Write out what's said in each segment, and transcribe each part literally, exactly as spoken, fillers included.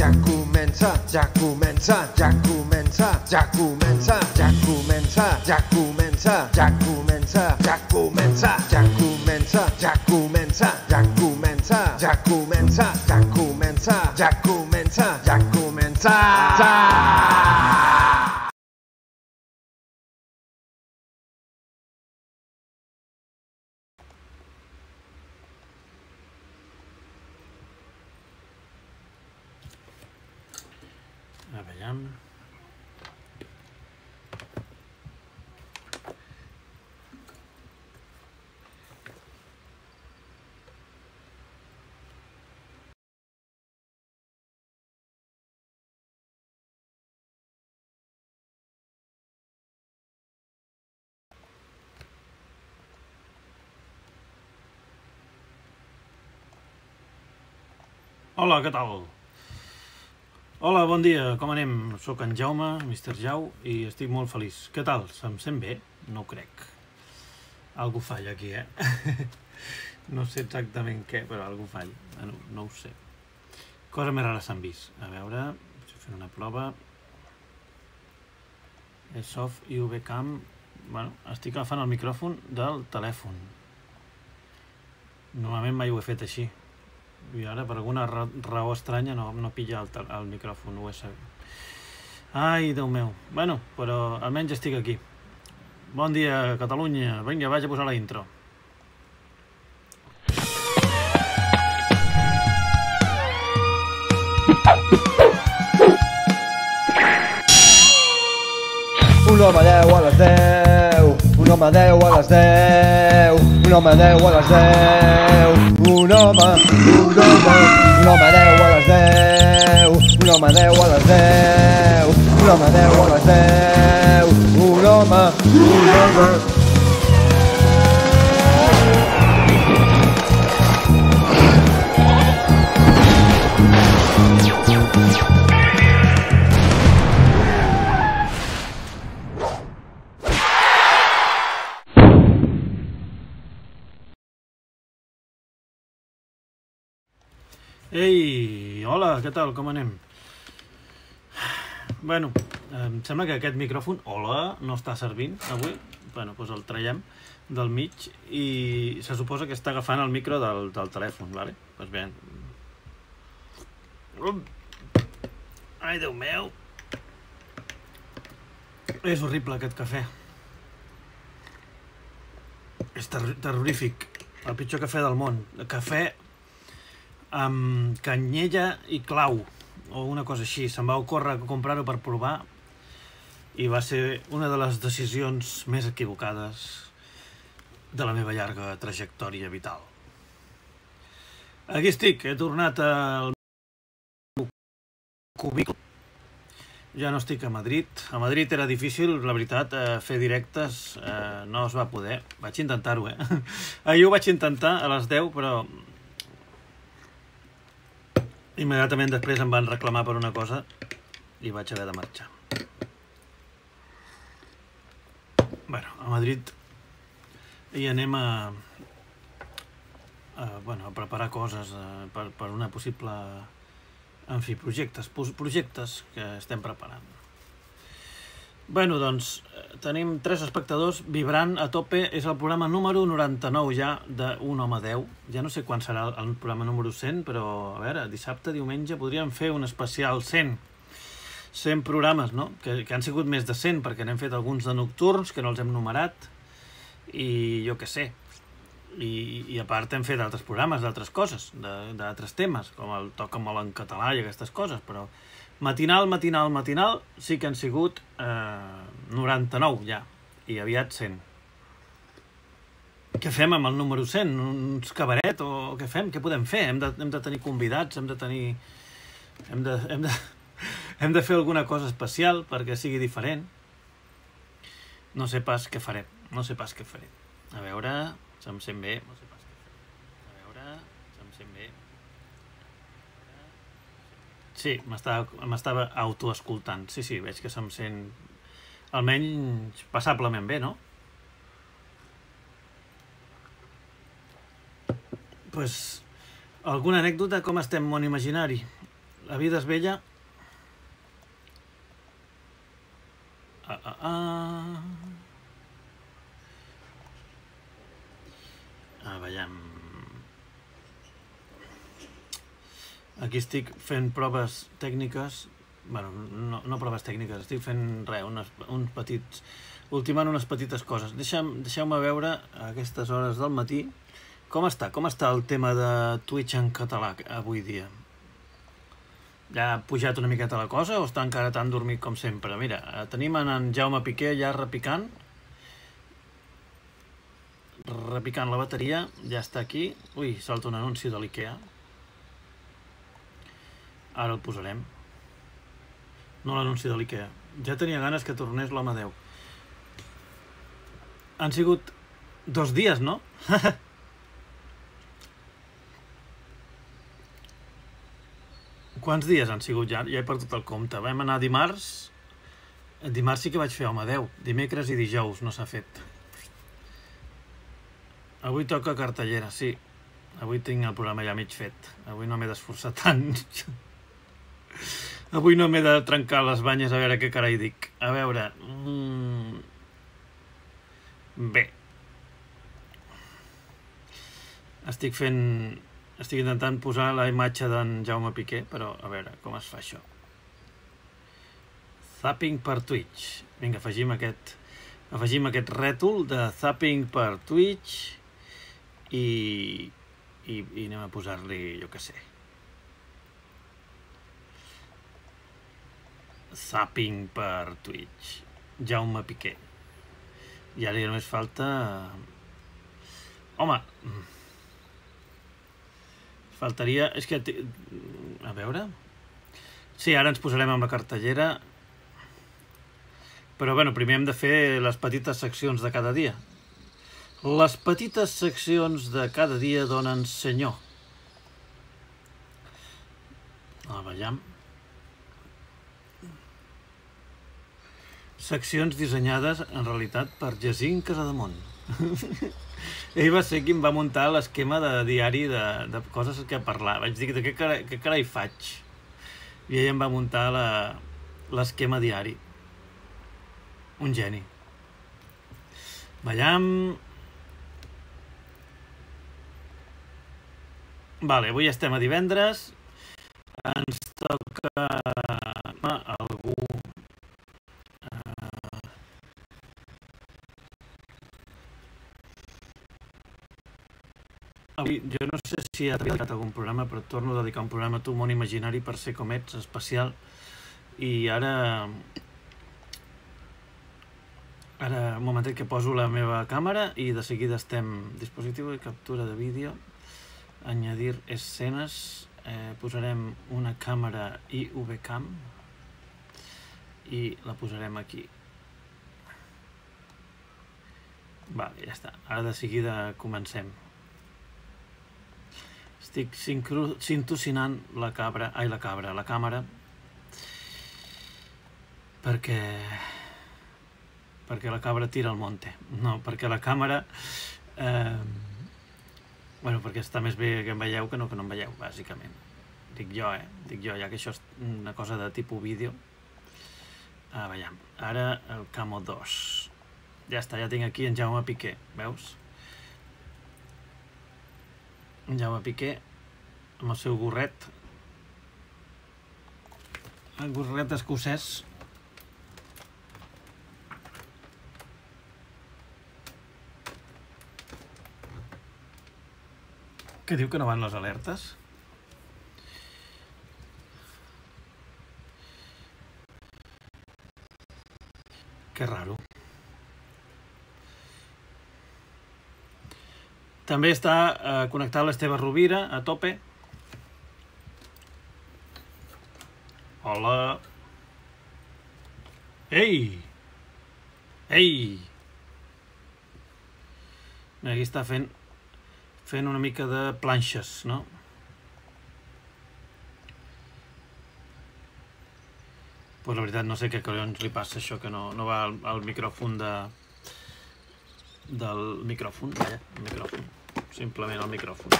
ja comença, ja comença, ja comença, ja comença, ja comença, ja comença, ja comença, ja comença, ja comença, ja comença, ja comença, ja comença, ja comença, ja comença, ja comença. A veure... Hola, què tal? Hola, bon dia, com anem? Soc en Jaume, mister Jau, i estic molt feliç. Què tal? Se'm sent bé? No ho crec. Algú falla aquí, eh? No sé exactament què, però algú falla. No, no ho sé. Cosa més rara s'han vist. A veure, estic fent una prova. E-Soft i V-Cam. Bueno, estic agafant el micròfon del telèfon. Normalment mai ho he fet així. I ara, per alguna raó estranya, no, no pilla el, el micròfon U S B. Ai, Déu meu. Bueno, però almenys estic aquí. Bon dia, Catalunya. Vinga, vaig a posar la intro. Un home deu a les deu, un home deu a les deu, un home deu a les deu, un home, un home, un home deu a les deu, un home deu a les deu, un home deu a les deu, un home, un home. Ei, hola, què tal, com anem? Bueno, em sembla que aquest micròfon, hola, no està servint avui. Bueno, doncs el traiem del mig i se suposa que està agafant el micro del, del telèfon, vale? Doncs bé. Ai, Déu meu. És horrible aquest cafè. És ter terrorífic. El pitjor cafè del món. Cafè amb canyella i clau o una cosa així. Se'm va ocórrer comprar-ho per provar i va ser una de les decisions més equivocades de la meva llarga trajectòria vital. Aquí estic, he tornat al meu cubicle. Ja no estic a Madrid. A Madrid era difícil, la veritat, fer directes eh, no es va poder. Vaig intentar-ho, eh? Ahir ho vaig intentar a les deu, però immediatament després em van reclamar per una cosa i vaig haver de marxar. Bueno, a Madrid hi anem a, a, bueno, a preparar coses a, per, per una possible... En fi, projectes, projectes que estem preparant. Bueno, doncs, tenim tres espectadors vibrant a tope. És el programa número noranta-nou ja d'un home deu. Ja no sé quan serà el programa número cent, però, a veure, dissabte, diumenge, podríem fer un especial cent. cent programes, no? Que, que han sigut més de cent, perquè n'hem fet alguns de nocturns, que no els hem numerat, i jo què sé. I, i a part hem fet altres programes d'altres coses, d'altres temes, com el Toca molt en català i aquestes coses, però matinal, matinal, matinal, sí que han sigut eh, noranta-nou ja, i aviat cent. Què fem amb el número cent? Uns cabaret o què fem? Què podem fer? Hem de, hem de tenir convidats, hem de tenir... Hem de, hem de, hem de fer alguna cosa especial perquè sigui diferent. No sé pas què farem, no sé pas què faré. A veure... Se'm sent bé, no sé pas què fer. A veure, se'm sent bé. Sí, m'estava autoescoltant. Sí, sí, veig que se'm sent almenys passablement bé, no? Doncs, alguna anècdota? Com estem, món imaginari? La vida és bella. Ah, ah, ah. Ah, veiem. Aquí estic fent proves tècniques. Bueno, no, no proves tècniques, estic fent res, unes, uns petits... ultimant unes petites coses. Deixeu-me deixeu veure a aquestes hores del matí com està, com està el tema de Twitch en català avui dia. Ja ha pujat una miqueta la cosa o està encara tan dormit com sempre? Mira, tenim en Jaume Piqué ja repicant. Repicant la bateria, ja està aquí. Ui, salta un anunci de l'IKEA. Ara el posarem. No l'anunci de l'IKEA. Ja tenia ganes que tornés l'home Déu. Han sigut dos dies, no? Quants dies han sigut ja? Ja he perdut el compte. Vam anar dimarts. Dimarts sí que vaig fer home Déu. Dimecres i dijous no s'ha fet. Avui toca cartellera, sí. Avui tinc el programa ja mig fet. Avui no m'he d'esforçar tant. Avui no m'he de trencar les banyes a veure què carai dic. A veure... Mm... Bé. Estic fent... Estic intentant posar la imatge d'en Jaume Piqué, però a veure com es fa això. Zapping per Twitch. Vinga, afegim aquest, afegim aquest rètol de zapping per Twitch i, i, i anem a posar-li, jo què sé. Zapping per Twitch. Jaume Piqué. I ara ja només falta... Home... Faltaria... És que... A veure... Sí, ara ens posarem amb la cartellera. Però, bueno, primer hem de fer les petites seccions de cada dia. Les petites seccions de cada dia donen senyor. La veiem. Seccions dissenyades, en realitat, per Jacint Casademont. Ell va ser qui em va muntar l'esquema de diari de, de coses que parlar. Vaig dir, de què carai, què carai faig? I ell em va muntar l'esquema diari. Un geni. Veiem... Vale, avui estem a divendres. Ens toca... algú... Avui, jo no sé si ha dedicat algun programa, però et torno a dedicar un programa a tu, món imaginari, per ser com ets, especial. I ara... Ara, un momentet que poso la meva càmera i de seguida estem... Dispositiu de captura de vídeo. Añadir escenes. Eh, posarem una càmera I V Cam. I la posarem aquí. Vale, ja està. Ara de seguida comencem. Estic sintocinant la cabra, ai la cabra, la càmera, perquè, perquè la cabra tira al monte. No, perquè la càmera, eh, bueno, perquè està més bé que em veieu que no que no em veieu, bàsicament. Dic jo, eh, dic jo, ja que això és una cosa de tipus vídeo. Ah, veiem, ara el Camo dos. Ja està, ja tinc aquí en Jaume Piqué, veus? Jaume Piqué amb el seu gorret, el gorret escocès. Què diu que no van les alertes? Que raro. També està eh, connectat l'Esteve Rovira, a tope. Hola. Ei! Ei! Aquí està fent, fent una mica de planxes, no? Pues la veritat no sé què collons li passa això, que no, no va al, al micròfon de... del micròfon, vaja, el micròfon. Simplement el micròfon.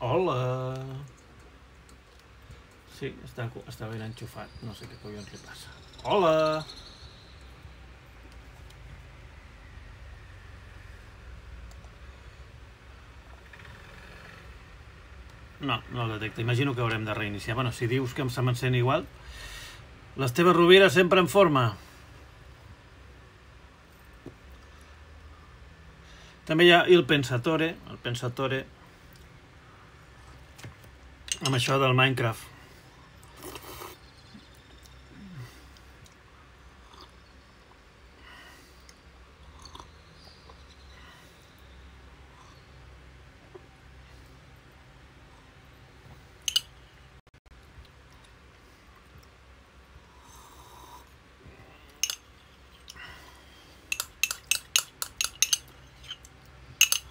Hola! Sí, està, està ben enxufat. No sé què collons li passa. Hola! No, no el detecta. Imagino que haurem de reiniciar. Bueno, si dius que se m'encén igual... L'Esteve Rovira sempre en forma. També hi ha Il Pensatore, el Pensatore, amb això del Minecraft.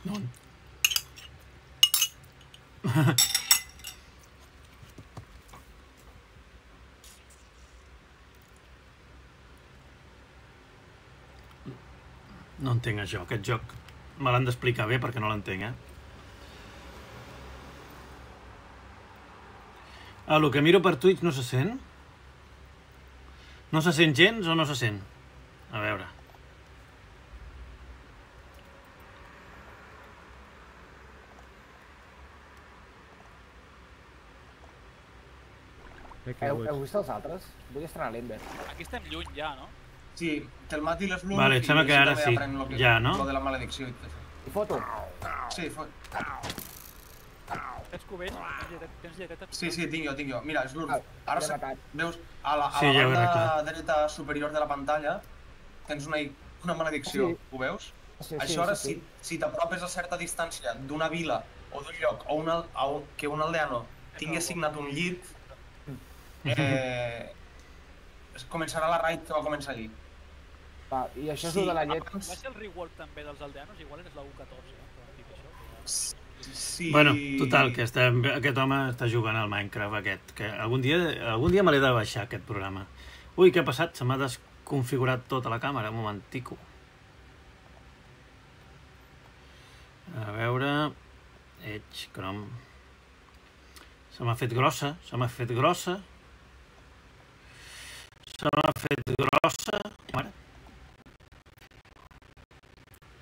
No. No entenc això, aquest joc. Me l'han d'explicar bé perquè no l'entenc, eh? Ah, el que miro per Twitch no se sent? No se sent gens o no se sent? A veure. Heu, heu vist els altres? Vull estrenar l'Ember. Aquí estem lluny ja, no? Sí, que el mati les lunes Vale, em sembla que ara sí. Lo que, Ja, no? Lo de la maledicció i tot. I foto? Sí, fot. Tens cubell? Tens lleteta? Tens lleteta? Sí, sí, tinc jo, tinc jo. Mira, Slurf, Ah, ara l'he se... matat. veus a la, a Sí, la ja ho he banda arreglat. dreta superior de la pantalla tens una, una maledicció, Sí. ho veus? Sí, sí, Això ara, sí, sí. si, si t'apropes a certa distància d'una vila o d'un lloc o una, a un, que un aldeano tingui assignat un llit, eh, començarà la raid que va començar ahir. Va, i això és Sí, el de la llet. Va ser el rework també dels aldeanos? Igual és la U catorze, eh? Que van dir això. Que Sí. Bueno, total, que estem, aquest home està jugant al Minecraft aquest, que algun dia, algun dia me l'he de baixar, aquest programa. Ui, què ha passat? Se m'ha desconfigurat tota la càmera, un momentico. A veure... Edge, Chrome... Se m'ha fet grossa, se m'ha fet grossa. Se m'ha fet grossa... Mare.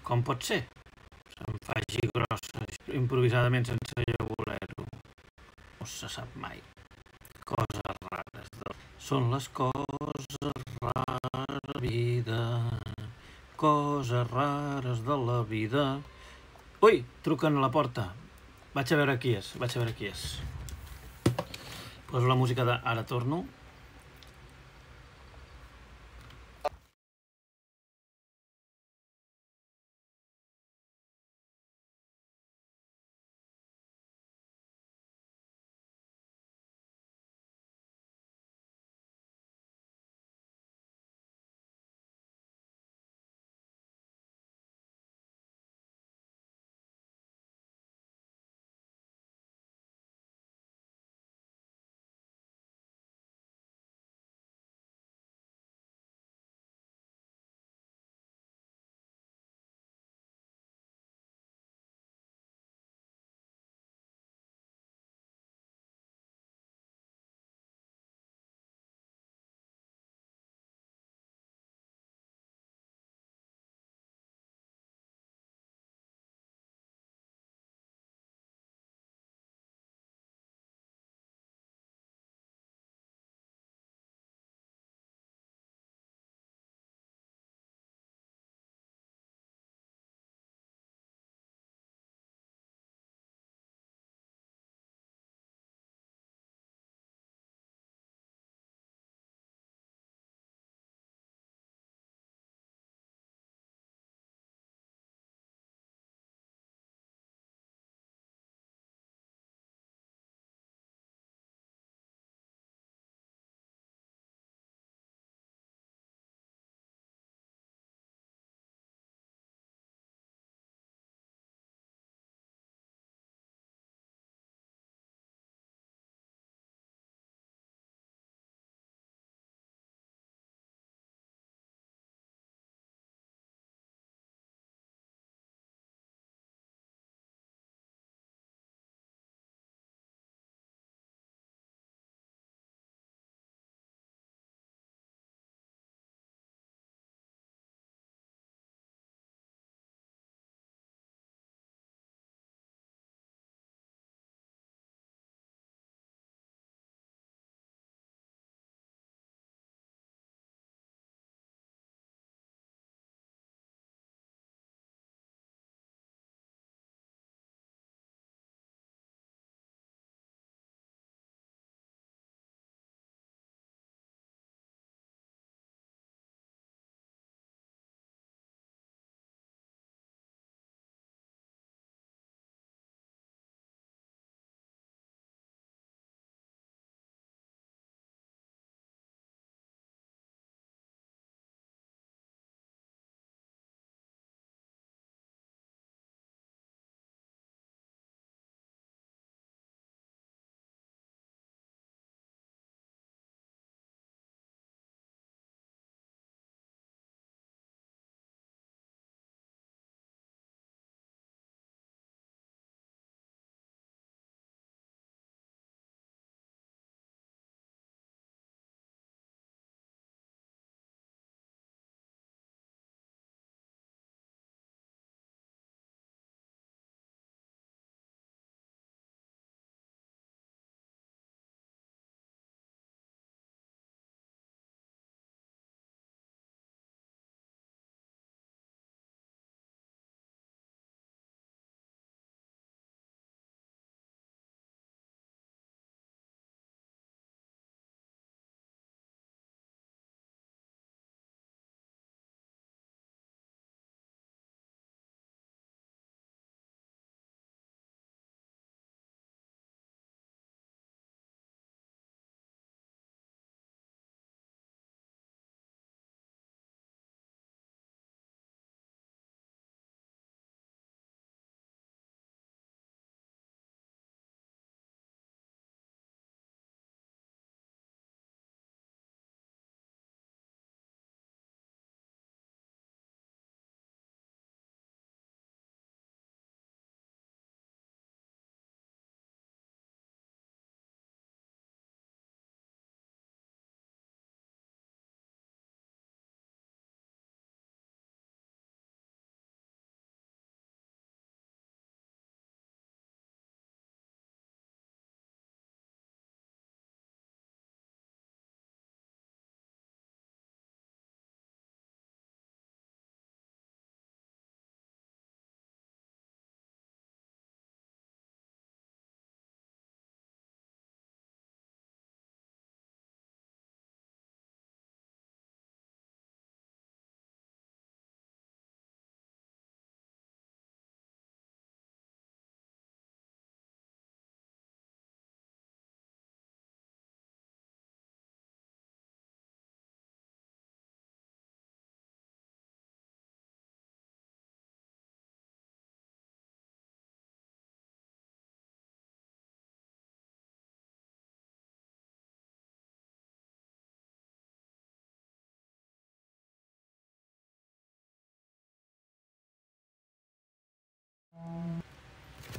Com pot ser? Se'm faci grossa, improvisadament sense jo voler-ho. No se sap mai. Coses rares. De... Són les coses rares de la vida. Coses rares de la vida. Ui, truquen a la porta. Vaig a veure qui és, vaig a veure qui és. Poso la música de Ara torno.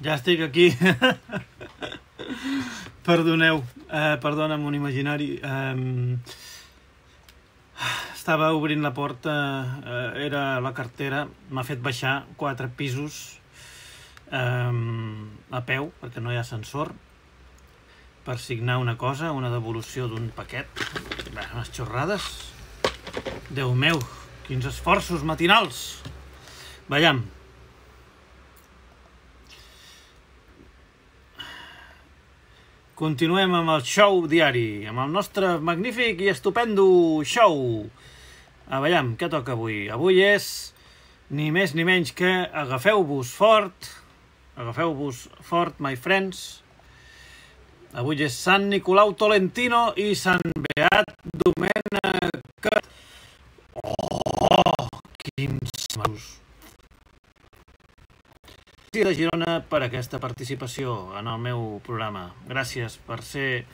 Ja estic aquí. Perdoneu, eh, perdona'm un imaginari. Eh, estava obrint la porta, eh, era la cartera, m'ha fet baixar quatre pisos eh, a peu, perquè no hi ha ascensor, per signar una cosa, una devolució d'un paquet. Bé, unes xorrades. Déu meu, quins esforços matinals. Veiem. Continuem amb el show diari, amb el nostre magnífic i estupendo show. A veiem, què toca avui? Avui és ni més ni menys que agafeu-vos fort, agafeu-vos fort, my friends. Avui és Sant Nicolau Tolentino i Sant Beat Domènec. Oh, quins masos. Gràcies de Girona per aquesta participació en el meu programa. Gràcies per ser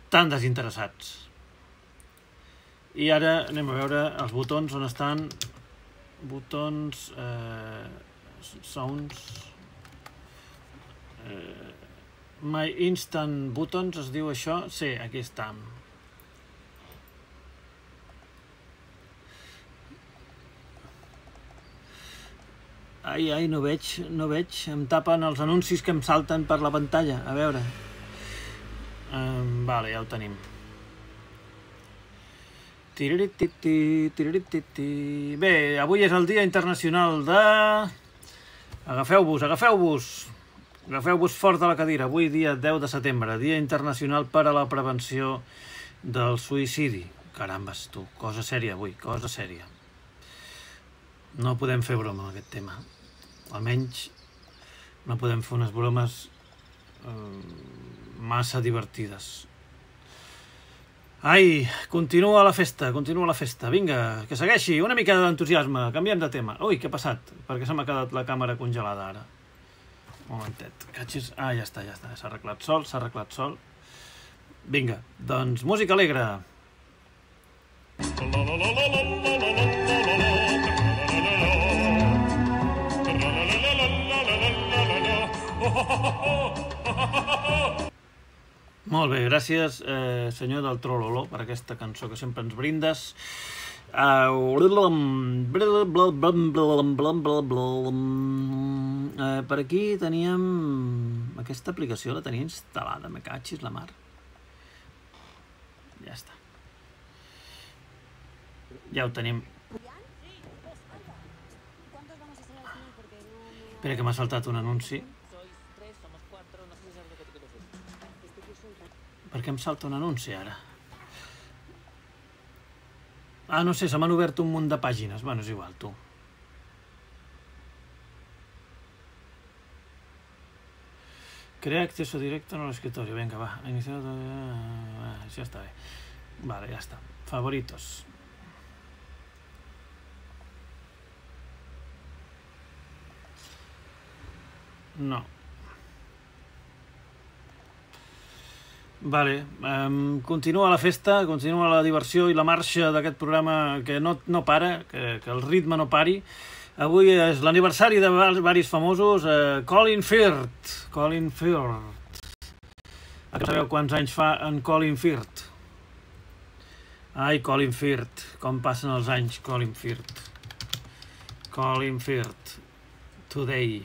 tan desinteressats. I ara anem a veure els botons on estan. Botons... Eh, sounds... Eh, My Instant Buttons es diu això? Sí, aquí està. Ai, ai, no veig, no veig. Em tapen els anuncis que em salten per la pantalla. A veure. Um, vale, ja ho tenim. Tirirititi, tirirititi. Bé, avui és el Dia Internacional de... Agafeu-vos, agafeu-vos. Agafeu-vos fort de la cadira. Avui, dia deu de setembre, Dia Internacional per a la Prevenció del Suïcidi. Carambes, tu, cosa sèria avui, cosa sèria. No podem fer broma amb aquest tema. Almenys no podem fer unes bromes eh, massa divertides. Ai, continua la festa, continua la festa. Vinga, que segueixi, una mica d'entusiasme. Canviem de tema. Ui, què ha passat? Per què se m'ha quedat la càmera congelada ara? Un momentet. Catxis. Ah, ja està, ja està. S'ha arreglat sol, s'ha arreglat sol. Vinga, doncs música alegre. Molt bé, gràcies, eh, senyor del Trololó, per aquesta cançó que sempre ens brindes. Uh, uh, per aquí teníem... Aquesta aplicació la tenia instal·lada, me catxis la mar. Ja està. Ja ho tenim. Espera que m'ha saltat un anunci. Per què em salta un anunci ara? Ah, no sé, se m'han obert un munt de pàgines. Bueno, és igual, tu. Crea acceso directo en el escritorio. Venga, va. Iniciar... Ah, ja està bé. Vale, ja està. Favoritos. No. Vale, um, continua la festa, continua la diversió i la marxa d'aquest programa que no, no para, que, que el ritme no pari. Avui és l'aniversari de varis famosos, eh, Colin Firth. Colin Firth. Sabeu quants anys fa en Colin Firth? Ai, Colin Firth, com passen els anys, Colin Firth. Colin Firth. Today.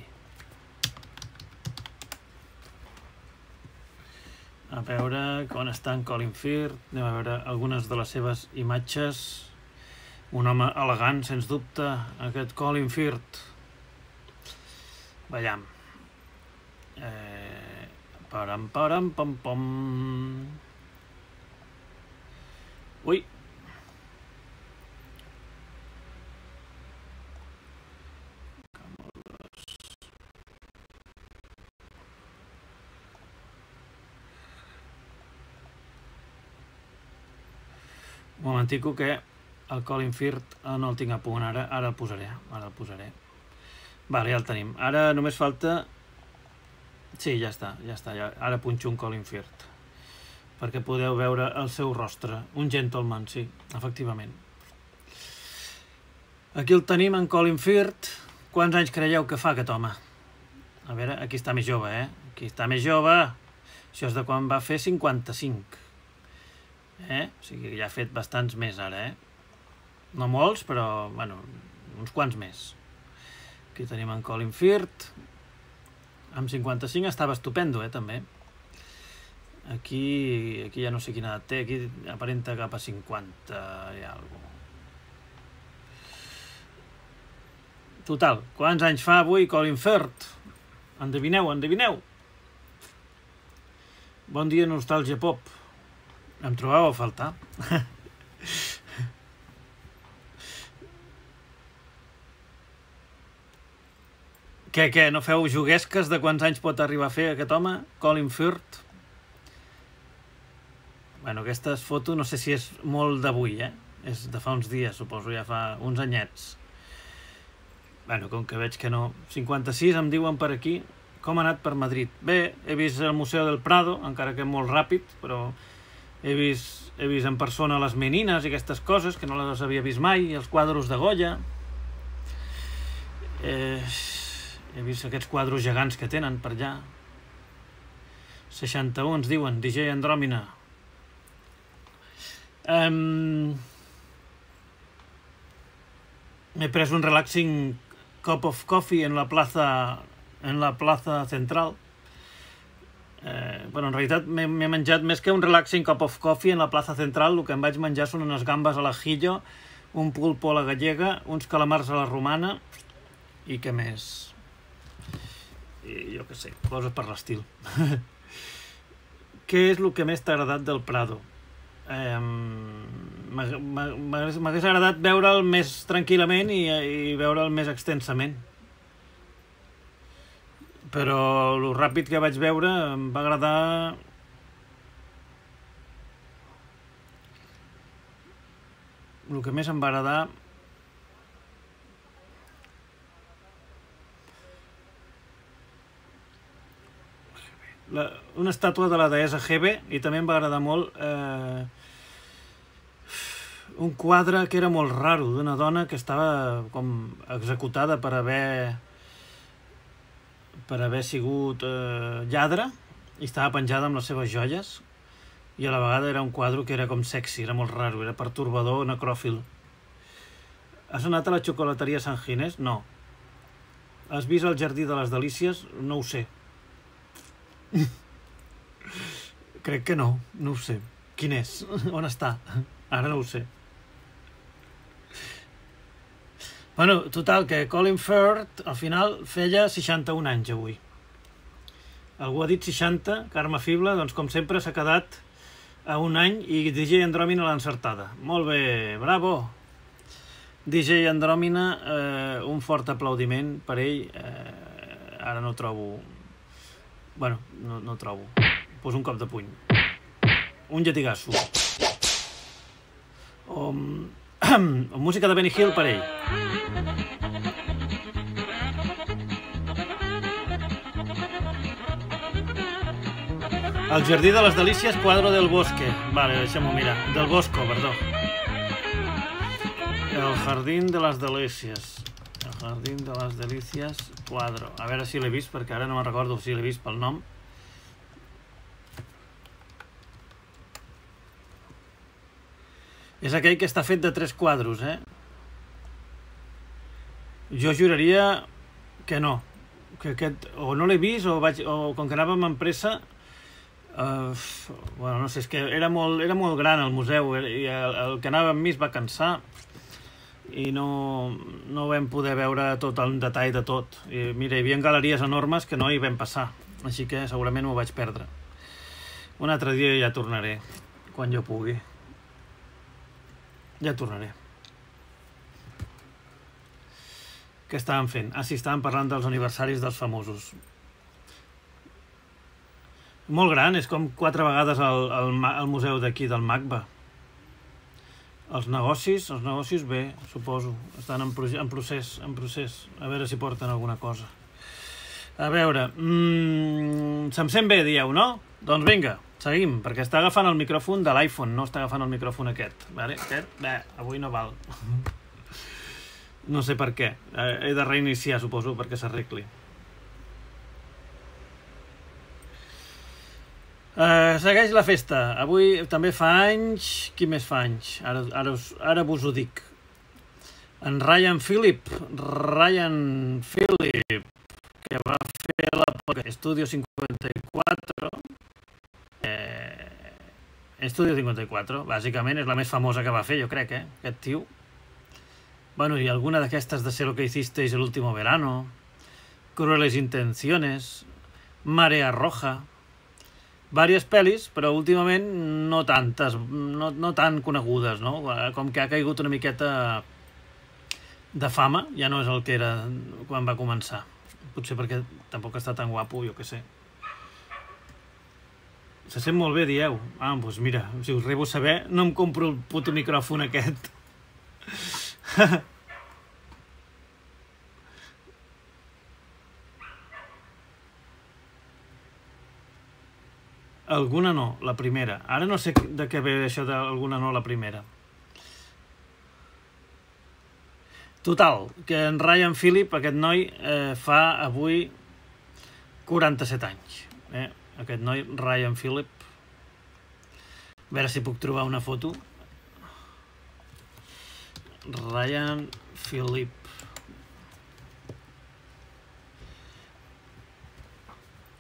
A veure on està en Colin Firth. Anem a veure algunes de les seves imatges. Un home elegant, sens dubte, aquest Colin Firth. Veiem. Eh, param, param, pam, pam. Ui. Un momentico que el Colin Firth no el tinc a punt ara, ara el posaré, ara el posaré. Vale, ja el tenim. Ara només falta... Sí, ja està, ja està, ja... ara punxo un Colin Firth, perquè podeu veure el seu rostre. Un gentleman, sí, efectivament. Aquí el tenim, en Colin Firth. Quants anys creieu que fa aquest home? A veure, aquí està més jove, eh? Aquí està més jove. Això és de quan va fer cinquanta-cinc. Eh? O sigui que ja ha fet bastants més ara, eh? No molts, però, bueno, uns quants més. Aquí tenim en Colin Firth. Amb cinquanta-cinc estava estupendo, eh, també. Aquí, aquí ja no sé quina edat té, aquí aparenta cap a cinquanta i alguna cosa. Total, quants anys fa avui Colin Firth? Endevineu, endevineu. Bon dia, nostàlgia pop. Em trobàveu a faltar? Què, què? No feu juguesques de quants anys pot arribar a fer aquest home? Colin Firth? Bueno, aquesta foto no sé si és molt d'avui, eh? És de fa uns dies, suposo, ja fa uns anyets. Bueno, com que veig que no... cinquanta-sis em diuen per aquí. Com ha anat per Madrid? Bé, he vist el Museu del Prado, encara que molt ràpid, però he vist, he vist en persona les menines i aquestes coses, que no les havia vist mai, els quadros de Goya. Eh, he vist aquests quadros gegants que tenen per allà. seixanta-u ens diuen, D J Andròmina. Um, M'he pres un relaxing cup of coffee en la plaza, en la plaza central. Eh, bueno, en realitat m'he menjat més que un relaxing cup of coffee en la plaza central. El que em vaig menjar són unes gambes a l'ajillo, un pulpo a la gallega, uns calamars a la romana i què més? I jo què sé, coses per l'estil. Què és el que més t'ha agradat del Prado? Eh, m'hagués agradat veure'l més tranquil·lament i, i veure'l més extensament, però el ràpid que vaig veure em va agradar. El que més em va agradar La, una estàtua de la deessa Hebe, i també em va agradar molt eh, un quadre que era molt raro, d'una dona que estava com executada per haver per haver sigut eh, lladre, i estava penjada amb les seves joies, i a la vegada era un quadre que era com sexy, era molt raro, era pertorbador, necròfil. Has anat a la xocolateria Sant Ginés? No. Has vist el Jardí de les Delícies? No ho sé. Crec que no, no ho sé. Quin és? On està? Ara no ho sé. Bueno, total, que Colin Firth al final feia seixanta-un anys avui. Algú ha dit seixanta, Carme Fibla, doncs com sempre s'ha quedat a un any i D J Andròmina l'ha encertada. Molt bé, bravo! D J Andròmina, eh, un fort aplaudiment per ell. Eh, ara no trobo... Bueno, no, no trobo. Pues un cop de puny. Un lletigasso. O, o música de Benny Hill per ell. El Jardí de les Delícies, quadro del Bosque. Vale, deixem-ho mirar. Del Bosco, perdó. El Jardín de les Delícies. El Jardín de les Delícies, quadro. A veure si l'he vist, perquè ara no me'n recordo si l'he vist pel nom. És aquell que està fet de tres quadros, eh? Jo juraria que no. Que aquest, o no l'he vist, o, vaig, o com que anàvem amb pressa... Uh, bueno, no sé, és que era molt, era molt gran el museu, i el, el que anava amb mi es va cansar i no, no vam poder veure tot el detall de tot. I mira, hi havia galeries enormes que no hi vam passar, així que segurament m'ho vaig perdre. Un altre dia ja tornaré, quan jo pugui. Ja tornaré. Què estàvem fent? Ah, sí, estàvem parlant dels aniversaris dels famosos. Molt gran, és com quatre vegades el, el, el museu d'aquí, del MACBA. Els negocis, els negocis bé, suposo, estan en, en procés, en procés, a veure si porten alguna cosa. A veure, mmm, se'm sent bé, dieu, no? Doncs vinga, seguim, perquè està agafant el micròfon de l'iPhone, no està agafant el micròfon aquest. Vale? Aquest, bé, avui no val. No sé per què, he de reiniciar, suposo, perquè s'arregli. Uh, segueix la festa. Avui també fa anys... Qui més fa anys? Ara, ara, us, ara vos ho dic. En Ryan Phillip. Ryan Phillip, que va fer la Estudio cinquanta-quatre. Eh, Estudio cinquanta-quatre, bàsicament, és la més famosa que va fer, jo crec, eh? Aquest tio. Bueno, i alguna d'aquestes de Sé lo que hicisteis el último verano, Crueles intenciones, Marea roja... Vàries pel·lis, però últimament no tantes, no, no tan conegudes, no? Com que ha caigut una miqueta de fama, ja no és el que era quan va començar. Potser perquè tampoc està tan guapo, jo què sé. Se sent molt bé, dieu. Ah, doncs mira, si us rebo saber, no em compro el puto micròfon aquest. Alguna no, la primera. Ara no sé de què ve això d'alguna no, la primera. Total, que en Ryan Phillip, aquest noi, eh, fa avui quaranta-set anys. Eh? Aquest noi, Ryan Phillip. A veure si puc trobar una foto. Ryan Phillip.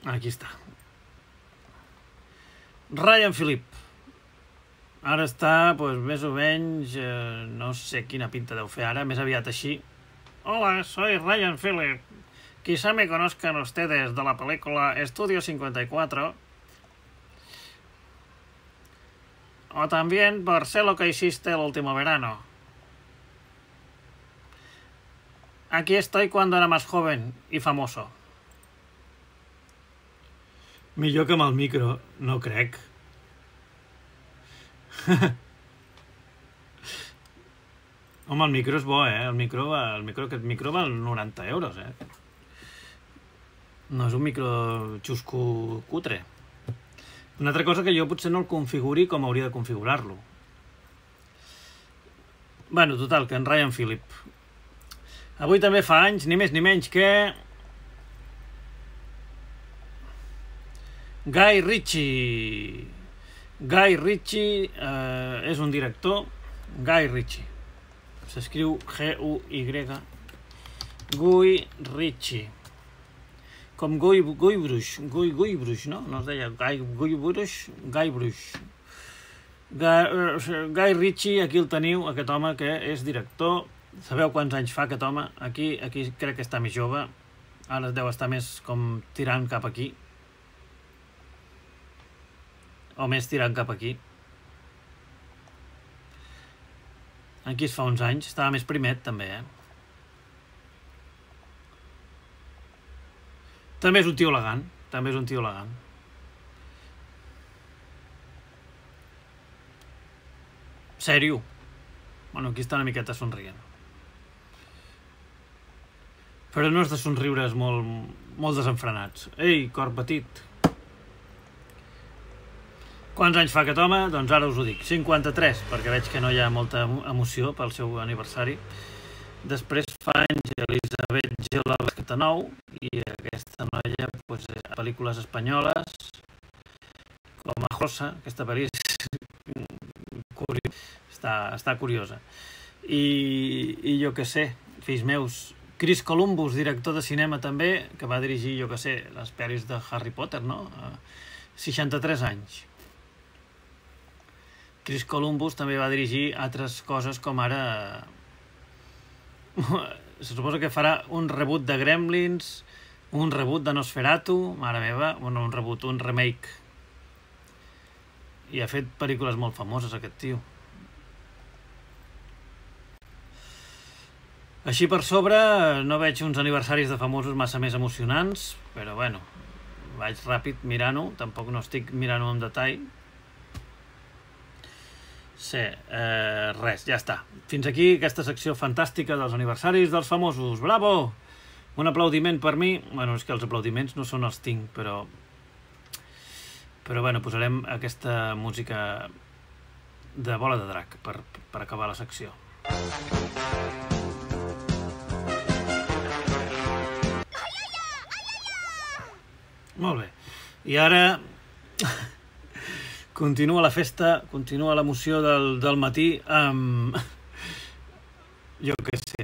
Aquí està. Ryan Phillip. Ara està, doncs, més o menys, eh, no sé quina pinta deu fer ara, més aviat així. Hola, soy Ryan Phillip. Quizá me conozcan ustedes de la película Estudio cincuenta y cuatro. O también por Sé lo que hiciste el último verano. Aquí estoy cuando era más joven y famoso. Millor que amb el micro, no crec. Home, el micro és bo, eh? El micro, va, el micro, aquest micro val noranta euros, eh? No és un micro xusco cutre. Una altra cosa que jo potser no el configuri com hauria de configurar-lo. Bueno, total, que en Ryan Phillip. Avui també fa anys, ni més ni menys que... Guy Ritchie. Guy Ritchie eh, és un director. Guy Ritchie. S'escriu G U Y. Guy Ritchie. Com Guy, Guy Bruix. Guy, Guy Bruix, no? No es deia Guy, Guy Bruix. Guy Bruix. Guy, Guy Ritchie, aquí el teniu, aquest home que és director. Sabeu quants anys fa aquest home? Aquí, aquí crec que està més jove. Ara deu estar més com tirant cap aquí. O més tirant cap aquí. Aquí es fa uns anys. Estava més primet, també, eh? També és un tio elegant. També és un tio elegant. Sèrio. Bueno, aquí està una miqueta somrient. Però no és de somriures molt, molt desenfrenats. Ei, cor petit. Quants anys fa aquest home? Doncs ara us ho dic. cinquanta-tres, perquè veig que no hi ha molta emoció pel seu aniversari. Després fa anys Elisabet Gela, setanta-nou, i aquesta noia, doncs, pel·lícules espanyoles, com a Rosa, aquesta pel·li està, està curiosa. I, i jo què sé, fills meus, Chris Columbus, director de cinema també, que va dirigir, jo què sé, les pel·lis de Harry Potter, no? seixanta-tres anys. Chris Columbus també va dirigir altres coses com ara... Se suposa que farà un reboot de Gremlins, un reboot de Nosferatu, mare meva, bueno, un reboot, un remake. I ha fet pel·lícules molt famoses, aquest tio. Així per sobre no veig uns aniversaris de famosos massa més emocionants, però bueno, vaig ràpid mirant-ho, tampoc no estic mirant-ho en detall. Sí, eh, res, ja està. Fins aquí aquesta secció fantàstica dels aniversaris dels famosos. Bravo! Un aplaudiment per mi. Bueno, és que els aplaudiments no són els tinc, però... Però bueno, posarem aquesta música de Bola de Drac per, per acabar la secció. Molt bé. I ara... Continua la festa, continua l'emoció del, del matí amb... Jo què sé.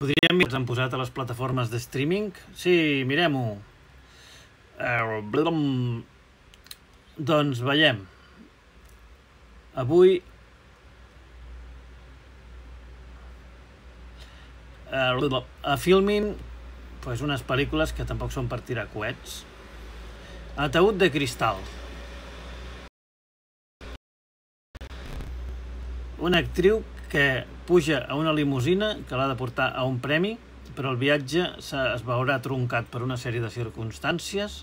Podríem mirar, ens han posat a les plataformes de streaming? Sí, mirem-ho. Uh, doncs veiem. Avui... Uh, a Filmin, pues unes pel·lícules que tampoc són per tirar coets. Ataúd de cristal. Una actriu que puja a una limusina que l'ha de portar a un premi, però el viatge es veurà truncat per una sèrie de circumstàncies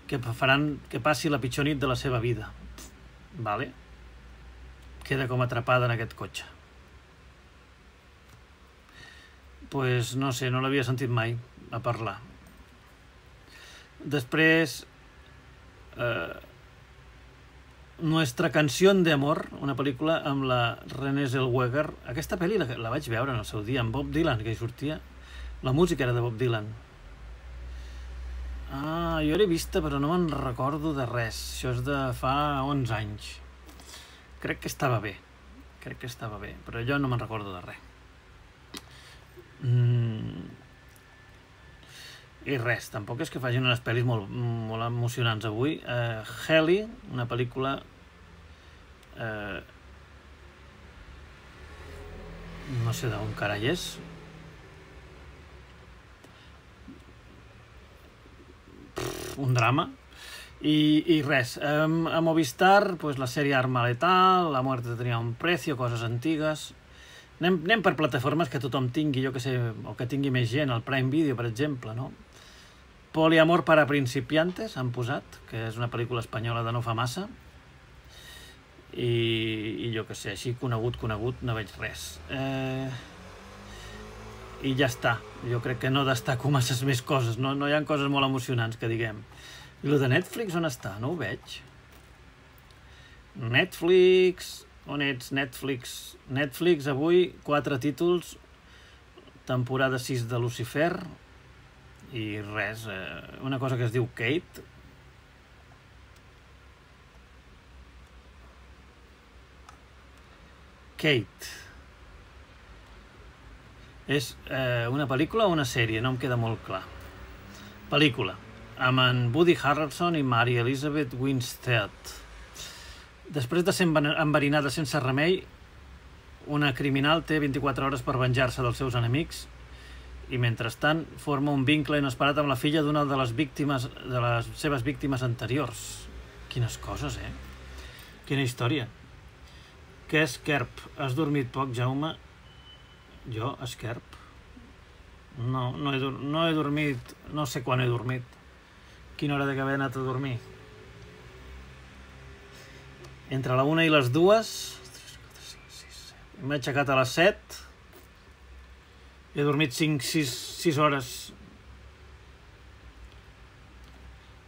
que faran que passi la pitjor nit de la seva vida. Vale. Queda com atrapada en aquest cotxe. Pues no sé, no l'havia sentit mai a parlar. Després... Eh, Nuestra canción de amor, una pel·lícula amb la Renée Zellweger. Aquesta pel·li la, la vaig veure en el seu dia amb Bob Dylan, que hi sortia. La música era de Bob Dylan. Ah, jo l'he vista però no me'n recordo de res. Això és de fa onze anys. Crec que estava bé. Crec que estava bé, però jo no me'n recordo de res. Mm. I res, tampoc és que facin unes pel·lis molt, molt emocionants avui. Uh, Heli, una pel·lícula... Uh, no sé d'on carai és. Pff, un drama. I, i res, um, a Movistar, pues, la sèrie Arma Letal, La muerte tenía un precio, coses antigues... Anem, anem per plataformes que tothom tingui, jo que sé, o que tingui més gent, el Prime Video, per exemple, no? Poliamor para principiantes, han posat, que és una pel·lícula espanyola de no fa massa. I, i jo que sé, així conegut, conegut, no veig res. Eh, I ja està. Jo crec que no destaco masses més coses, no, no hi ha coses molt emocionants que diguem. I el de Netflix on està? No ho veig. Netflix... On ets, Netflix? Netflix, avui, quatre títols, temporada sis de Lucifer, i res, eh, una cosa que es diu Kate. Kate. És eh, una pel·lícula o una sèrie? No em queda molt clar. Pel·lícula, amb en Woody Harrelson i Mary Elizabeth Winstead. Després de ser enverinada sense remei, una criminal té vint-i-quatre hores per venjar-se dels seus enemics i, mentrestant, forma un vincle inesperat amb la filla d'una de les víctimes de les seves víctimes anteriors. Quines coses, eh? Quina història. Què és Kerp? Has dormit poc, Jaume? Jo, esquerp? No, no he, no he dormit... No sé quan he dormit. Quina hora de que haver anat a dormir? Entre la una i les dues... M'he aixecat a les set. He dormit cinc, sis hores.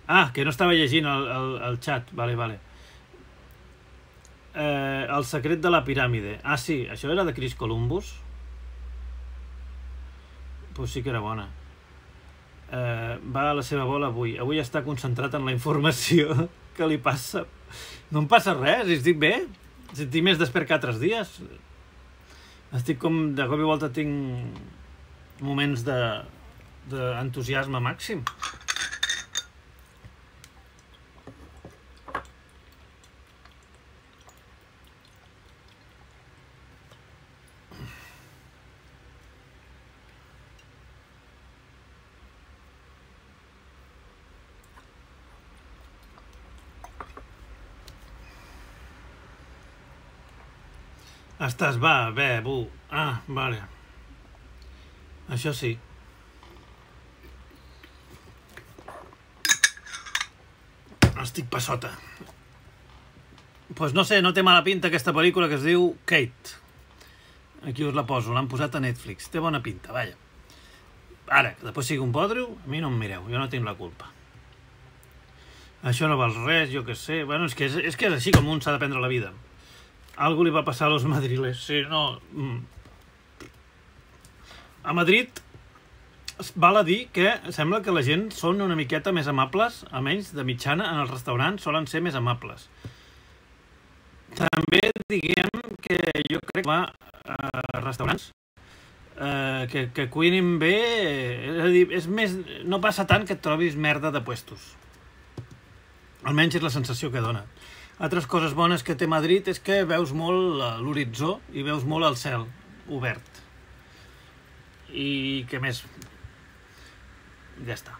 Ah, que no estava llegint el, el, el xat. Vale, vale. Eh, el secret de la piràmide. Ah, sí, això era de Chris Columbus? Pues sí que era bona. Eh, va a la seva bola avui. Avui està concentrat en la informació que li passa. No em passa res, estic bé. Estic més despert que altres dies. Estic com, de cop i volta tinc moments de d'entusiasme màxim. Estàs, va, bé, bu. Ah, vale. Això sí. Estic passota. Pues no sé, no té mala pinta aquesta pel·lícula que es diu Kate. Aquí us la poso, l'han posat a Netflix. Té bona pinta, vaja. Ara, que després sigui un bodrio, a mi no em mireu, jo no tinc la culpa. Això no val res, jo què sé. Bueno, és que és, és que és així com un s'ha de prendre la vida. Algo li va passar a los madriles. Sí, no... A Madrid val a dir que sembla que la gent són una miqueta més amables, almenys de mitjana, en els restaurants solen ser més amables. També diguem que jo crec que va a restaurants eh, que, que cuinin bé, és a dir, és més, no passa tant que et trobis merda de puestos. Almenys és la sensació que dona. Altres coses bones que té Madrid és que veus molt l'horitzó i veus molt el cel obert. I què més? Ja està.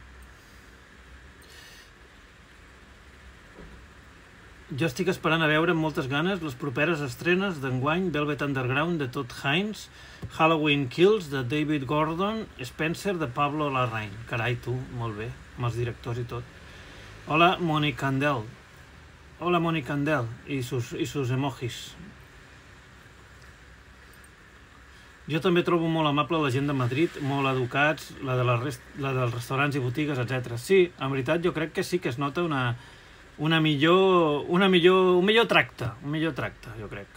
Jo estic esperant a veure amb moltes ganes les properes estrenes d'enguany Velvet Underground de Todd Haynes, Halloween Kills de David Gordon, Spencer de Pablo Larraín. Carai, tu, molt bé, amb els directors i tot. Hola, Moni Candel. Hola, Moni Candel i sus, i sus emojis. Jo també trobo molt amable la gent de Madrid, molt educats, la, de la, rest, la dels restaurants i botigues, etcètera. Sí, en veritat jo crec que sí que es nota una, una millor, una millor, un millor tracte, un millor tracte, jo crec,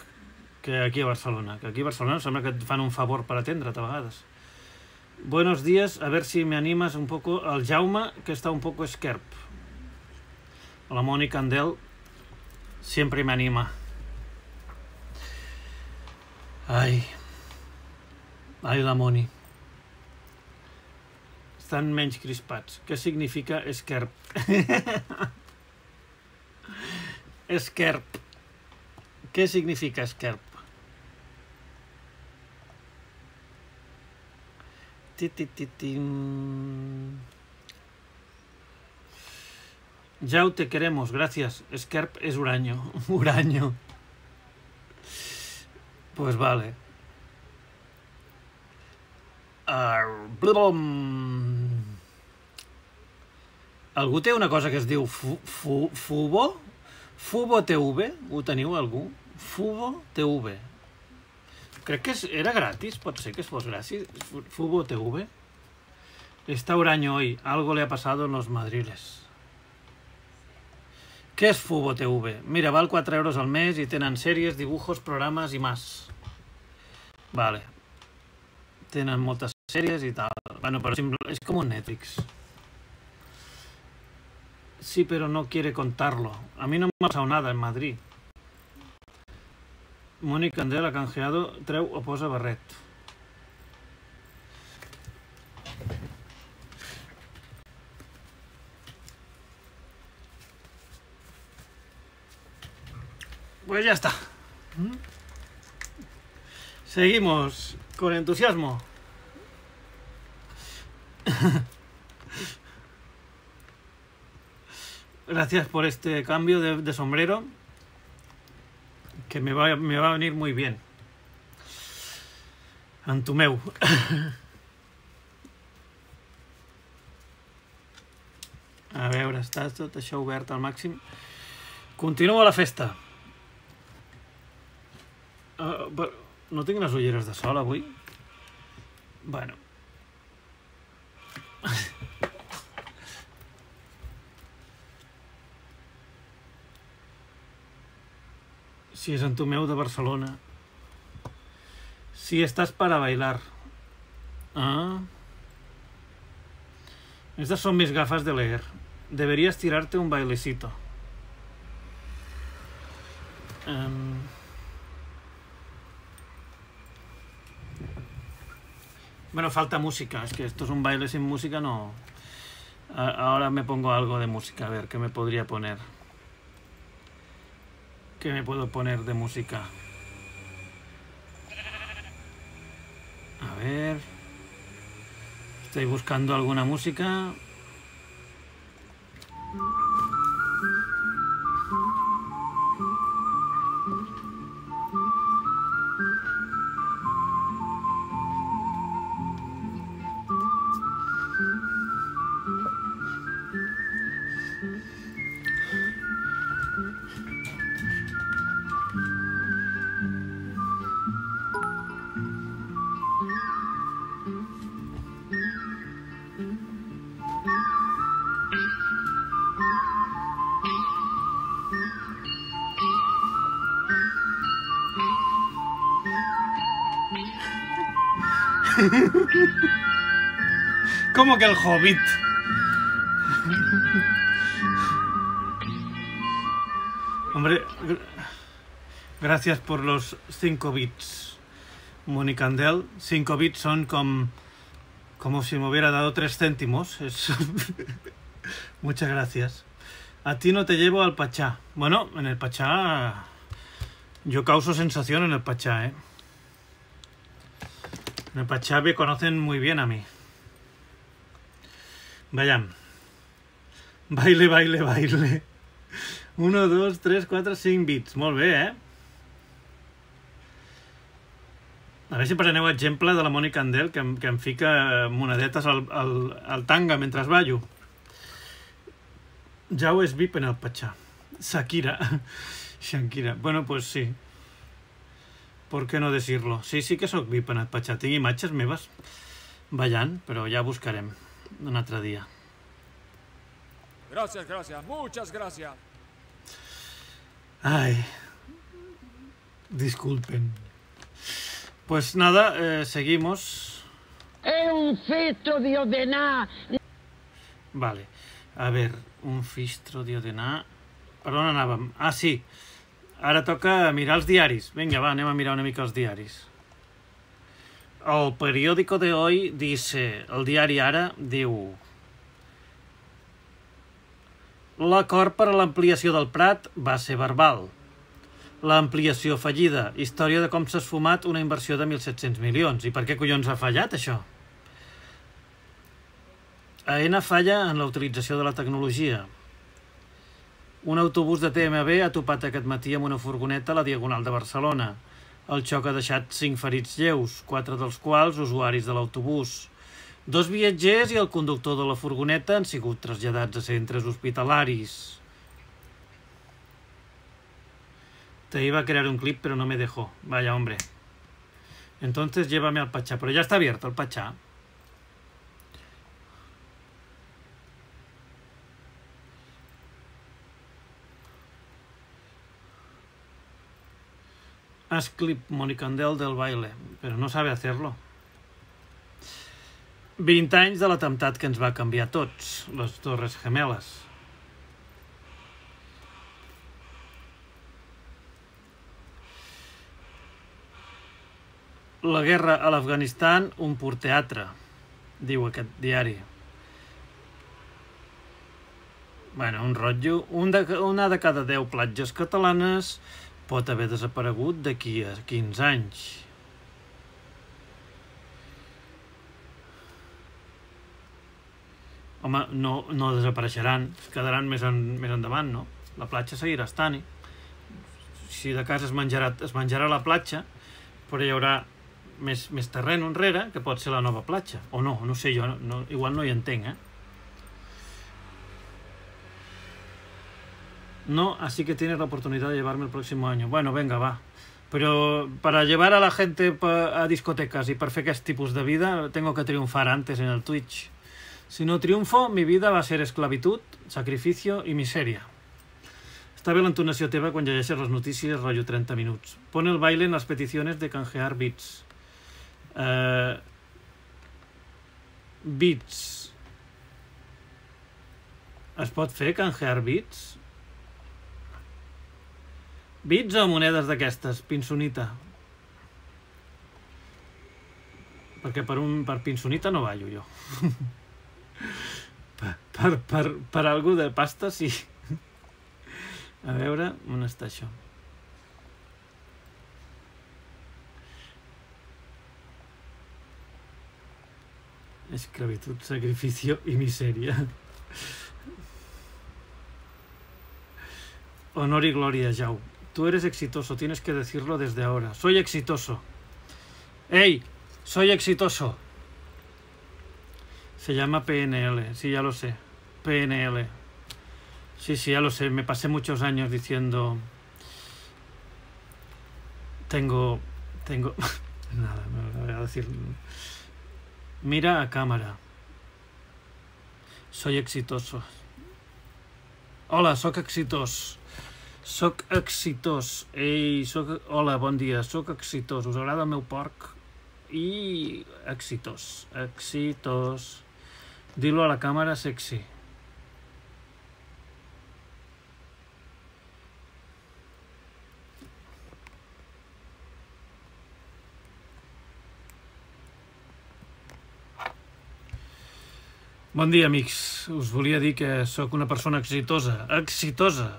que aquí a Barcelona. Que aquí a Barcelona sembla que et fan un favor per atendre't a vegades. Buenos días, a ver si me animas un poco al Jaume, que está un poco esquerp. La Moni Candel siempre me anima. Ai... Ai, la Moni. Estan menys crispats. Què significa esquerp? Esquerp. Què significa esquerp? Ti-ti-ti-tim. Jau, te queremos, gracias. Esquerp es uraño. Uraño. Pues vale. Uh, algú té una cosa que es diu fu, fu, Fubo? Fubo T V? Ho teniu algú? Fubo T V. Crec que era gratis, pot ser que fos gratis. Fubo T V. Está huraño hoy, algo le ha pasado en los madriles. Què és Fubo T V? Mira, val quatre euros al mes i tenen sèries, dibujos, programes i más. Vale. Tenen moltes sèries i tal. Bueno, pero es como un Netflix. Sí, pero no quiere contarlo. A mí no me ha pasado nada en Madrid. Moni Candel ha canjeado, treu o posa barret. Pues ya está. Seguimos con entusiasmo. Gracias por este cambio de, de sombrero, que me va, me va a venir muy bien. Antumeu. A veure, està tot això obert al màxim. Continua la festa. Uh, no tinc les ulleres de sol avui? Bueno. Si és Antumeu de Barcelona. Si estàs para bailar. Ah. Estas son mis gafas de leer. Deberías tirarte un bailecito. Um... Bueno, falta música. Es que esto es un baile sin música, no... Ahora me pongo algo de música. A ver, ¿qué me podría poner? ¿Qué me puedo poner de música? A ver... Estoy buscando alguna música... ¿Cómo que el Hobbit? Hombre, gracias por los cinco bits, Monicandel. Cinco bits son como, como si me hubiera dado tres céntimos. Es... Muchas gracias. A ti no te llevo al Pachá. Bueno, en el Pachá... Yo causo sensación en el Pachá, ¿eh? En el Pachá me conocen muy bien a mí. Vayan. Baile, baile, baile. uno, dos, tres, quatre, cinc bits. Molt bé, eh? A veure si preneu exemple de la Mònica Andel, que, em, que em fica monedetes al, al, al tanga mentre ballo. Jau és V I P en el Pachá. Shakira. Shakira. Bueno, pues sí. ¿Por qué no decirlo? Sí, sí que soc V I P en el Pachá. Tinc imatges meves ballant, però ja buscarem un altre dia. Gracias, gracias, muchas gracias. Ay, disculpen. Pues nada, eh, seguimos. Es un filtro de ordenar. Vale, a ver, un filtro de ordenar. Per on anàvem? Ah, sí. Ara toca mirar els diaris. Vinga, va, anem a mirar una mica els diaris. El periódico de hoy dice, el diari Ara diu... L'acord per a l'ampliació del Prat va ser verbal. L'ampliació fallida. Història de com s'ha esfumat una inversió de mil set-cents milions. I per què collons ha fallat, això? Aena falla en la utilització de la tecnologia. Un autobús de T M B ha topat aquest matí amb una furgoneta a la Diagonal de Barcelona. El xoc ha deixat cinc ferits lleus, quatre dels quals usuaris de l'autobús. Dos viatgers i el conductor de la furgoneta han sigut traslladats a centres hospitalaris. Te iba a crear un clip, pero no me dejó. Vaya, hombre. Entonces llévame al Pachá. Pero ya está abierto el Pachá. Haz clip Monicandel del baile, pero no sabe hacerlo. vint anys de l'atemptat que ens va canviar tots, les Torres Gemeles. La guerra a l'Afganistan, un pur teatre, diu aquest diari. Bueno, un rotllo. Un de, una de cada deu platges catalanes pot haver desaparegut d'aquí a quinze anys. Home, no, no desapareixeran, es quedaran més, en, més endavant, no? La platja seguirà estant-hi. Si de cas es menjarà, es menjarà la platja, però hi haurà més, més terreny enrere, que pot ser la nova platja. O no, no sé jo, no, igual no hi entenc, eh? No, así que tienes la oportunidad de llevarme el próximo año. Bueno, venga, va. Pero para llevar a la gente a discotecas y para hacer aquest tipus de vida, tengo que triunfar antes en el Twitch. Si no triunfo, mi vida va a ser esclavitud, sacrificio i misèria. Està bé l'entonació teva quan llegeixes les notícies, rotllo trenta minuts. Pon el baile en les peticiones de canjear bits. Uh, bits. Es pot fer canjear bits? Bits o monedes d'aquestes? Pinsonita. Perquè per, un, per pinsonita no ballo jo. Per, per, per, per algú de pasta, sí. A veure, on està això? Esclavitud, sacrificio y miseria. Honor y gloria, Jau. Tú eres exitoso, tienes que decirlo desde ahora. Soy exitoso. ¡Ey! Soy exitoso. Se llama P N L, sí, ya lo sé. P N L. Sí, sí, ya lo sé. Me pasé muchos años diciendo... Tengo... Tengo... Nada, no voy a decir... Mira a cámara. Soy exitoso. Hola, soc exitós. Soc exitós. Ei, soc... Hola, bon dia. Soc exitós. Us agrada el meu porc? I... Exitós. Exitós. Dilo a la càmera sexy. Bon dia, amics. Us volia dir que sóc una persona exitosa. Exitosa.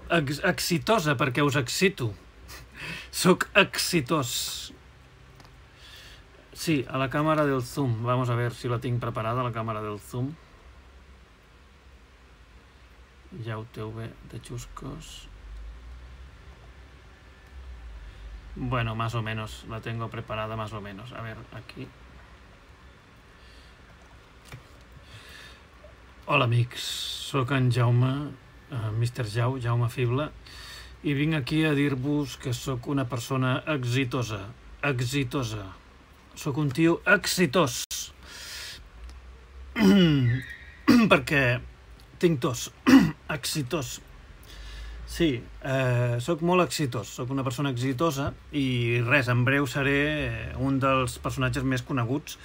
Ex exitosa perquè us excito. Sóc exitós. Sí, a la càmera del zoom. Vamos a ver si la tinc preparada, la càmera del zoom. Ja ho teu bé de xuscos. Bueno, más o menos. La tengo preparada más o menos. A ver, aquí. Hola, amics. Soc en Jaume, uh, mister Jau, Jaume Fible, i vinc aquí a dir-vos que sóc una persona exitosa. Exitosa. Sóc un tio exitós. Perquè tinc tos. Exitós. Sí, eh, sóc molt exitós. Sóc una persona exitosa i res, en breu seré un dels personatges més coneguts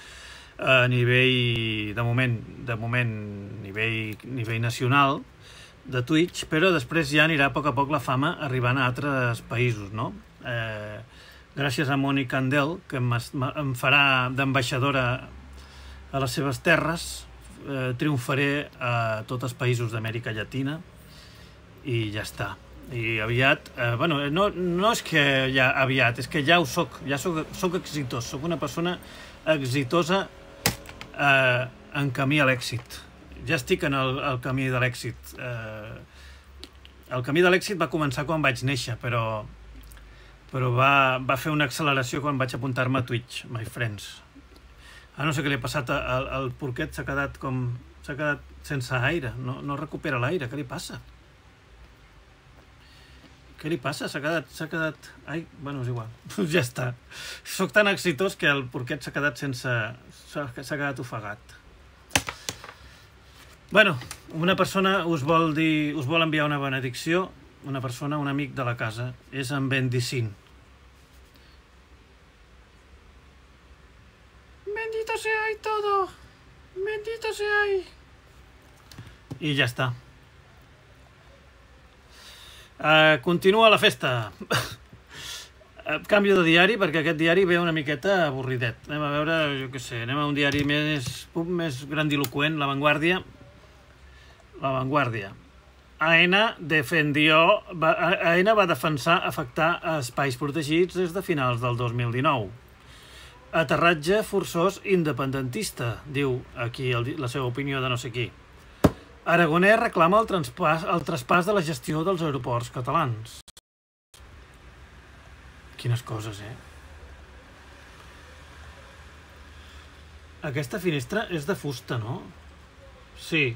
a nivell, de moment, de moment, nivell, nivell nacional de Twitch, però després ja anirà a poc a poc la fama arribant a altres països, no? Eh, gràcies a Mònica Andel, que em, em farà d'ambaixadora a les seves terres, eh, triomfaré a tots els països d'Amèrica Llatina i ja està. I aviat, eh, bueno, no, no és que ja aviat, és que ja ho soc, ja soc, soc exitós, soc una persona exitosa eh, en camí a l'èxit. Ja estic en el, el camí de l'èxit. Eh, el camí de l'èxit va començar quan vaig néixer, però, però va, va fer una acceleració quan vaig apuntar-me a Twitch, my friends. Ah, no sé què li ha passat, el, el porquet s'ha quedat com... s'ha quedat sense aire, no, no recupera l'aire, què li passa? Què li passa? S'ha quedat... s'ha quedat... Ai, bueno, és igual. Ja està. Soc tan exitós que el porquet s'ha quedat sense... s'ha quedat ofegat. Bueno, una persona us vol dir... us vol enviar una benedicció. Una persona, un amic de la casa. És en Bendicín. Bendito sea y todo. Bendito sea y... I ja està. Uh, continua la festa. uh, canvio de diari perquè aquest diari ve una miqueta avorridet. Anem a veure, jo què sé, anem a un diari més, més grandiloquent, La Vanguardia. La Vanguardia. AENA defendió, va, AENA va defensar afectar espais protegits des de finals del dos mil dinou. Aterratge forçós independentista, diu aquí el, la seva opinió de no sé qui. Aragonès reclama el traspàs, el traspàs de la gestió dels aeroports catalans. Quines coses, eh? Aquesta finestra és de fusta, no? Sí.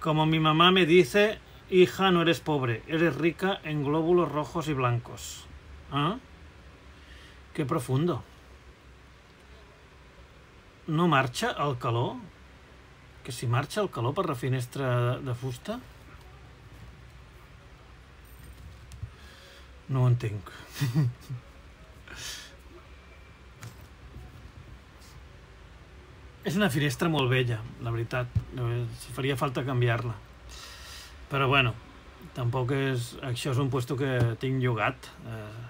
Como mi mamá me dice, hija, no eres pobre, eres rica en glóbulos rojos y blancos. ¿Ah? Qué profundo. No marxa el calor? Que si marxa el calor per la finestra de, de fusta? No ho entenc. És una finestra molt vella, la veritat. Faria falta canviar-la. Però bueno, tampoc és... Això és un puesto que tinc llogat. Eh,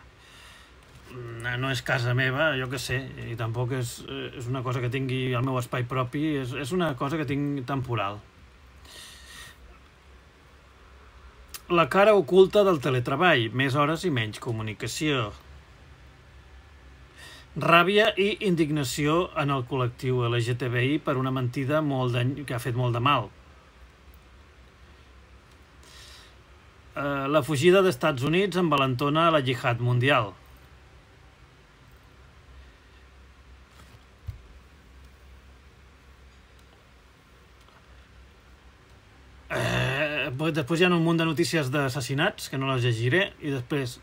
no és casa meva, jo què sé, i tampoc és, és una cosa que tingui el meu espai propi, és, és una cosa que tinc temporal. La cara oculta del teletreball, més hores i menys comunicació. Ràbia i indignació en el col·lectiu L G T B I per una mentida molt de, que ha fet molt de mal. Uh, la fugida dels Estats Units envalentona la jihad mundial. Després hi ha un munt de notícies d'assassinats, que no les llegiré, i després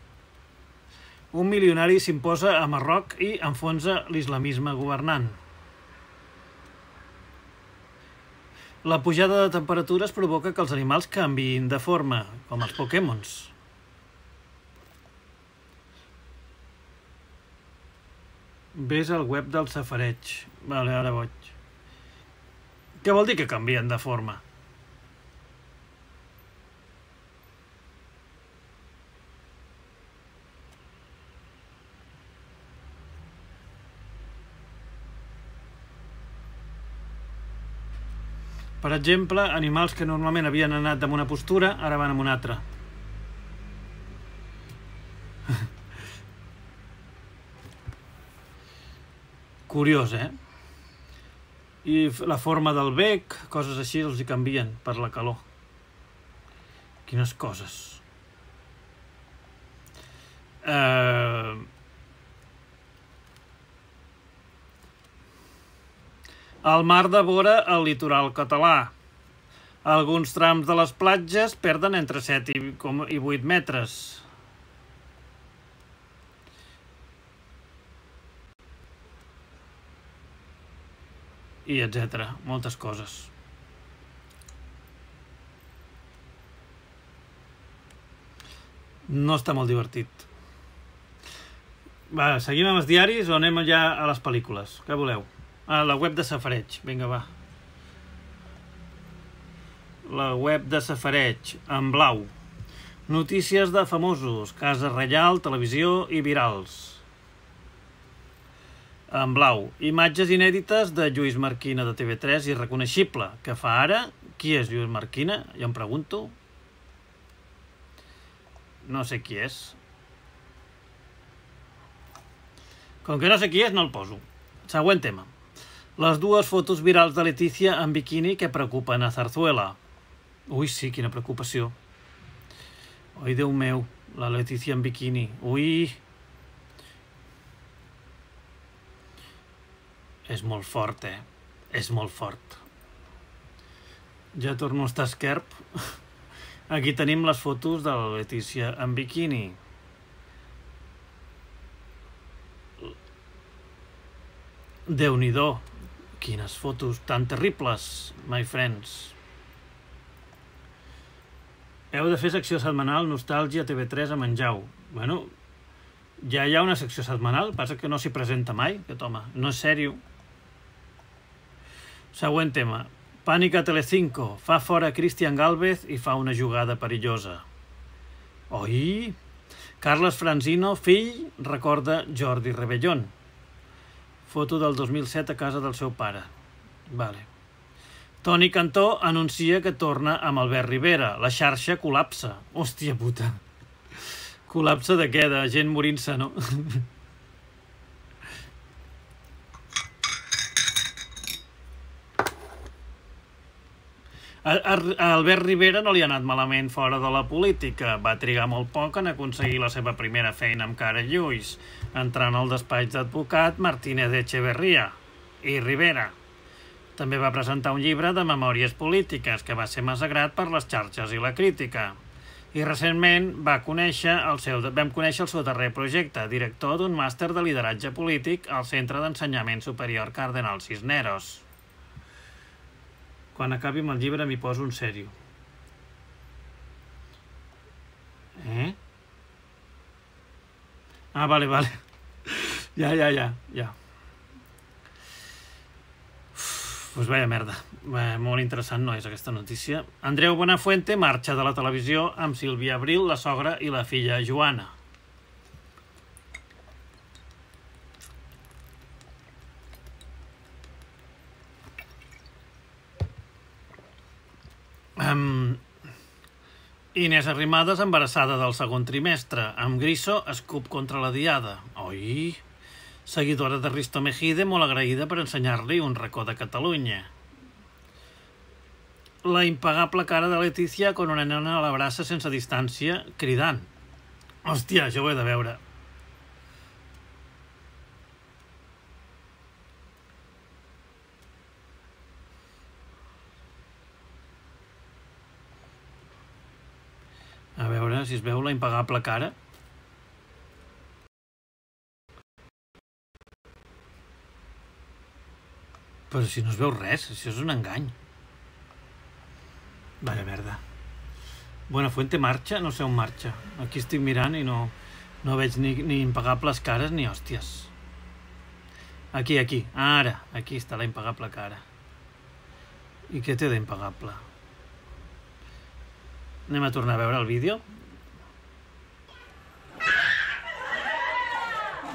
un milionari s'imposa a Marroc i enfonsa l'islamisme governant. La pujada de temperatures provoca que els animals canviïn de forma, com els Pokémons. Ves al web del safareig. Vale, ara vaig. Què vol dir que canvien de forma? Per exemple, animals que normalment havien anat amb una postura, ara van amb una altra. Curiós, eh? I la forma del bec, coses així, els hi canvien per la calor. Quines coses. Eh... El mar devora el litoral català. Alguns trams de les platges perden entre set i vuit metres. I etcètera. Moltes coses. No està molt divertit. Va, seguim amb els diaris o anem ja a les pel·lícules? Què voleu? A la web de Safareig. Vinga, va. La web de Safareig, en blau. Notícies de famosos, Casa Reial, televisió i virals. En blau, imatges inèdites de Lluís Marquina de T V tres, irreconeixible. Què fa ara? Qui és Lluís Marquina? Ja em pregunto. No sé qui és. Com que no sé qui és, no el poso. Següent tema. Les dues fotos virals de Letícia en biquini que preocupen a Zarzuela. Ui, sí, quina preocupació. Ui, Déu meu, la Letícia en biquini. Ui... És molt fort, eh? És molt fort. Ja torno a estar esquerp. Aquí tenim les fotos de la Letícia en biquini. Déu-n'hi-do. Quines fotos tan terribles, my friends. Heu de fer secció setmanal Nostàlgia T V tres a Menjau. Bueno, ja hi ha una secció setmanal, passa que no s'hi presenta mai, aquest home. No és sèrio. Següent tema. Pànic a Telecinco. Fa fora Cristian Gálvez i fa una jugada perillosa. Oi? Carles Franzino, fill, recorda Jordi Rebellón. Foto del dos mil set a casa del seu pare. Vale. Toni Cantó anuncia que torna amb Albert Rivera. La xarxa col·lapsa. Hòstia puta. Col·lapsa de què? De gent morint-se, no? A Albert Rivera no li ha anat malament fora de la política. Va trigar molt poc en aconseguir la seva primera feina amb Cara Lluís, entrant al despatx d'advocat Martínez Echeverría i Rivera. També va presentar un llibre de memòries polítiques que va ser massacrat per les xarxes i la crítica. I recentment va conèixer el seu, vam conèixer el seu darrer projecte, director d'un màster de lideratge polític al Centre d'Ensenyament Superior Cardenal Cisneros. Quan acabi amb el llibre m'hi poso en sèrio. Eh? Ah, vale, vale. Ja, ja, ja, ja. Uf, pues vaya merda. Bé, molt interessant no és aquesta notícia. Andreu Buenafuente marxa de la televisió amb Sílvia Abril, la sogra i la filla Joana. Um, Inés Arrimadas embarassada del segon trimestre. Amb Griso, escup contra la diada. Oi? Seguidora de Risto Mejide, molt agraïda per ensenyar-li un racó de Catalunya. La impagable cara de Letícia quan una nena l'abraça sense distància, cridant. Hòstia, això ho he de veure. A veure si es veu la impagable cara. Però si no es veu res, això és un engany. Vaya merda. Buenafuente marxa? No sé on marxa. Aquí estic mirant i no, no veig ni, ni impagables cares ni hòsties. Aquí, aquí. Ara. Aquí està la impagable cara. I què té d'impagable? Anem a tornar a veure el vídeo.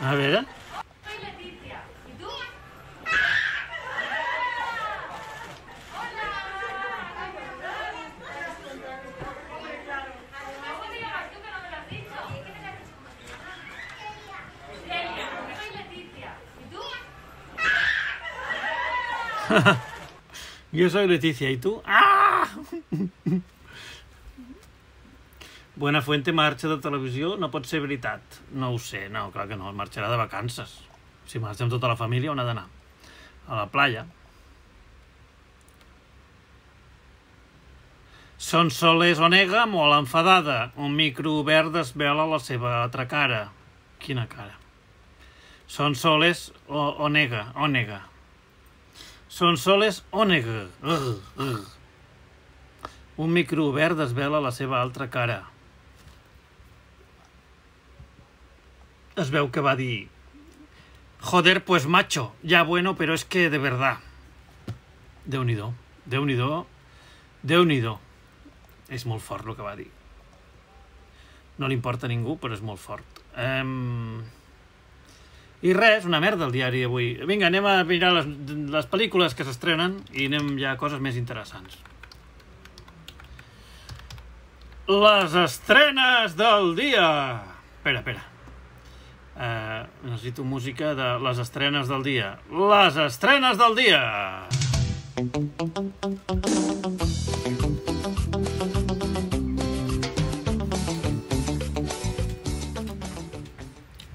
A veure. Soy Leticia. ¿Y tú? Yo soy Leticia, ¿y tú? ¡Ah! Buenafuente marxa de televisió, no pot ser veritat. No ho sé, no, clar que no, marxarà de vacances. Si marxa amb tota la família, on ha d'anar? A la playa. Sonsoles Onega, molt enfadada. Un micro obert desvela la seva altra cara. Quina cara? Sonsoles Onega, Onega. Sonsoles Onega. Uh, uh. Un micro obert desvela la seva altra cara. Es veu que va dir: joder, pues macho, ya bueno, pero es que de verdad. Déu-n'hi-do, Déu-n'hi-do, Déu-n'hi-do. És molt fort el que va dir. No li importa a ningú, però és molt fort. Um... I res, una merda el diari avui. Vinga, anem a mirar les, les pel·lícules que s'estrenen i anem ja a coses més interessants. Les estrenes del dia! Espera, espera. Uh, necessito música de les estrenes del dia. Les estrenes del dia!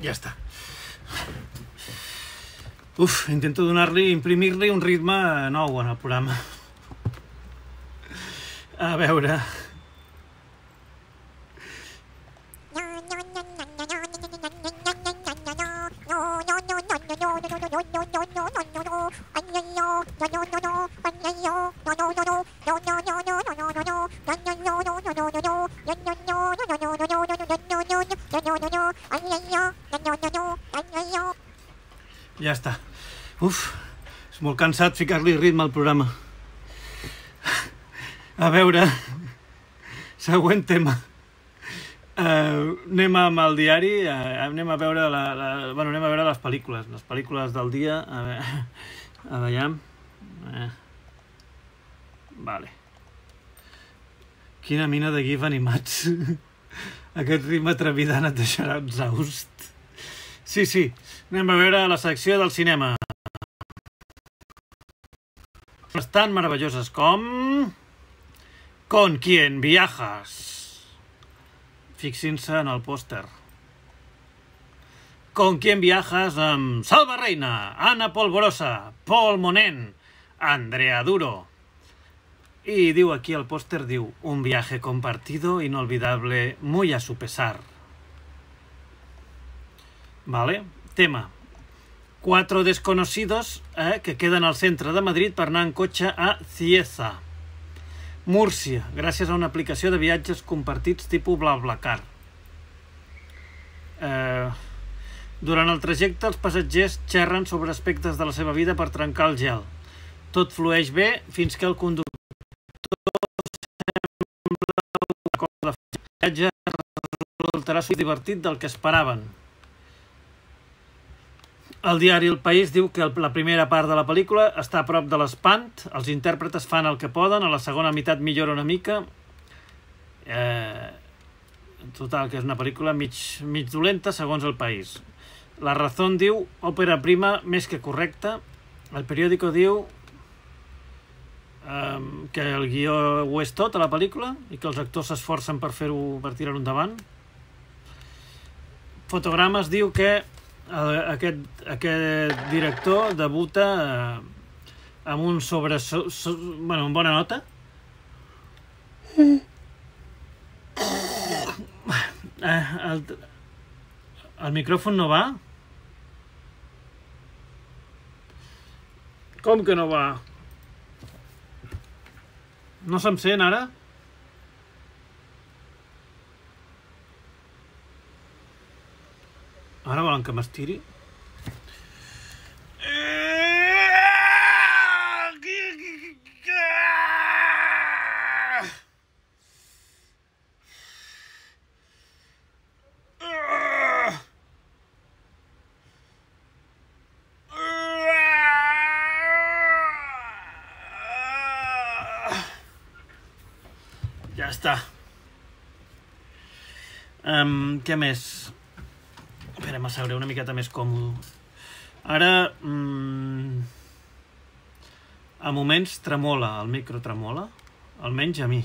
Ja està. Uf, intento donar-li, imprimir-li un ritme nou en el programa. A veure... Ja està. Uf, és molt cansat ficar-li ritme al programa. A veure, següent tema. Uh, anem amb el diari, uh, anem a veure la, la, bueno, anem a veure les pel·lícules, les pel·lícules del dia. A veure, a veure. Uh, vale. Quina mina de gif animats. Aquest ritme trepidant et deixarà exhaust. Sí, sí, anem a veure la secció del cinema. Estan meravelloses com... Con quién viajas? Fixin-se en el pòster. Con quién viajas amb Salva Reina, Ana Polvorosa, Paul Monén, Andrea Duro. I diu aquí el pòster, diu, un viaje compartido, inolvidable, muy a su pesar. Vale, tema. Cuatro desconocidos eh, que queden al centre de Madrid per anar en cotxe a Cieza, Múrcia, gràcies a una aplicació de viatges compartits tipus BlaBlaCar. Eh, durant el trajecte, els passatgers xerren sobre aspectes de la seva vida per trencar el gel. Tot flueix bé fins que el conductor sembla una cosa de viatge resultarà divertit del que esperaven. El diari El País diu que la primera part de la pel·lícula està a prop de l'espant, els intèrpretes fan el que poden, a la segona meitat millora una mica. Eh, total, que és una pel·lícula mig, mig dolenta, segons El País. La Razón diu, òpera prima més que correcta. El periòdico diu eh, que el guió ho és tot a la pel·lícula i que els actors s'esforcen per fer-ho, per tirar-ho endavant. Fotogrames diu que Aquest, aquest director debuta eh, amb un sobre... So, so, bueno, amb bona nota. Eh, el, el micròfon no va? Com que no va? No se'm sent ara? Ara volen que m'estiri? està. Um, què més? Esperem a seure una miqueta més còmode. Ara, mm, a moments tremola, el micro tremola, almenys a mi.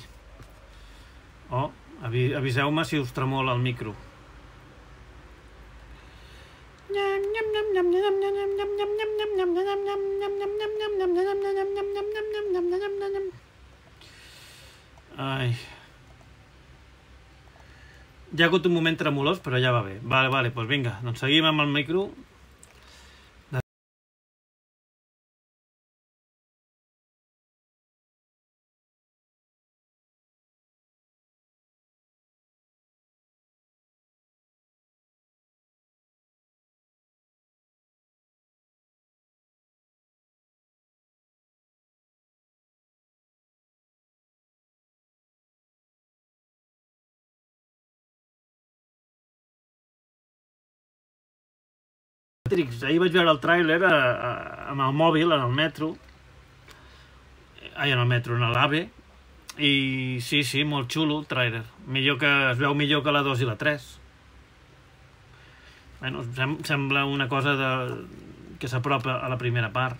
Oh, avi aviseu-me si us tremola el micro. Ai. Hi ha hagut un moment tremolós, però ja va bé. Vale, vale, doncs vinga, doncs seguim amb el micro. Ahir vaig veure el tràiler amb el mòbil, en el metro, ai, en el metro, en l'AVE, i sí, sí, molt xulo el tràiler. Millor que, es veu millor que la dos i la tres. Bueno, sem sembla una cosa de, que s'apropa a la primera part.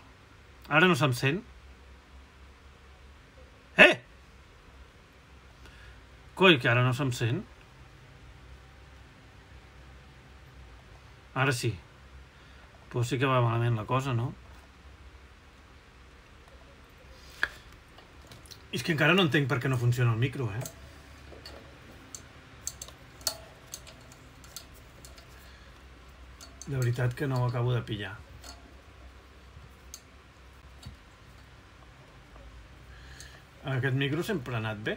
Ara no se'm sent. Eh! Coi, que ara no se'm sent. Ara sí. Pues sí que va malament la cosa, no? És que encara no entenc per què no funciona el micro, eh? De veritat que no ho acabo de pillar. Aquest micro sempre ha anat bé.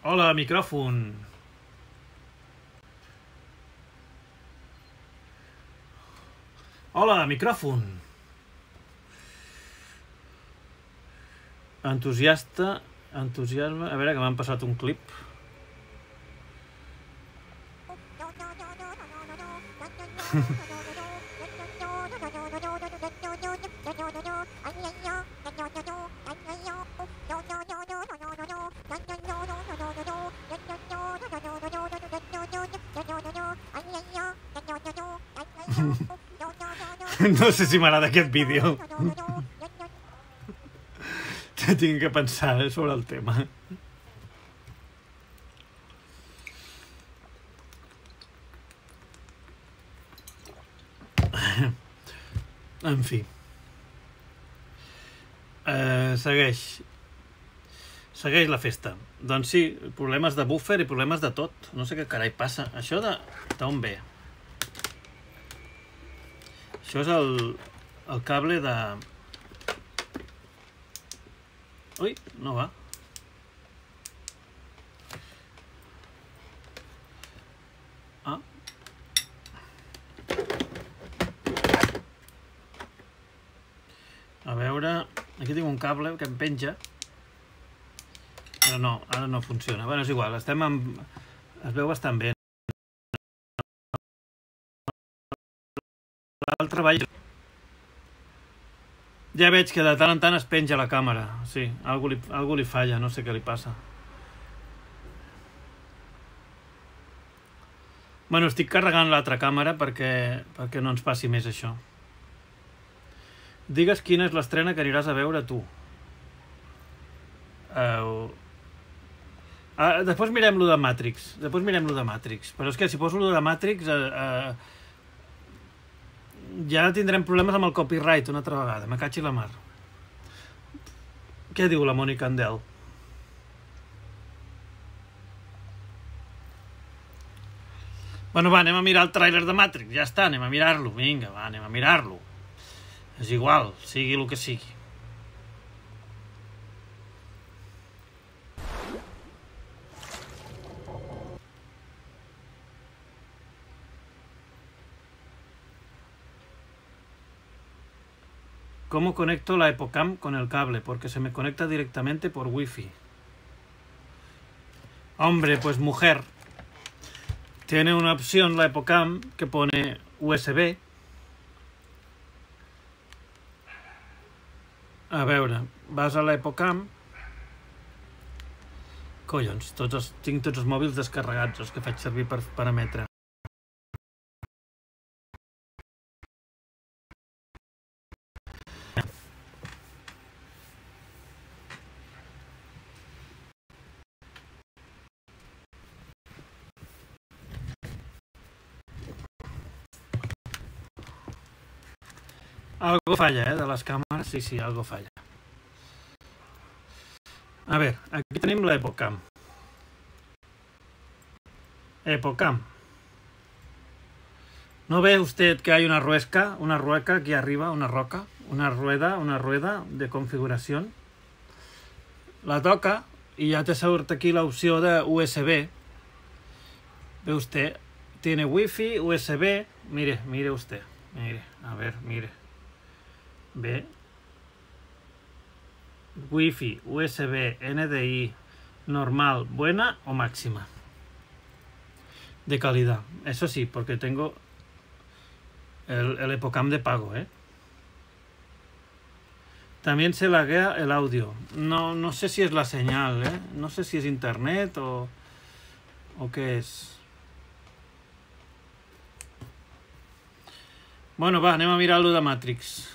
Hola, micròfon. Hola, micròfon. Entusiasta, entusiasme... A veure, que m'han passat un clip. No sé si m'agrada aquest vídeo. Tinc que pensar sobre el tema. En fi. Eh, segueix. Segueix la festa. Doncs sí, problemes de buffer i problemes de tot. No sé què carai passa. Això de... d'on ve? Això és el, el cable de... Ui, no va. Ah. A veure... Aquí tinc un cable que em penja. Però no, ara no funciona. Bueno, és igual, estem amb... Es veu bastant bé. L'altre ball... Ja veig que de tant en tant es penja la càmera. Sí, algú li, algú li falla, no sé què li passa. Bueno, estic carregant l'altra càmera perquè, perquè no ens passi més això. Digues quina és l'estrena que aniràs a veure tu. Uh, uh, després mirem lo de Matrix. Després mirem lo de Matrix. Però és que si poso lo de Matrix... Uh, uh, ja tindrem problemes amb el copyright una altra vegada, me caig i la mar. Què diu la Mònica Andel? Bueno, va, anem a mirar el tràiler de Matrix, ja està, anem a mirar-lo, vinga, va, anem a mirar-lo. És igual, sigui el que sigui. ¿Cómo conecto la EPOCAM con el cable? Porque se me conecta directamente por Wi-Fi. Hombre, pues mujer. Tiene una opción la EPOCAM que pone U S B. A veure, vas a l'Epocam. Collons, tots els, tinc tots els mòbils descarregats, els que faig servir per parametre. Algo falla, eh, de les càmeres. Sí, sí, algo falla. A ver, aquí tenim l'Epocam. Epocam. ¿No ve usted que hay una ruesca, una rueca aquí arriba, una roca, una rueda, una rueda de configuración? La toca y ya te surt aquí la opción de U S B. Ve usted, tiene Wi-Fi, U S B. Mire, mire usted, mire, a ver, mire. Ve. Wi-Fi, U S B, N D I, normal, buena o máxima. De calidad. Eso sí, porque tengo el, el Epocam de pago, ¿eh? También se laguea el audio. No, no sé si es la señal, ¿eh? No sé si es internet o, o qué es. Bueno, va, anem a mirar lo de Matrix.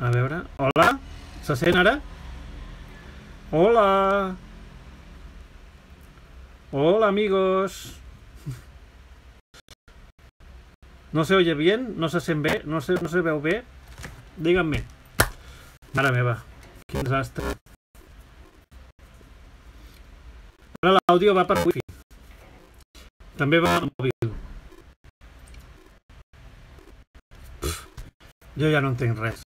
A veure, hola, se sent ara? Hola. Hola, amigos. ¿No se oye bien? ¿No se sent bé? ¿No se, no se veu bé? Díganme. Mare meva, quin desastre. Ara l'àudio va per Wi-Fi. També va al mòbil. Pff, jo ja no entenc res.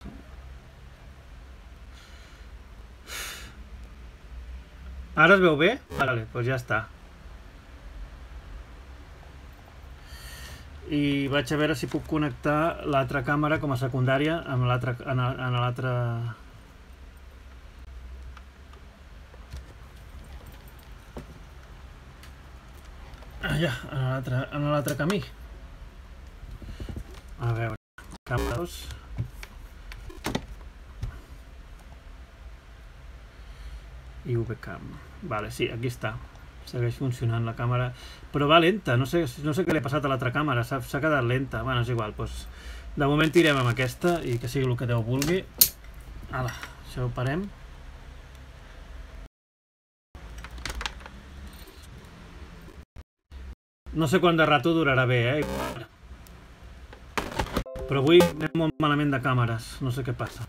Ara es veu bé? Vale, doncs ja està. i vaig a veure si puc connectar l'altra càmera com a secundària amb l'altre en l'altre allà, en l'altre en l'altre camí. A veure, càmera dos. I webcam. Vale, sí, aquí està. Segueix funcionant la càmera, però va lenta, no sé, no sé què li ha passat a l'altra càmera, s'ha quedat lenta. Bueno, és igual, doncs, de moment tirem amb aquesta i que sigui el que Déu vulgui. Ala, això ho parem. No sé quant de rato durarà bé, eh? Però avui anem molt malament de càmeres, no sé què passa.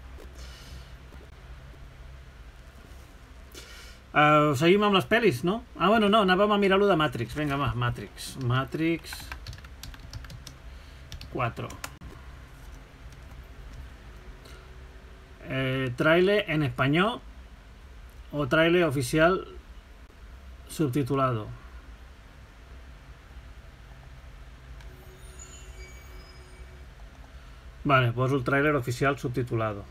Uh, seguim amb les pel·lis, no? Ah, bueno, no, anàvem a mirar-lo de Matrix. Vinga, va, Matrix. Matrix... quatre. Eh, trailer en español o trailer oficial subtitulado. Vale, poso el trailer oficial subtitulado.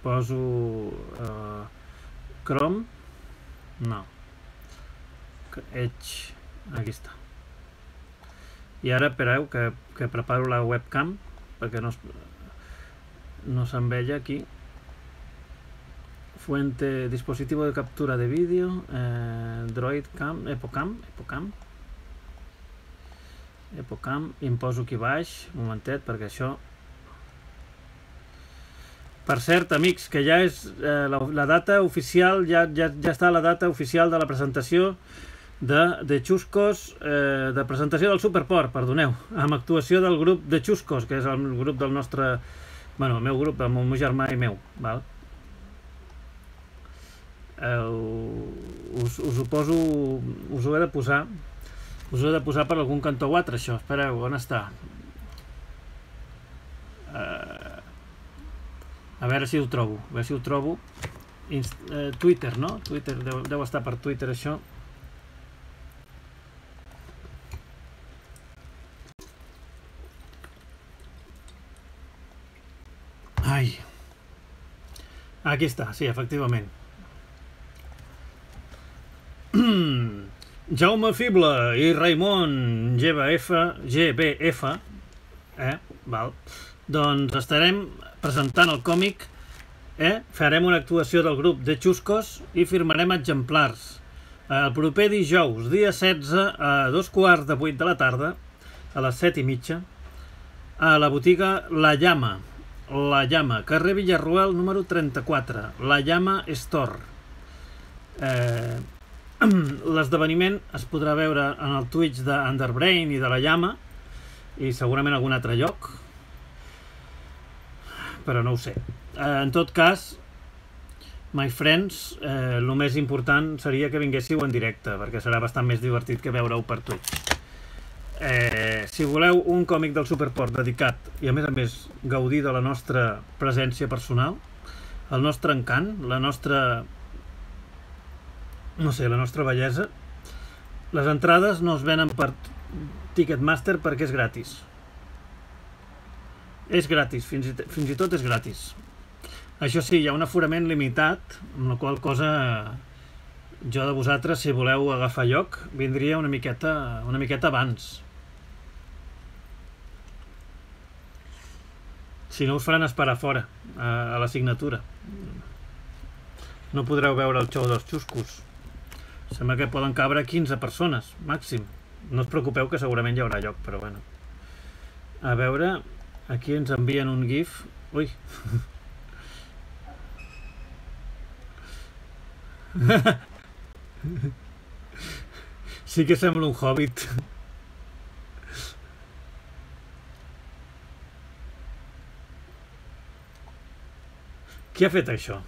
Poso uh, Chrome, no, Edge, aquí està. I ara espereu que, que preparo la webcam perquè no, no se'n veia aquí. Fuente, dispositivo de captura de vídeo, eh, Droid Cam, Epocam, Epocam, Epocam, i em poso aquí baix, un momentet, perquè això... Per cert, amics, que ja és eh, la, la data oficial, ja, ja, ja està la data oficial de la presentació de, de Chuscos, eh, de presentació del Superport, perdoneu, amb actuació del grup de Chuscos, que és el grup del nostre, bueno, el meu grup, el meu germà i meu, val? Eh, us, us ho poso, us ho he de posar, us ho he de posar per algun cantó o altre, això, espereu, on està? Eh... A veure si ho trobo, a veure si ho trobo. Inst eh, Twitter, no? Twitter, deu, deu estar per Twitter, això. Ai. Aquí està, sí, efectivament. Jaume Fible i Raimon G B F, G B F, eh, val. Doncs estarem presentant el còmic, eh? Farem una actuació del grup de Chuscos i firmarem exemplars. El proper dijous, dia setze, a dos quarts de vuit de la tarda, a les set i mitja, a la botiga La Llama, La Llama, carrer Villarroel número trenta-quatre, La Llama Store. Eh, L'esdeveniment es podrà veure en el Twitch d'Underbrain i de La Llama i segurament a algun altre lloc, però no ho sé. Eh, en tot cas, my friends, eh, el més important seria que vinguéssiu en directe, perquè serà bastant més divertit que veure-ho per Twitch. Eh, si voleu un còmic del Superport dedicat i a més a més gaudir de la nostra presència personal, el nostre encant, la nostra, no sé, la nostra bellesa, les entrades no es venen per Ticketmaster perquè és gratis. És gratis, fins i, fins i tot és gratis. Això sí, hi ha un aforament limitat, amb la qual cosa jo de vosaltres, si voleu agafar lloc, vindria una miqueta, una miqueta abans. Si no, us faran esperar fora, a, a la signatura. No podreu veure el show dels Chuscos. Sembla que poden cabre quinze persones, màxim. No us preocupeu que segurament hi haurà lloc, però bueno. A veure... Aquí ens envien un gif. Ui. Sí que sembla un hobbit. Qui ha fet això?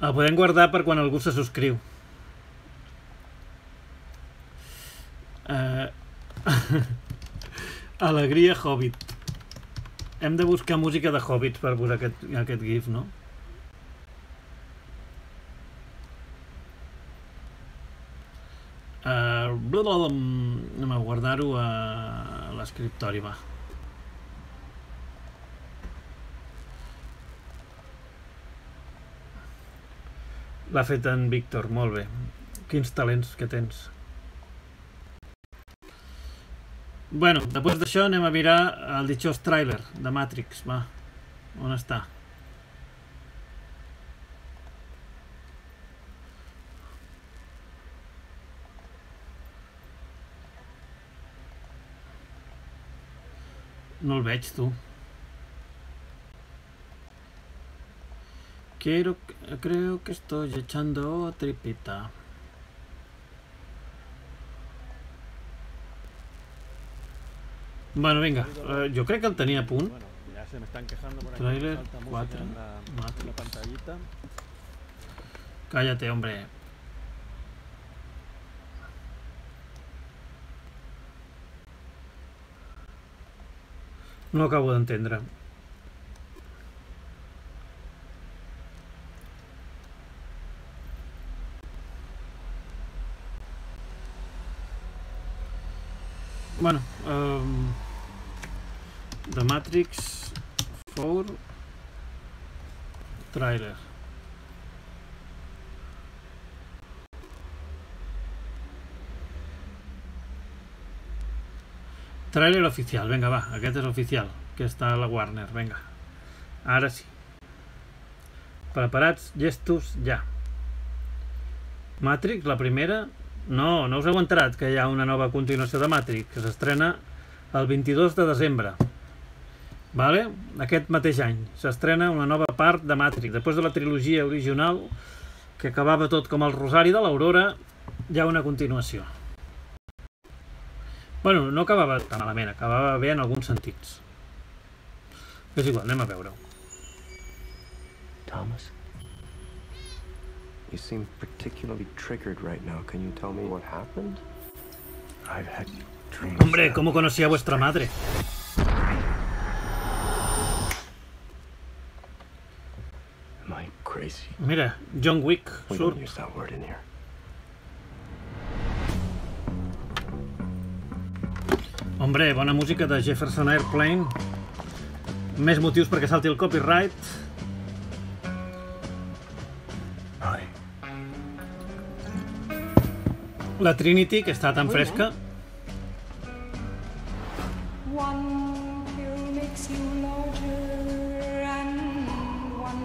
El podem guardar per quan algú se subscriu. Uh, Alegria Hobbit. Hem de buscar música de Hobbits per posar aquest, aquest gif, no? Anem a guardar-ho a l'escriptori, va. L'ha fet en Víctor, molt bé. Quins talents que tens. Bueno, després d'això anem a mirar el ditxós tràiler de Matrix, va. On està? No el veig, tu. Quiero, creo que estoy echando tripita. Bueno, vinga, uh, jo crec que el tenia a punt. Bueno, ya se me están quejando por aquí. Trailer Falta música cuatro, en la, en la Matrix. pantallita. Cállate, hombre. No acabo d'entendre. Bueno, um, The Matrix four trailer. Trailer oficial, venga, va, aquest és oficial, que està a la Warner, venga. Ara sí. Preparats, llestos, ja. Matrix, la primera... No, no us heu enterat que hi ha una nova continuació de Matrix, que s'estrena el vint-i-dos de desembre. Vale? Aquest mateix any s'estrena una nova part de Matrix. Després de la trilogia original, que acabava tot com el Rosari de l'Aurora, hi ha una continuació. Bueno, no acabava tan malament, acabava bé en alguns sentits. És igual, anem a veure-ho. Thomas? You seem particularly triggered right now. Can you tell me what happened? I've had dreams. Hombre, ¿cómo conocía a vuestra madre? Am I crazy? Mira, John Wick We surt. don't use that word in here. Hombre, bona música de Jefferson Airplane. Més motius perquè salti el copyright. Hi. La Trinity, que està tan fresca.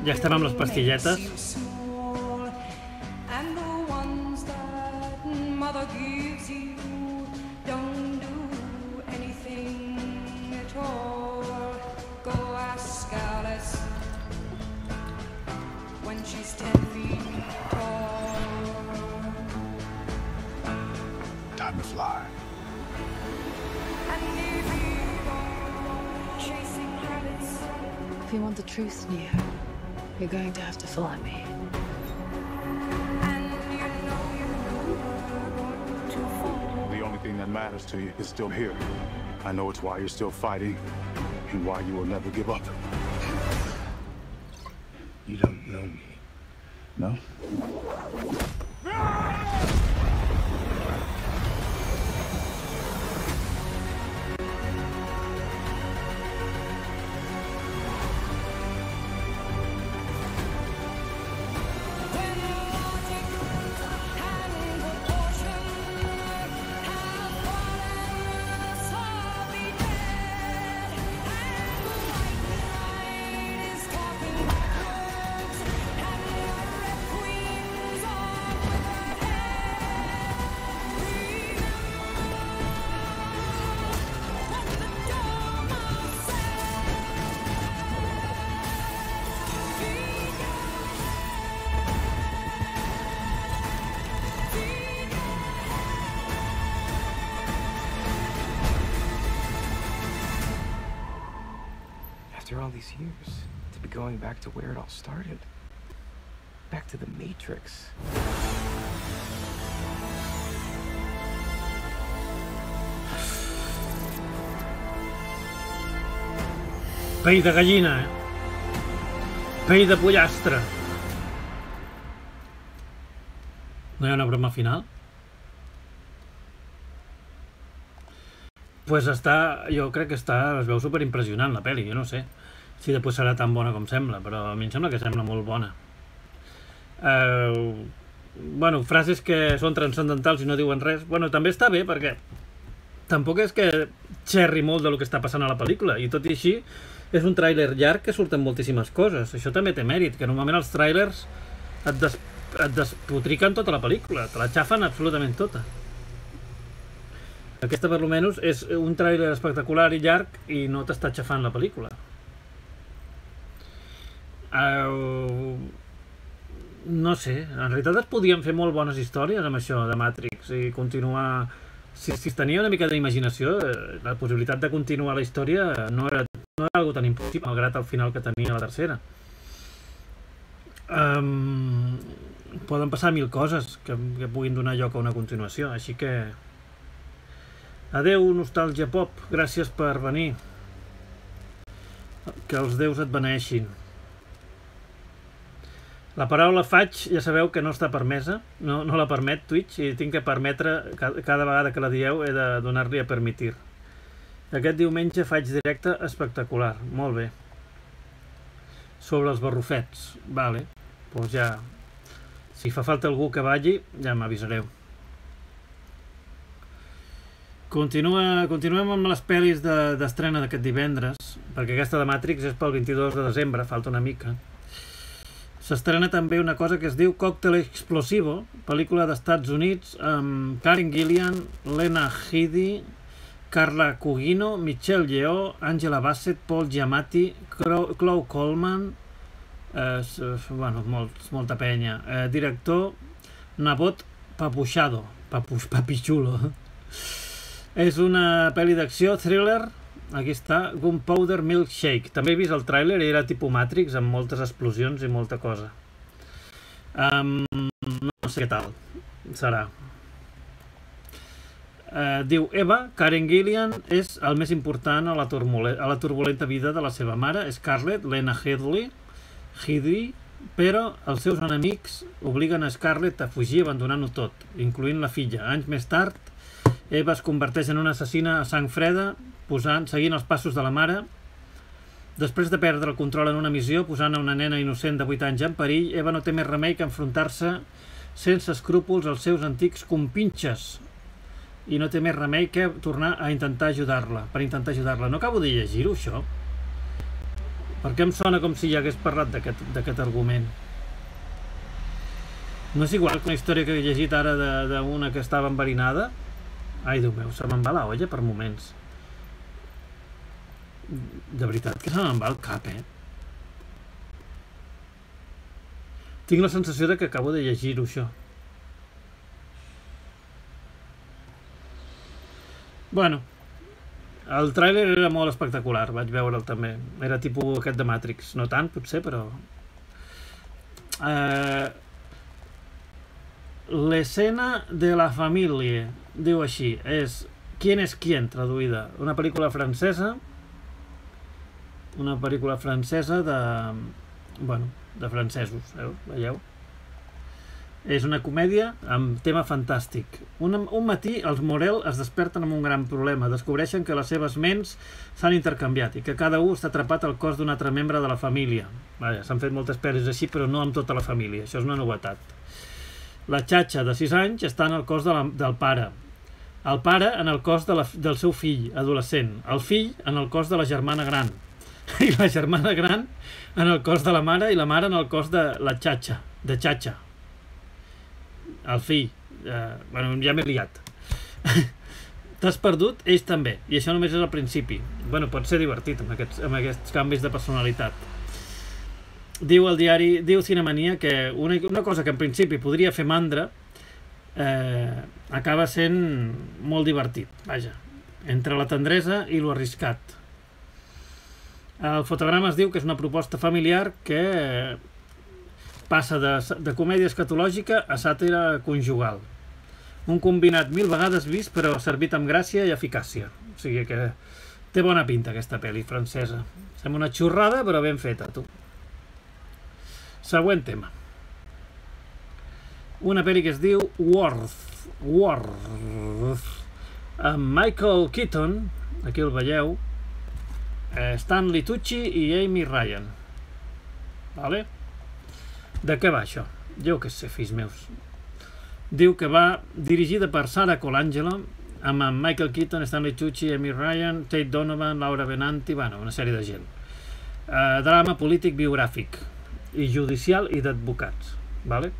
Ja estem amb les pastilletes. Time to fly. If you want the truth, Neo, you're going to have to follow me. The only thing that matters to you is still here. I know it's why you're still fighting and why you will never give up. You don't know me. No? After all these years, to be going back to where it all started. Back to the Matrix. Pell de gallina, eh? Pell de pollastre. No hi ha una broma final? pues està, jo crec que està, es veu superimpressionant la pel·li, jo no sé si després serà tan bona com sembla, però a mi em sembla que sembla molt bona. Uh, bueno, frases que són transcendentals i no diuen res, bueno, també està bé perquè tampoc és que xerri molt del que està passant a la pel·lícula, i tot i així és un tràiler llarg que surten moltíssimes coses. Això també té mèrit, que normalment els tràilers et, des, et despotriquen tota la pel·lícula, te la xafen absolutament tota. Aquesta, per almenys, és un tràiler espectacular i llarg i no t'està xafant la pel·lícula. Uh, no sé, en realitat es podien fer molt bones històries amb això de Matrix i continuar... Si, si es tenia una mica d'imaginació, la possibilitat de continuar la història no era, no era algo tan impossible, malgrat el final que tenia la tercera. Um, poden passar mil coses que, que puguin donar lloc a una continuació, així que... Adeu, Nostàlgia Pop, gràcies per venir. Que els déus et beneixin. La paraula faig, ja sabeu que no està permesa, no, no la permet Twitch, i tinc que permetre, cada, cada vegada que la dieu he de donar-li a permitir. Aquest diumenge faig directe espectacular, molt bé. Sobre els barrufets, vale, doncs ja, si fa falta algú que balli, ja m'avisareu. Continua, continuem amb les pel·lis d'estrena de, d'aquest divendres, perquè aquesta de Matrix és pel vint-i-dos de desembre, falta una mica. S'estrena també una cosa que es diu Còctel Explosivo, pel·lícula d'Estats Units amb Karen Gillian, Lena Headey, Carla Gugino, Michelle Yeoh, Angela Bassett, Paul Giamatti, Chloe Coleman, eh, bueno, molt, molta penya. Eh, director, Nabot Papuchado, Papuch, Papichulo. És una pel·li d'acció, thriller. Aquí està, Gunpowder Milkshake. També he vist el tràiler i era tipus Matrix amb moltes explosions i molta cosa. Um, no sé què tal serà. Uh, diu Eva, Karen Gillian és el més important a la, a la turbulenta vida de la seva mare, Scarlett, Lena Headey, Headey, però els seus enemics obliguen a Scarlett a fugir abandonant-ho tot, incloent la filla. Anys més tard, Eva es converteix en una assassina a sang freda, posant, seguint els passos de la mare. Després de perdre el control en una missió, posant a una nena innocent de vuit anys en perill, Eva no té més remei que enfrontar-se sense escrúpols als seus antics compinxes. I no té més remei que tornar a intentar ajudar-la, per intentar ajudar-la. No acabo de llegir-ho, això? Perquè em sona com si ja hagués parlat d'aquest argument. No és igual que una història que he llegit ara d'una que estava enverinada? Ai, Déu meu, se me'n va la olla per moments. De veritat que se me'n va el cap, eh? Tinc la sensació de que acabo de llegir-ho, això. Bueno, el tràiler era molt espectacular, vaig veure'l també. Era tipus aquest de Matrix. No tant, potser, però... Eh... L'escena de la família, diu així, és Quién es quién, traduïda. Una pel·lícula francesa, una pel·lícula francesa de... bueno, de francesos, veus? Veieu? És una comèdia amb tema fantàstic. Un, un matí els Morel es desperten amb un gran problema. Descobreixen que les seves ments s'han intercanviat i que cada un està atrapat al cos d'un altre membre de la família. S'han fet moltes pel·lis així, però no amb tota la família. Això és una novetat. La xatxa de sis anys està en el cos de la, del pare. El pare en el cos de la, del seu fill, adolescent. El fill en el cos de la germana gran. I la germana gran en el cos de la mare i la mare en el cos de la xatxa, de xatxa. El fill. Eh, bueno, ja m'he liat. T'has perdut? Ells també. I això només és al principi. Bueno, pot ser divertit amb aquests, amb aquests canvis de personalitat. Diu el diari, diu Cinemania que una, una cosa que en principi podria fer mandra eh, acaba sent molt divertit, vaja, entre la tendresa i lo arriscat. El fotograma es diu que és una proposta familiar que passa de, de comèdia escatològica a sàtira conjugal. Un combinat mil vegades vist, però servit amb gràcia i eficàcia. O sigui que té bona pinta aquesta pel·li francesa. Sembla una xorrada, però ben feta, tu. Següent tema. Una pel·li que es diu Worth. Worth. amb Michael Keaton, aquí el veieu, Stanley Tucci i Amy Ryan. Vale? De què va això? Jo què sé, fills meus. Diu que va dirigida per Sara Colangelo, amb Michael Keaton, Stanley Tucci, Amy Ryan, Tate Donovan, Laura Benanti, bueno, una sèrie de gent. Uh, drama polític biogràfic i judicial i d'advocats. Vale?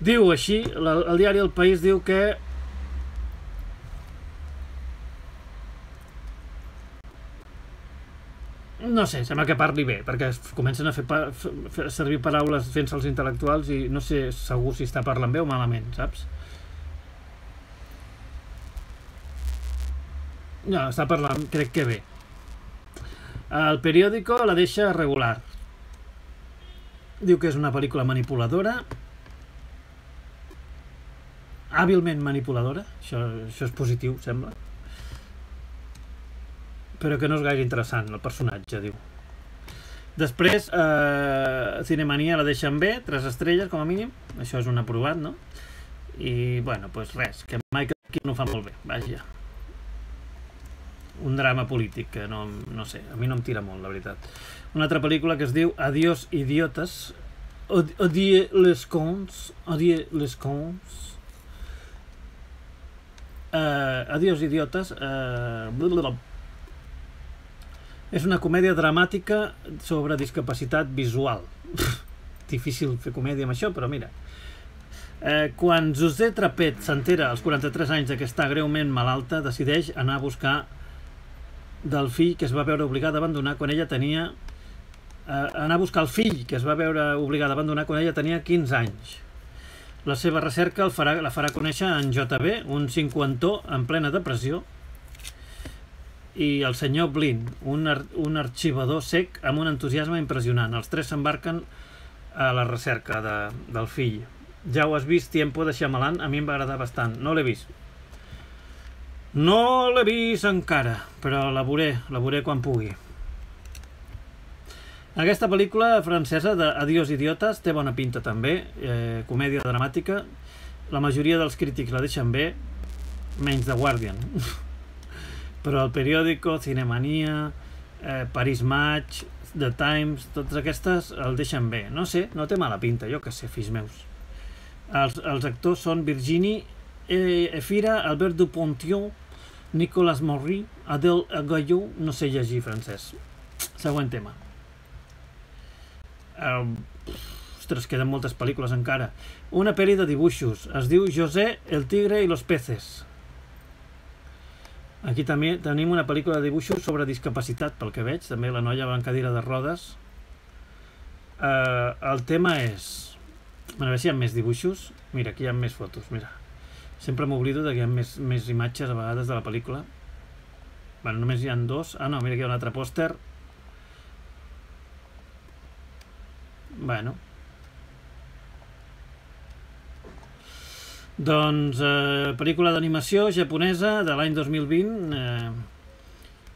Diu així, la, el diari El País diu que no sé, sembla que parli bé, perquè comencen a fer, pa, fer servir paraules fent-se els intel·lectuals i no sé segur si està parlant bé o malament, saps? No, està parlant, crec que bé. El periòdico la deixa regular. Diu que és una pel·lícula manipuladora, hàbilment manipuladora, això, això és positiu, sembla, però que no és gaire interessant el personatge, diu. Després eh, Cinemania la deixen bé, tres estrelles com a mínim, això és un aprovat, no? I bueno, doncs res, que Michael Keaton ho fa molt bé, vaja. Un drama polític que no, no sé, a mi no em tira molt, la veritat. Una altra pel·lícula que es diu Adiós idiotes, Adieu les cons, Adieu les cons, uh, Adiós idiotes, uh, blablabla. És una comèdia dramàtica sobre discapacitat visual. Difícil fer comèdia amb això, però mira. Eh, quan José Trapet s'entera als quaranta-tres anys que està greument malalta, decideix anar a buscar del fill que es va veure obligada a abandonar quan ella tenia... Eh, anar a buscar el fill que es va veure obligada a abandonar quan ella tenia quinze anys. La seva recerca el farà, la farà conèixer en J B, un cinquantó en plena depressió, i el senyor Blin, un, ar un arxivador sec amb un entusiasme impressionant. Els tres s'embarquen a la recerca de, del fill. Ja ho has vist, Tiempo de Shyamalan, a mi em va agradar bastant. No l'he vist. No l'he vist encara, però la veuré, la veuré quan pugui. Aquesta pel·lícula francesa d'Adiós idiotes té bona pinta també, eh, comèdia dramàtica. La majoria dels crítics la deixen bé, menys The Guardian. Però el periòdico, Cinemania, eh, Paris Match, The Times, totes aquestes el deixen bé. No sé, no té mala pinta, jo que sé, fills meus. Els, els actors són Virginie Efira, Albert Dupontel, Nicolas Maury, Adèle Gayot, no sé llegir francès. Següent tema. Uh, ostres, queden moltes pel·lícules encara. Una pel·li de dibuixos, es diu José, el tigre i los peces. Aquí també tenim una pel·lícula de dibuixos sobre discapacitat, pel que veig, també la noia va en cadira de rodes. Uh, el tema és... Bueno, a veure si hi ha més dibuixos. Mira, aquí hi ha més fotos, mira. Sempre m'oblido que hi ha més, més imatges a vegades de la pel·lícula. Bueno, només hi ha dos. Ah, no, mira, aquí hi ha un altre pòster. Bueno. Doncs, eh, pel·lícula d'animació japonesa de l'any dos mil vint. Eh,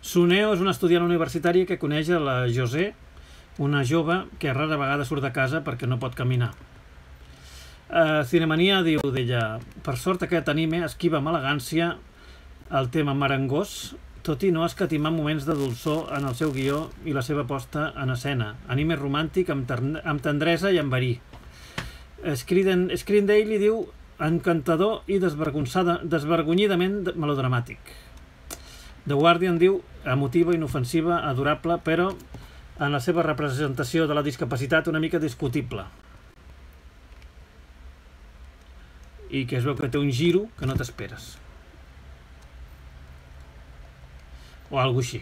Suneo és una estudiant universitària que coneix a la José, una jove que rara vegada surt de casa perquè no pot caminar. Eh, Cinemania diu d'ella: per sort aquest anime esquiva amb elegància el tema marangós, tot i no escatimar moments de dolçor en el seu guió i la seva posta en escena. Anime romàntic amb, amb tendresa i amb verí. Screen, Screen Daily diu: encantador i desvergonyidament melodramàtic. The Guardian diu: emotiva, inofensiva, adorable, però en la seva representació de la discapacitat una mica discutible. I que es veu que té un giro que no t'esperes. O alguna cosa així.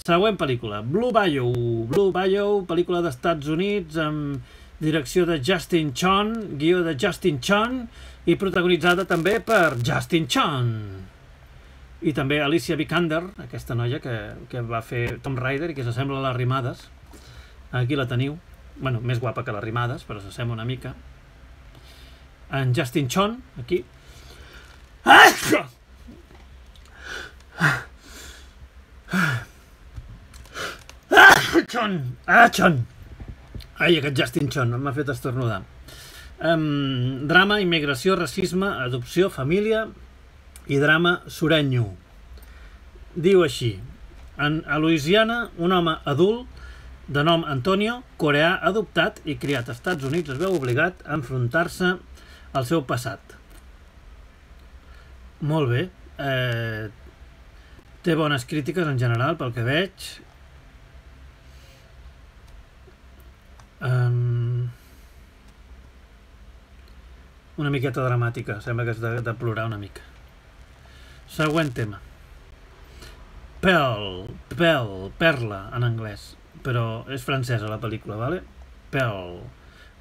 Següent pel·lícula, Blue Bayou. Blue Bayou, pel·lícula d'Estats Units amb direcció de Justin Chon, guió de Justin Chon i protagonitzada també per Justin Chon. I també Alicia Vikander, aquesta noia que, que va fer Tomb Raider i que s'assembla a les Rimades. Aquí la teniu. Bueno, més guapa que les Rimades, però s'assembla una mica. En Justin Chon, aquí. Ah! Ah, Chon! Ah, Chon! Ai, aquest Justin Chon m'ha fet estornudar. Um, drama, immigració, racisme, adopció, família i drama sureño. Diu així: en, a Louisiana, un home adult de nom Antonio, coreà adoptat i criat als Estats Units, es veu obligat a enfrontar-se al seu passat. Molt bé. Eh, té bones crítiques en general, pel que veig. Um, una miqueta dramàtica, sembla que és de, de plorar una mica. Següent tema. Pearl, Pearl, Perla en anglès, però és francesa la pel·lícula, vale? Pearl,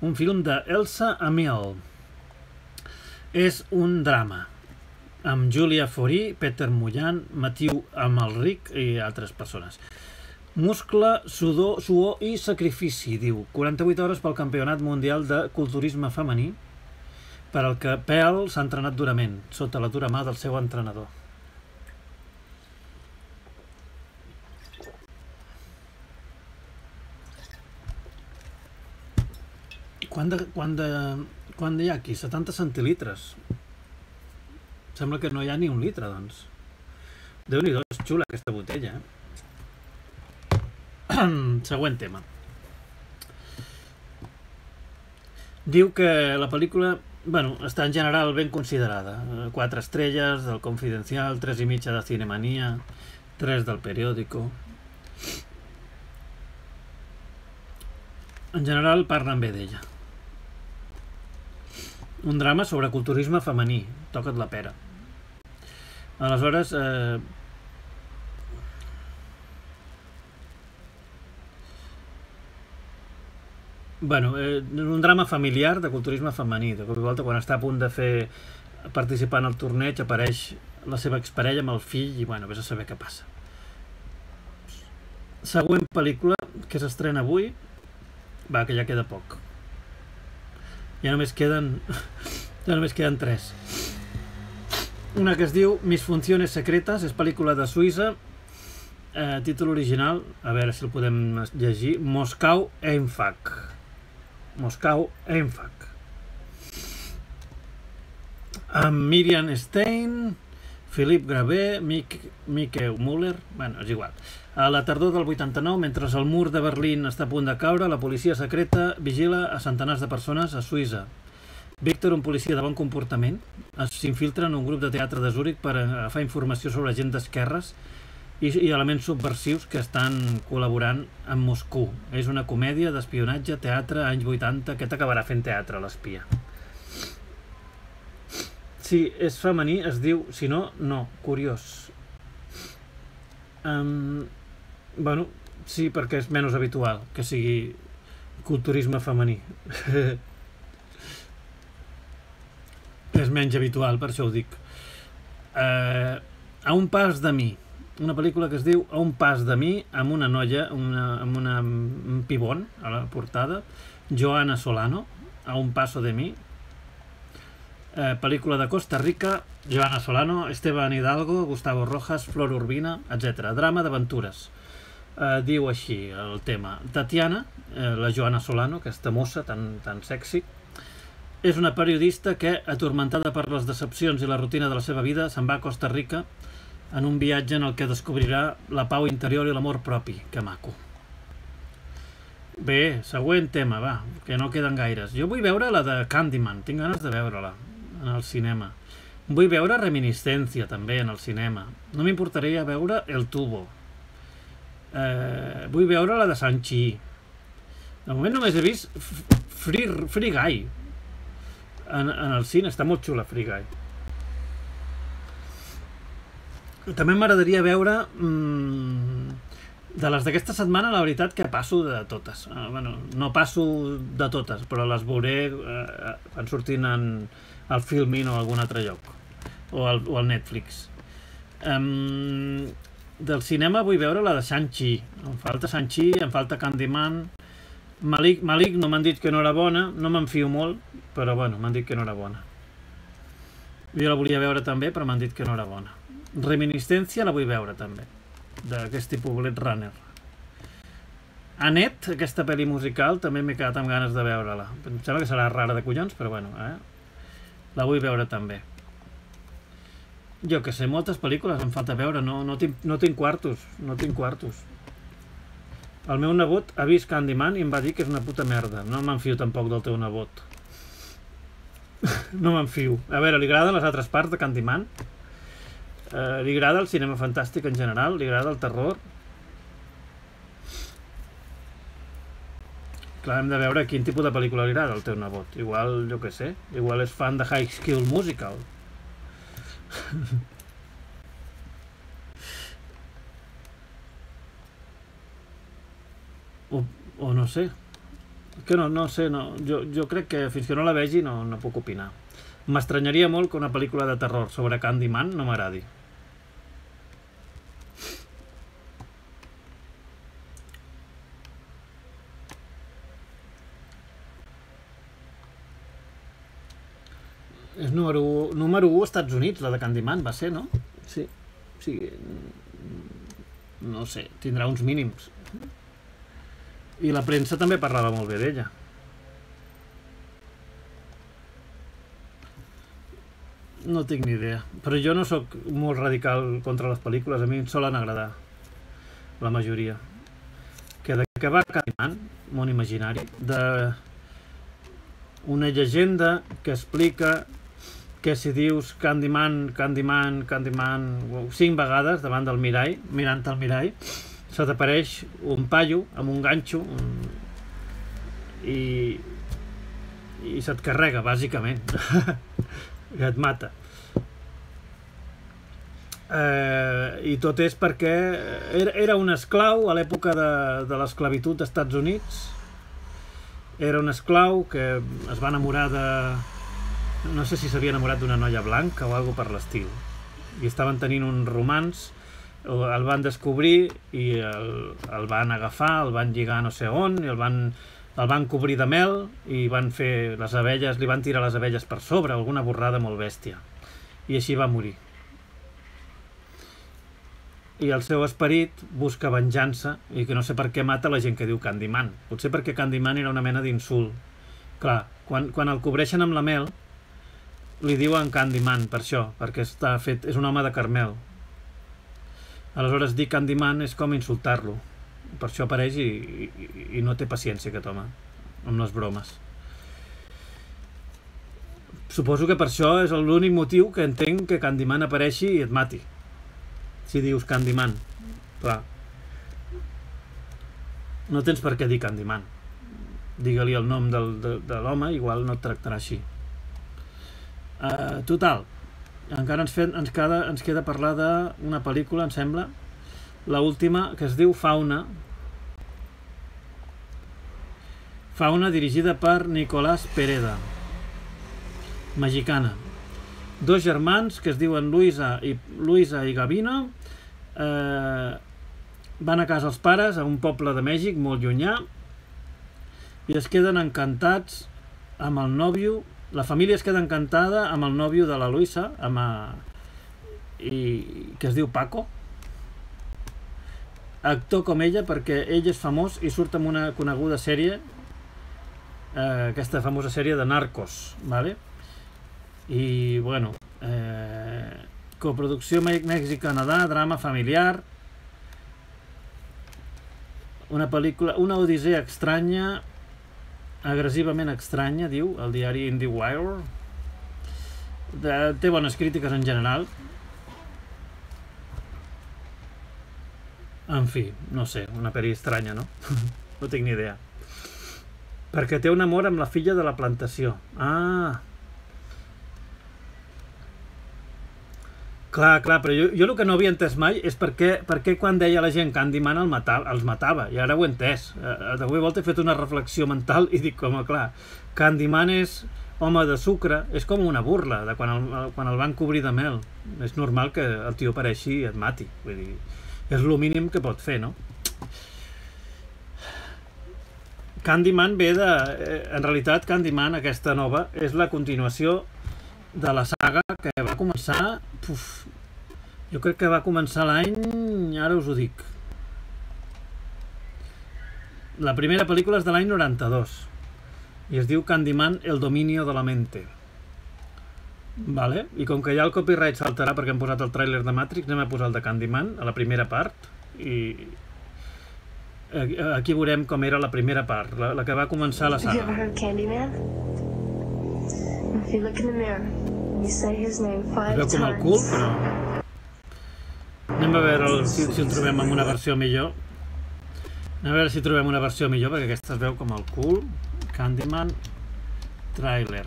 un film de Elsa Amiel. És un drama amb Julia Fourie, Peter Mullan, Mathieu Amalric i altres persones. Muscle, sudor, suor i sacrifici, diu. quaranta-vuit hores pel Campionat Mundial de Culturisme Femení, per al que Pearl s'ha entrenat durament, sota la dura mà del seu entrenador. Quant de, quant de, quant hi ha aquí? setanta centilitres. Sembla que no hi ha ni un litre, doncs. Déu-n'hi-do, és xula aquesta botella, eh? Següent tema. Diu que la pel·lícula, bueno, està en general ben considerada. Quatre estrelles del Confidencial, tres i mitja de Cinemanía, tres del Periódico. En general parlen bé d'ella. Un drama sobre culturisme femení. Toca't la pera. Aleshores, eh, bueno, eh, un drama familiar de culturisme femení. De cop i volta, quan està a punt de fer participar en el torneig, apareix la seva exparella amb el fill i, bueno, vés a saber què passa. Següent pel·lícula que s'estrena avui. Va, que ja queda poc. Ja només queden... ja només queden tres. Una que es diu Mis funciones secretas, és pel·lícula de Suïssa, eh, títol original, a veure si el podem llegir, Moscou Einfach. Moscou Einfach. Amb Miriam Stein, Philippe Gravé, Mik Mieke Müller, bueno, és igual. A la tardor del vuitanta-nou, mentre el mur de Berlín està a punt de caure, la policia secreta vigila a centenars de persones a Suïssa. Víctor, un policia de bon comportament, s'infiltra en un grup de teatre de Zúrich per agafar informació sobre gent d'esquerres i, i elements subversius que estan col·laborant amb Moscou. És una comèdia d'espionatge, teatre, anys vuitanta, que t'acabarà fent teatre, l'espia. Si és femení, es diu, si no, no, curiós. Um, bueno, sí, perquè és menys habitual que sigui culturisme femení. És menys habitual, per això ho dic. Uh, a un pas de mi. Una pel·lícula que es diu A un pas de mi, amb una noia, una, amb una, un pibon a la portada, Joana Solano, A un paso de mi. Uh, pel·lícula de Costa Rica, Joana Solano, Esteban Hidalgo, Gustavo Rojas, Flor Urbina, etcètera. Drama d'aventures. Uh, diu així el tema. Tatiana, uh, la Joana Solano, aquesta mossa tan, tan sexy, és una periodista que, atormentada per les decepcions i la rutina de la seva vida, se'n va a Costa Rica en un viatge en el que descobrirà la pau interior i l'amor propi. Que maco. Bé, següent tema, va, que no queden gaires. Jo vull veure la de Candyman, tinc ganes de veure-la en el cinema. Vull veure Reminiscencia, també, en el cinema. No m'importaria veure El Tubo. Eh, vull veure la de Shang-Chi. De moment només he vist Free, Free Guy. En, en el cine, està molt xula Free Guy. També m'agradaria veure mmm, de les d'aquesta setmana, la veritat que passo de totes. Uh, bueno, no passo de totes, però les veuré uh, quan surtin en el Filmin o algun altre lloc, o al, o al Netflix. Um, del cinema vull veure la de Shang-Chi. Em falta Shang-Chi, em falta Candyman. Malik, Malik no m'han dit que no era bona, no me'n fio molt, però bueno, m'han dit que no era bona. Jo la volia veure també, però m'han dit que no era bona. Reminiscencia la vull veure també, d'aquest tipus Blade Runner. Annette, aquesta pel·li musical, també m'he quedat amb ganes de veure-la. Em sembla que serà rara de collons, però bueno, eh? La vull veure també. Jo que sé, moltes pel·lícules em falta veure, no, no, tinc, no tinc quartos, no tinc quartos. El meu nebot ha vist Candyman i em va dir que és una puta merda. No m'enfio tampoc del teu nebot. No m'enfio. A veure, li agraden les altres parts de Candyman? Uh, li agrada el cinema fantàstic en general? Li agrada el terror? Clar, hem de veure quin tipus de pel·lícula li agrada al teu nebot. Igual, jo què sé, igual és fan de High School Musical. o, o no sé. Que no, no sé, no. Jo, jo crec que fins que no la vegi no, no puc opinar. M'estranyaria molt que una pel·lícula de terror sobre Candyman no m'agradi. És número u, número u als Estats Units, la de Candyman, va ser, no? Sí. O sigui, no sé, tindrà uns mínims. I la premsa també parlava molt bé d'ella. No tinc ni idea. Però jo no sóc molt radical contra les pel·lícules, a mi em solen agradar. La majoria. Que de què va Candyman, món imaginari, de una llegenda que explica que si dius Candyman, Candyman, Candyman cinc vegades davant del mirall, mirant el mirall, se t'apareix un paio amb un ganxo i i se't carrega, bàsicament. I et mata. Eh, I tot és perquè era, era un esclau a l'època de, de l'esclavitud dels Estats Units. Era un esclau que es va enamorar de... no sé si s'havia enamorat d'una noia blanca o alguna per l'estil. I estaven tenint un romanç, el van descobrir i el, el van agafar, el van lligar no sé on, i el van, el van cobrir de mel i van fer les abelles, li van tirar les abelles per sobre, alguna borrada molt bèstia. I així va morir. I el seu esperit busca venjança i que no sé per què mata la gent que diu Candyman. Potser perquè Candyman era una mena d'insult. Clar, quan, quan el cobreixen amb la mel li diuen Candyman per això, perquè està fet, és un home de carmel. Aleshores dir Candyman és com insultar-lo. Per això apareix i, i, i no té paciència aquest home amb les bromes. Suposo que per això és l'únic motiu que entenc que Candyman apareixi i et mati. Si dius Candyman, clar, no tens per què dir Candyman. Digue-li el nom del, de, de l'home, igual no et tractarà així. Uh, total, encara ens, fet, ens, queda, ens queda parlar d'una pel·lícula, em sembla, la última, que es diu Fauna. Fauna, dirigida per Nicolás Pereda, mexicana. Dos germans que es diuen Luisa i, Luisa i Gavino eh, van a casa els pares a un poble de Mèxic molt llunyà i es queden encantats amb el nòvio. La família es queda encantada amb el nòvio de la Luisa, amb a, i, que es diu Paco, actor com ella, perquè ell és famós i surt en una coneguda sèrie, eh, aquesta famosa sèrie de Narcos, vale? I, bueno, eh, coproducció Mèxic-Canadà, drama familiar, una pel·lícula, una odissea estranya, agressivament estranya, diu el diari IndieWire. De, té bones crítiques en general. En fi, no sé, una pel·li estranya, no? No tinc ni idea. Perquè té un amor amb la filla de la plantació. Ah... Clar, clar, però jo, jo el que no havia entès mai és per què, per què quan deia la gent Candyman el matava, els matava, i ara ho he entès. Eh, de cop i volta he fet una reflexió mental i dic, home, clar, Candyman és home de sucre, és com una burla de quan el, quan el van cobrir de mel. És normal que el tio apareixi i et mati. Vull dir, és el mínim que pot fer, no? Candyman ve de... Eh, en realitat, Candyman, aquesta nova, és la continuació de la saga que va començar, puf, jo crec que va començar l'any, ara us ho dic, La primera pel·lícula és de l'any noranta-dos i es diu Candyman, el dominio de la mente. Vale? I com que ja el copyright saltarà perquè hem posat el tràiler de Matrix, anem a posar el de Candyman a la primera part i aquí veurem com era la primera part, la, la que va començar la saga. Es veu com el cul, però anem a veure el, si, si el trobem en una versió millor. Anem a veure si trobem una versió millor, perquè aquesta es veu com el cul. Candyman trailer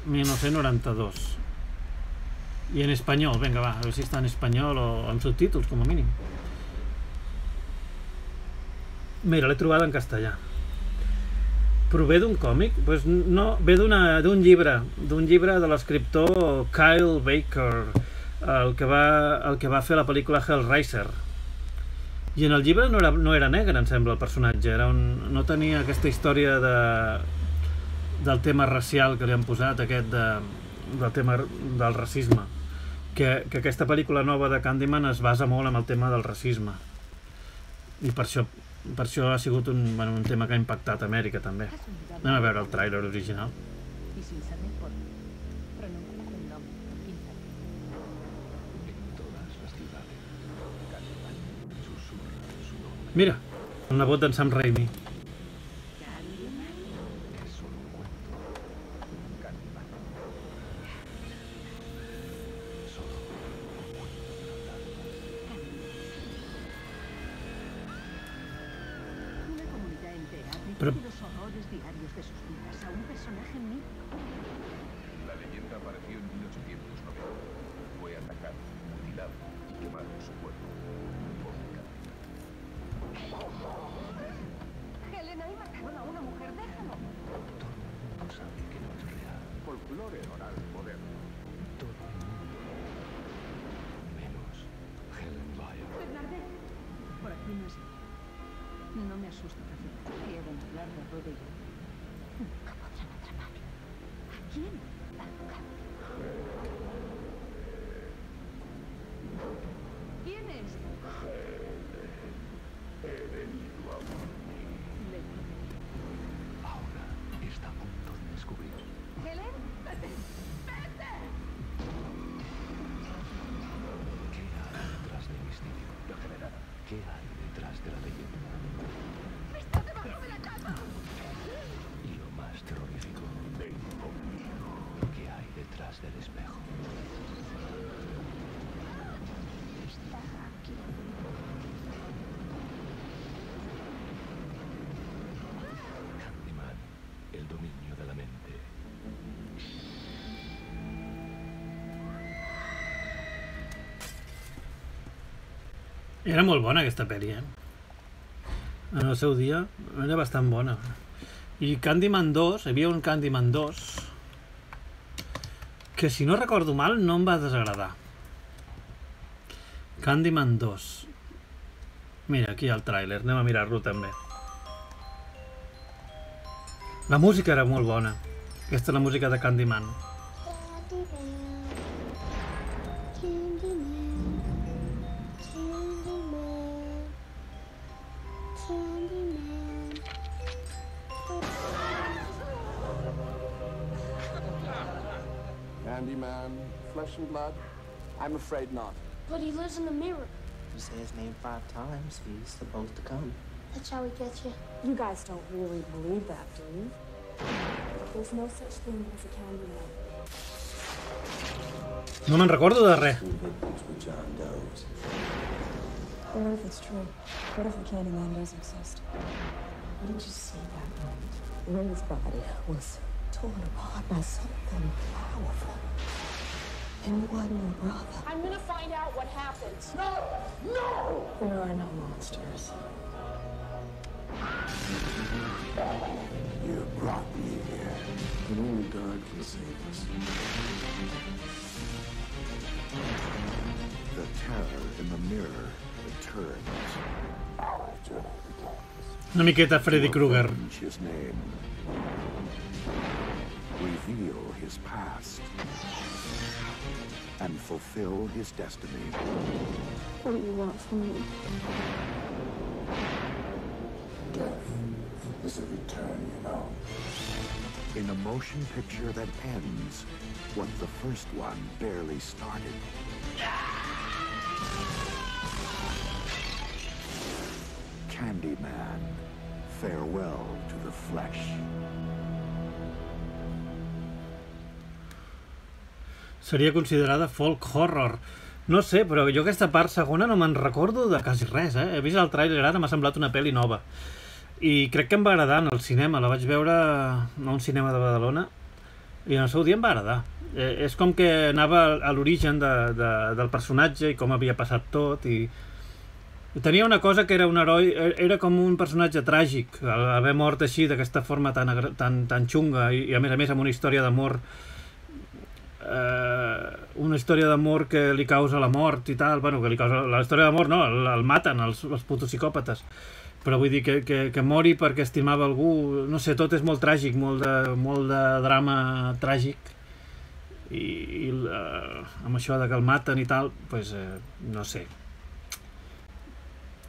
mil nou-cents noranta-dos i en espanyol, vinga va, a veure si està en espanyol o amb subtítols com a mínim. Mira, l'he trobat en castellà. Prové d'un còmic? Pues no, ve d'un llibre, d'un llibre de l'escriptor Kyle Baker, el que, va, el que va fer la pel·lícula Hellraiser. I en el llibre no era, no era negre, em sembla, el personatge. Era un, no tenia aquesta història de, del tema racial que li han posat, aquest de, del tema del racisme. Que, que aquesta pel·lícula nova de Candyman es basa molt en el tema del racisme. I per això, per això ha sigut un, bueno, un tema que ha impactat a Amèrica, també. Anem a veure el tràiler original. Mira, el nebot d'en Sam Raimi. Pero... los horrores diarios de sus vidas a un personaje mítico. La leyenda apareció en mil ochocientos noventa. Fue atacado, mutilado y quemado en su cuerpo. Helena, y mataron a una mujer, déjalo. Todo el mundo sabe que no es real. Folclore oral moderno. Todo el mundo. Menos Helen Bayer. Bernadette. Por aquí no es ella. No me asusta, café. Quieren hablar de Ruby. Nunca podrán atrapar. ¿A quién? ¿Quién es? He venido a morir. Ahora está a punto de descubrir. ¿Helen? ¡Vete! ¡Vete! ¿Qué hay detrás del misterio? La general. ¿Qué hay detrás de la leyenda? ¡Está debajo de la cama! Y lo más terrorífico, ven conmigo. ¿Qué hay detrás del espejo? Está aquí. Candyman, el dominio de la mente. Era molt bona aquesta pel·li, eh? En el seu dia era bastant bona. I Candyman dos, hi havia un Candyman dos que, si no recordo mal, no em va desagradar. Candyman dos. Mira, aquí hi ha el tràiler, anem a mirar-lo també. La música era molt bona. Aquesta és la música de Candyman. Candyman, flesh and blood? I'm afraid not. But he lives in the mirror. You say his name five times, he's supposed to come. That's how he gets you. You guys don't really believe that, do you? There's no such thing as a Candyman. No me'n recordo de res. What if it's true? What if the Candyman does exist? What did you see that night? Ray's body was torn apart by something powerful. And what your brother? I'm gonna find out what happened. No! No! There are no monsters. You brought me here, but only God can save us. The terror in the mirror returns. Our journey begins. Una miqueta Freddy Krueger. Avenge his name. Reveal his past. And fulfill his destiny. What do you want from me? is a return, you know. In a motion picture that ends what the first one barely started. Candyman, farewell to the flesh. Seria considerada folk horror. No sé, però jo aquesta part segona no me'n recordo de quasi res, eh? He vist el tràiler ara, m'ha semblat una pel·li nova. I crec que em va agradar en el cinema. La vaig veure a un cinema de Badalona i en el seu dia em va agradar. Eh, és com que anava a l'origen de, de, del personatge i com havia passat tot i... Tenia una cosa que era un heroi, era com un personatge tràgic, haver mort així d'aquesta forma tan, tan, tan xunga i, i a més a més amb una història d'amor eh, una història d'amor que li causa la mort i tal, bueno, que li causa la història d'amor no, el, el maten els, els putos psicòpates, però vull dir que, que, que mori perquè estimava algú, no sé, tot és molt tràgic, molt de, molt de drama tràgic i, i eh, amb això de que el maten i tal, pues, eh, no sé.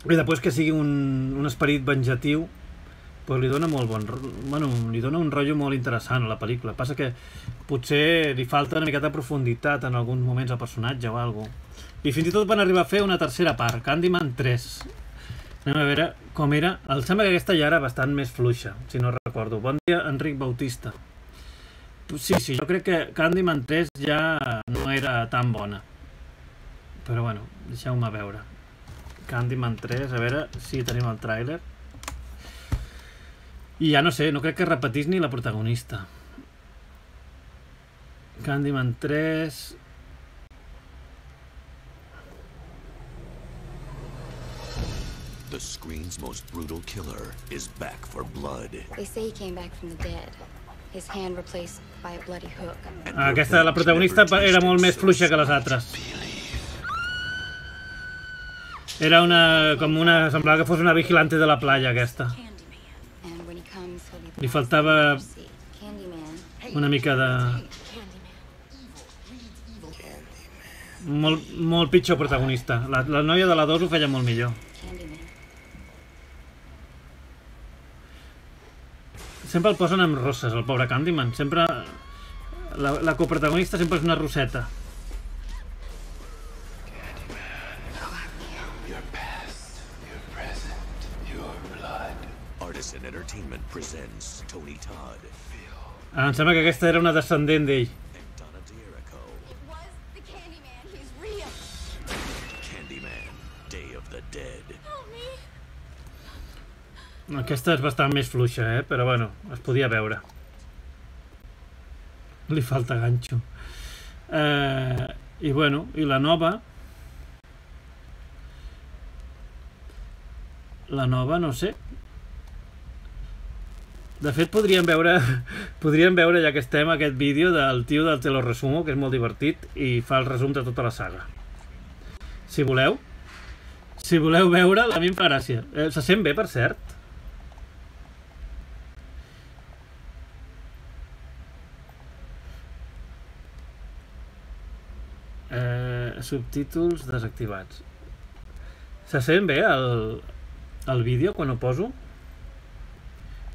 I després que sigui un, un esperit venjatiu, pues li dona molt bon... Bueno, li dona un rotllo molt interessant a la pel·lícula. Passa que potser li falta una miqueta de profunditat en alguns moments al personatge o alguna cosa. I fins i tot van arribar a fer una tercera part, Candyman tres. Anem a veure com era. Em sembla que aquesta ja era bastant més fluixa, si no recordo. Bon dia, Enric Bautista. Sí, sí, jo crec que Candyman tres ja no era tan bona. Però bueno, deixeu-me veure. Candyman tres, a veure si tenim el tràiler. I ja no sé, no crec que repetís ni la protagonista. Candyman tres... The screen's most brutal killer is back for blood. They say he came back from the dead. His hand replaced by a bloody hook. Aquesta, la protagonista era molt més fluixa que les altres. Era una... com una... semblava que fos una vigilante de la playa, aquesta. Li faltava una mica de... Molt, molt pitjor protagonista. La, la noia de la dos ho feia molt millor. Sempre el posen amb rosses, el pobre Candyman. Sempre... La, la coprotagonista sempre és una roseta. Artisan Entertainment presents Tony Todd. Ah, em sembla que aquesta era una descendent d'ell. Candyman, Day of the Dead. Aquesta és bastant més fluixa, eh? Però bueno, es podia veure. Li falta ganxo. Eh, I bueno, i la nova... La nova, no sé. De fet, podríem veure, podríem veure, ja que estem, aquest vídeo del tio del Te lo resumo, que és molt divertit, i fa el resum de tota la saga. Si voleu. Si voleu veure'l, a mi em fa gràcia. Eh, se sent bé, per cert? Eh, subtítols desactivats. Se sent bé el, el vídeo quan ho poso?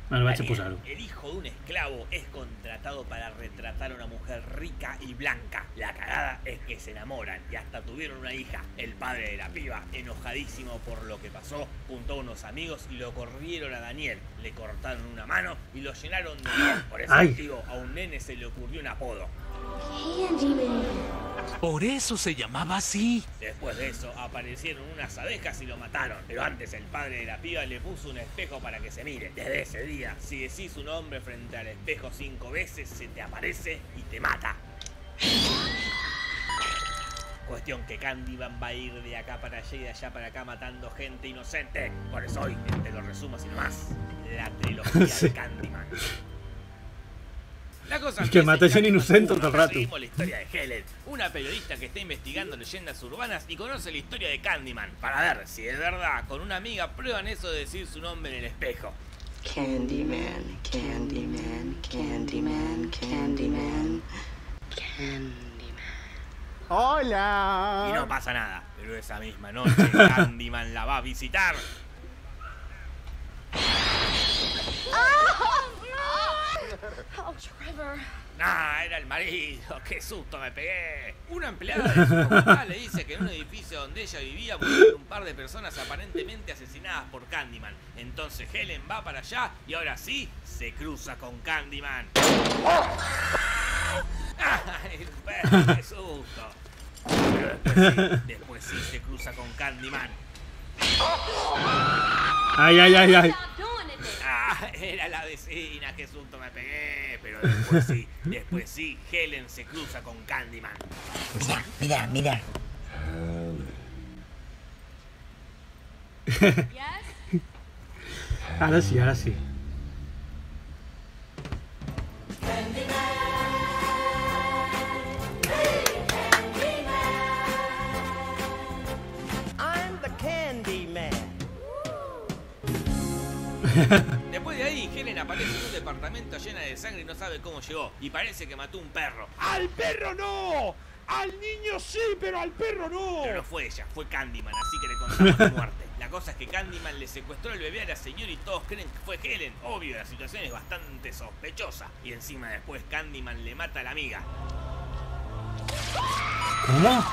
Bueno, vaig a posar-ho. El hijo de un esclavo es contratado para retratar a una mujer rica y blanca. La cagada es que se enamoran y hasta tuvieron una hija. El padre de la piba, enojadísimo por lo que pasó, juntó a unos amigos y lo corrieron a Daniel. Le cortaron una mano y lo llenaron de miel. Por ese Ay. motivo a un nene se le ocurrió un apodo. Por eso se llamaba así. Después de eso aparecieron unas abejas y lo mataron. Pero antes el padre de la piba le puso un espejo para que se mire. Desde ese día, si decís su nombre frente al espejo cinco veces, se te aparece y te mata. Cuestión que Candyman va a ir de acá para allá y de allá para acá matando gente inocente. Por eso hoy te lo resumo sin más. La trilogía Sí. de Candyman. La cosa Es que empieza mata en gent Candyman innocent tot uno. el rato. Seguimos la historia de Helen, una periodista que está investigando leyendas urbanas y conoce la historia de Candyman para ver si es verdad. Con una amiga prueban eso de decir su nombre en el espejo. Candyman, Candyman, Candyman, Candyman, Candyman. Y no pasa nada, pero esa misma noche Candyman la va a visitar. Oh, Trevor. Nah, era el marido, qué susto me pegué. Una empleada de su comunidad le dice que en un edificio donde ella vivía murieron un par de personas aparentemente asesinadas por Candyman. Entonces Helen va para allá y ahora sí se cruza con Candyman. ¡Ay, el perro, qué susto! Pero después sí, después sí se cruza con Candyman. Ay, ay, ay, ay. Ah, era la vecina, qué susto me pegué. Pero después sí, después sí, Helen se cruza con Candyman. Mira, mira, mira. Ahora sí, ahora sí. I'm the Candyman. Después de ahí, Helen aparece en un departamento llena de sangre y no sabe cómo llegó. Y parece que mató un perro. ¡Al perro no! ¡Al niño sí, pero al perro no! Pero no fue ella, fue Candyman, así que le contamos la muerte. La cosa es que Candyman le secuestró el bebé a la señora y todos creen que fue Helen. Obvio, la situación es bastante sospechosa. Y encima después Candyman le mata a la amiga. ¿Cómo?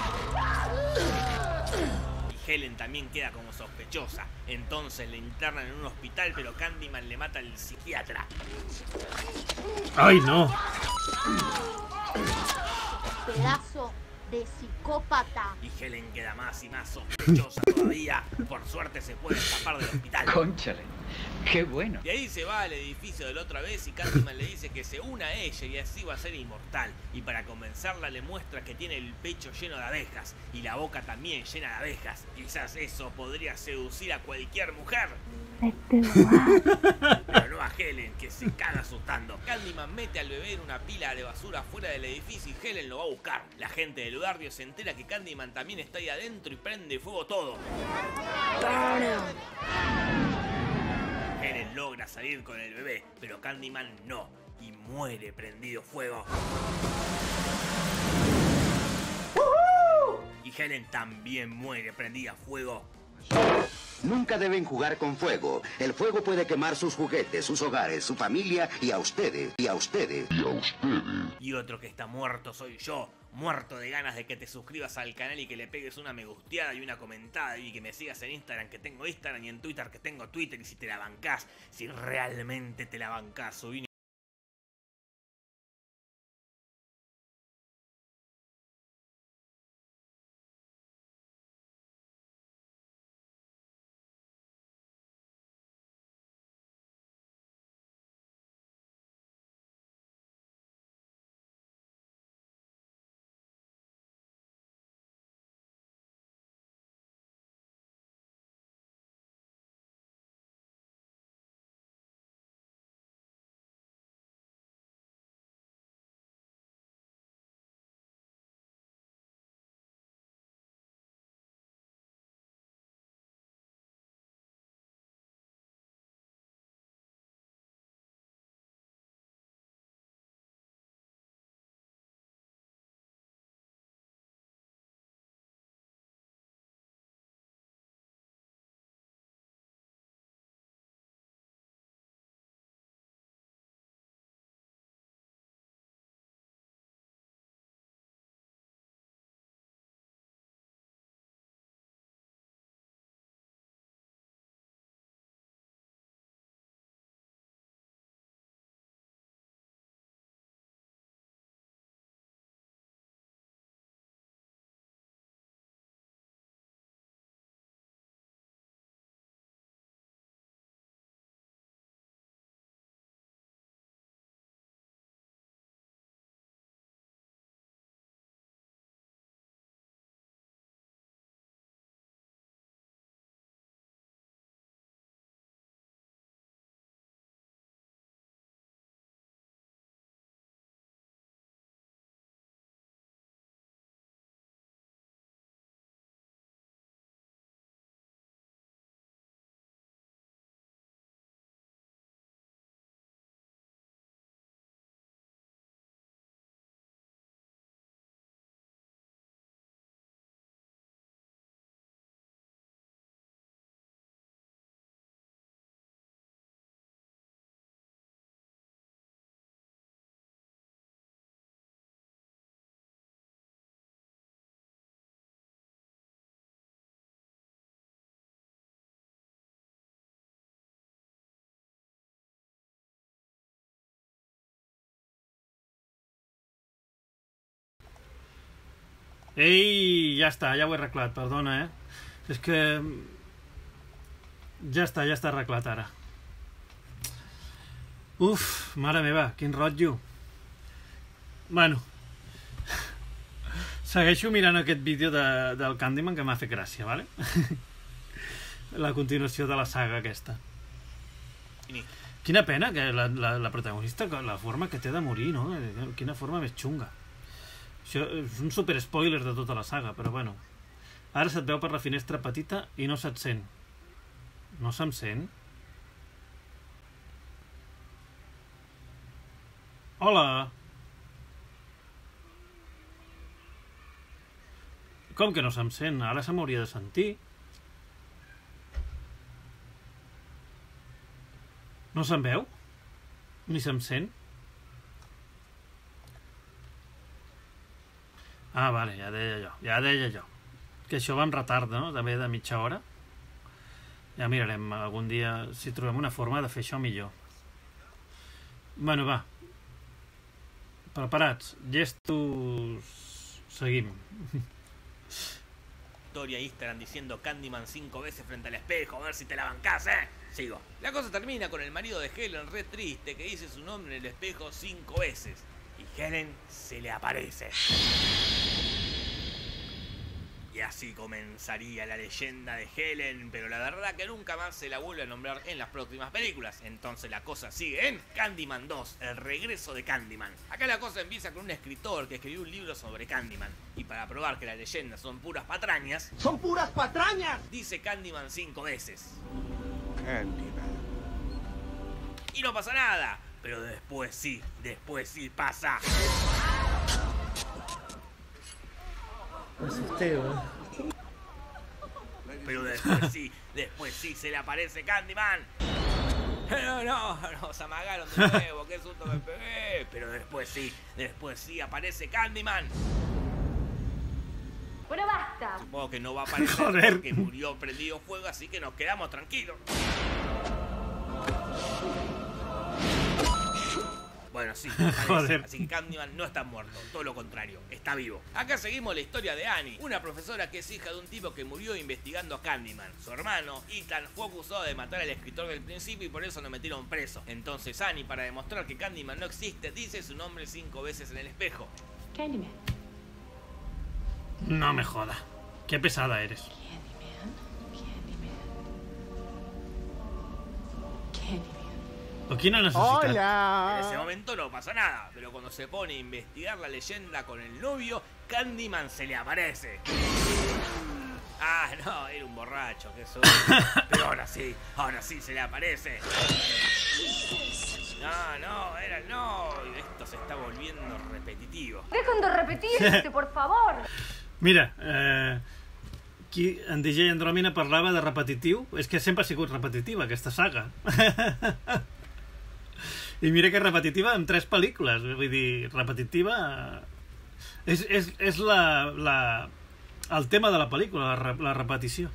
Y Helen también queda como sospechosa. Entonces le internan en un hospital, pero Candyman le mata al psiquiatra. ¡Ay, no! Pedazo de psicópata. Y Helen queda más y más sospechosa todavía. Por suerte se puede escapar del hospital. Cónchale, qué bueno. De ahí se va al edificio de la otra vez y Candyman le dice que se una a ella y así va a ser inmortal. Y para convencerla le muestra que tiene el pecho lleno de abejas y la boca también llena de abejas. Quizás eso podría seducir a cualquier mujer. Pero no a Helen, que se caga asustando. Candyman mete al bebé en una pila de basura fuera del edificio y Helen lo va a buscar. La gente del barrio se entera que Candyman también está ahí adentro y prende fuego todo. Helen logra salir con el bebé, pero Candyman no, y muere prendido fuego. Y Helen también muere prendida a fuego. Nunca deben jugar con fuego. El fuego puede quemar sus juguetes, sus hogares, su familia y a ustedes, y a ustedes, y a ustedes. Y otro que está muerto soy yo, muerto de ganas de que te suscribas al canal y que le pegues una me gusteada y una comentada y que me sigas en Instagram, que tengo Instagram, y en Twitter, que tengo Twitter, y si te la bancás, si realmente te la bancás, subí Ei, ja està, ja ho he arreglat, perdona, eh? És que... Ja està, ja està arreglat ara. Uf, mare meva, quin rotllo. Bueno. Segueixo mirant aquest vídeo de, del Candyman que m'ha fet gràcia, vale? La continuació de la saga aquesta. Quina pena que la, la, la protagonista, la forma que té de morir, no? Quina forma més xunga. Això és un super spoiler de tota la saga, però bueno. Ara se't veu per la finestra petita i no se't sent. No se'm sent? Hola! Com que no se'm sent? Ara se m'hauria de sentir. No se'm veu? Ni se'm sent? Ah, vale, ja deia jo, ja deia jo. Que això va amb retard, no? També de mitja hora. Ja mirarem algun dia si trobem una forma de fer això millor. Bueno, va. Preparats. Gestos... Seguim. Historia Instagram diciendo Candyman cinco veces frente al espejo, a ver si te la bancás, ¿eh? Sigo. La cosa termina con el marido de Helen re triste que dice su nombre en el espejo cinco veces. Y Helen se le aparece. Y así comenzaría la leyenda de Helen, pero la verdad que nunca más se la vuelve a nombrar en las próximas películas. Entonces la cosa sigue en Candyman dos, el regreso de Candyman. Acá la cosa empieza con un escritor que escribió un libro sobre Candyman. Y para probar que las leyendas son puras patrañas... ¡Son puras patrañas! Dice Candyman cinco veces. Candyman. Y no pasa nada, pero después sí, después sí pasa. Me asusté, ¿no? Pero después sí, después sí se le aparece Candyman. No, no, nos amagaron de nuevo, qué susto me pegué. Pero después sí, después sí aparece Candyman. Bueno, basta. Supongo que no va a aparecer Joder. porque murió prendido fuego, así que nos quedamos tranquilos. Bueno, sí, Joder. Así que Candyman no está muerto, todo lo contrario, está vivo. Acá seguimos la historia de Annie, una profesora que es hija de un tipo que murió investigando a Candyman. Su hermano, Ethan, fue acusado de matar al escritor del principio y por eso lo metieron preso. Entonces Annie, para demostrar que Candyman no existe, dice su nombre cinco veces en el espejo. Candyman. No me joda. Qué pesada eres. ¿O quién no necesita? ¡Hola! En ese momento no pasa nada, pero cuando se pone a investigar la leyenda con el novio, Candyman se le aparece. Ah, no, era un borracho, que eso. Pero ahora sí, ahora sí se le aparece. No, no, era no. Y esto se está volviendo repetitivo. Dejen de repetirse, por favor. Mira, eh, qui, en D J Andròmina parlava de repetitiu. És que sempre ha sigut repetitiva, aquesta saga. I mira que és repetitiva en tres pel·lícules. Vull dir, repetitiva... És, és, és la, la, el tema de la pel·lícula, la, la repetició.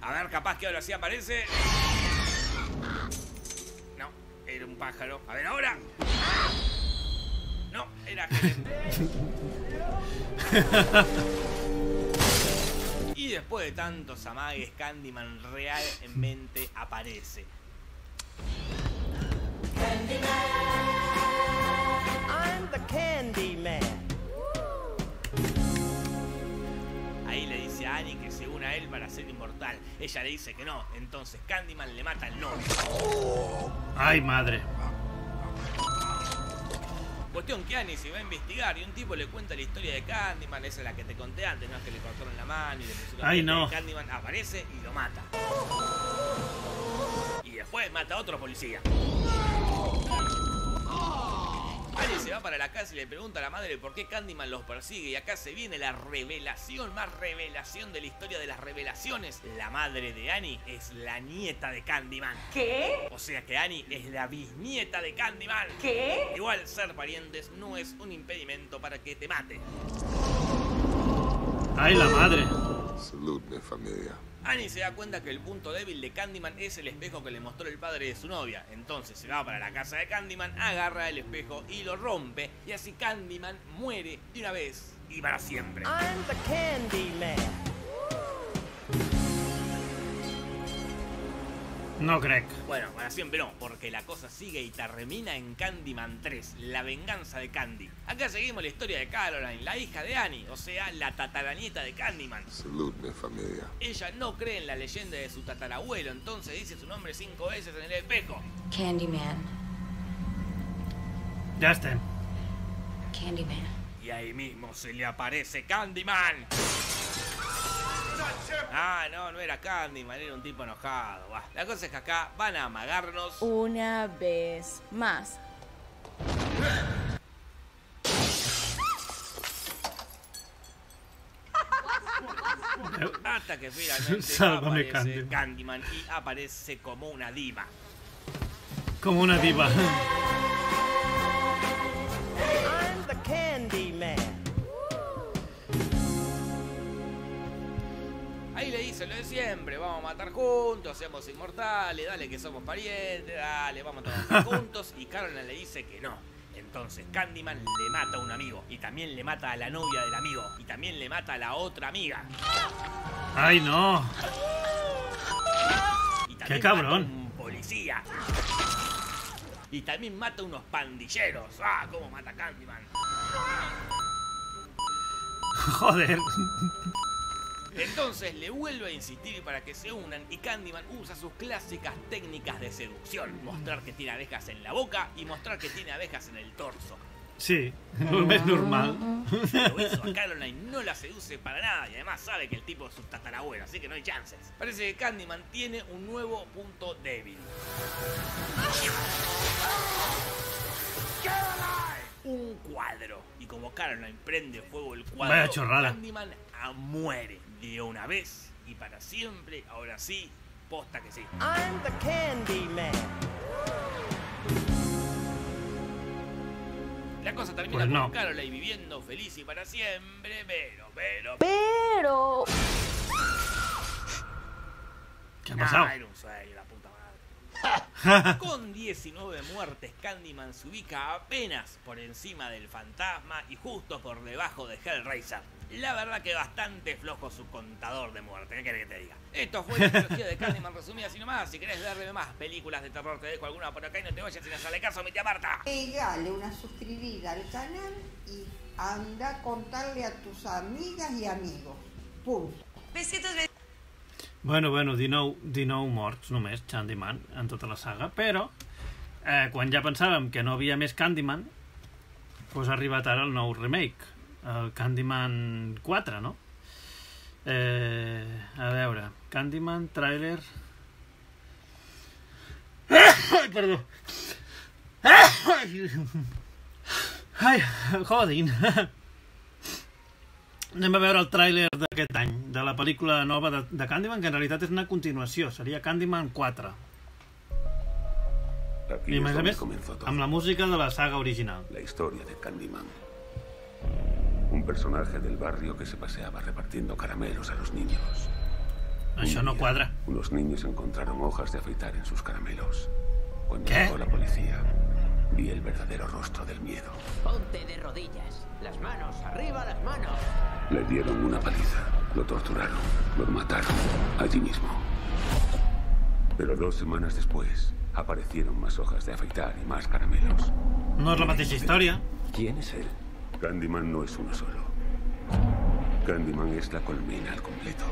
A ver, capaz que ahora sí aparece. No, era un pájaro. A ver, ahora. No, era Helen. Y después de tantos amagues, Candyman realmente aparece. I'm the Candyman. Ahí le dice a Annie que se une a él para ser inmortal. Ella le dice que no, entonces Candyman le mata al novio. Ay, madre. Cuestión que Annie se va a investigar y un tipo le cuenta la historia de Candyman, esa es la que te conté antes, no es que le cortaron la mano y le pusieron Ay, la no. Candyman aparece y lo mata. Y después mata a otro policía. Annie se va para la casa y le pregunta a la madre por qué Candyman los persigue. Y acá se viene la revelación, más revelación de la historia de las revelaciones. La madre de Annie es la nieta de Candyman. ¿Qué? O sea que Annie es la bisnieta de Candyman. ¿Qué? Igual ser parientes no es un impedimento para que te mate. Ay, la madre. Saludme, familia. Annie se da cuenta que el punto débil de Candyman es el espejo que le mostró el padre de su novia. Entonces se va para la casa de Candyman, agarra el espejo y lo rompe. Y así Candyman muere de una vez y para siempre. I'm the Candyman. No crec. Bueno, para siempre no, porque la cosa sigue y termina en Candyman tres, la venganza de Candy. Acá seguimos la historia de Caroline, la hija de Annie, o sea, la tataranieta de Candyman. Saludme, familia. Ella no cree en la leyenda de su tatarabuelo, entonces dice su nombre cinco veces en el espejo. Candyman. Ya está. Candyman. Y ahí mismo se le aparece Candyman. Ah, no, no era Candyman, era un tipo enojado. Bah. La cosa es que acá van a amagarnos una vez más. hasta que finalmente Sálvame, aparece Candyman. Candyman y aparece como una diva. Como una diva. I'm the Candyman. Ahí le dice lo de siempre, vamos a matar juntos, seamos inmortales, dale que somos parientes, dale, vamos a trabajar juntos. Y Caroline le dice que no. Entonces Candyman le mata a un amigo. Y también le mata a la novia del amigo. Y también le mata a la otra amiga. ¡Ay, no! Y ¡Qué también mata a cabrón! un policía. Y también mata a unos pandilleros. ¡Ah, cómo mata Candyman! Joder. Entonces le vuelve a insistir para que se unan y Candyman usa sus clásicas técnicas de seducción. Mostrar que tiene abejas en la boca y mostrar que tiene abejas en el torso. Sí, no es normal. Pero eso a Caroline no la seduce para nada y además sabe que el tipo es su tatarabuelo, así que no hay chances. Parece que Candyman tiene un nuevo punto débil. Un cuadro. Y como Caroline prende fuego el cuadro, Vaya chorrada. Candyman muere de una vez y para siempre. Ahora sí, posta que sí. I'm the Candyman. La cosa termina Pues no. con Caroline viviendo feliz y para siempre, pero, pero... Pero... ¿Qué ha pasado? Ah, era un sueño, la puta madre. Con diecinueve muertes, Candyman se ubica apenas por encima del fantasma y justo por debajo de Hellraiser. La verdad que bastante flojo su contador de muerte, ¿qué querés que te diga? Esto fue la trilogía de Candyman resumida así nomás. Si querés verme más películas de terror, te dejo alguna por acá y no te vayas sin hacerle caso a mi tía Marta. Pegale una suscribida al canal y anda a contarle a tus amigas y amigos. Punto. Besitos, besitos. Bueno, bueno, dinou, dinou morts només, Candyman, en tota la saga, però eh, quan ja pensàvem que no havia més Candyman, doncs ha arribat ara el nou remake, el Candyman quatre, no? Eh, a veure, Candyman, tràiler... Ai, perdó! Ai, jodin! Anem a veure el tràiler d'aquest any, de la pel·lícula nova de, de Candyman, que en realitat és una continuació, seria Candyman quatre. Aquí I a es més a donde més, comenzó todo. amb la música de la saga original. La historia de Candyman. Un personaje del barrio que se paseaba repartiendo caramelos a los niños. Això no quadra. Unos niños encontraron hojas de afeitar en sus caramelos. Cuando ¿Qué? llegó la policía, vi el verdadero rostro del miedo. Ponte de rodillas. Las manos, arriba las manos. Le dieron una paliza, lo torturaron, lo mataron allí mismo. Pero dos semanas después aparecieron más hojas de afeitar y más caramelos. No és la mateixa història. ¿Quién es él? Candyman no es uno solo. Candyman es la colmena al completo.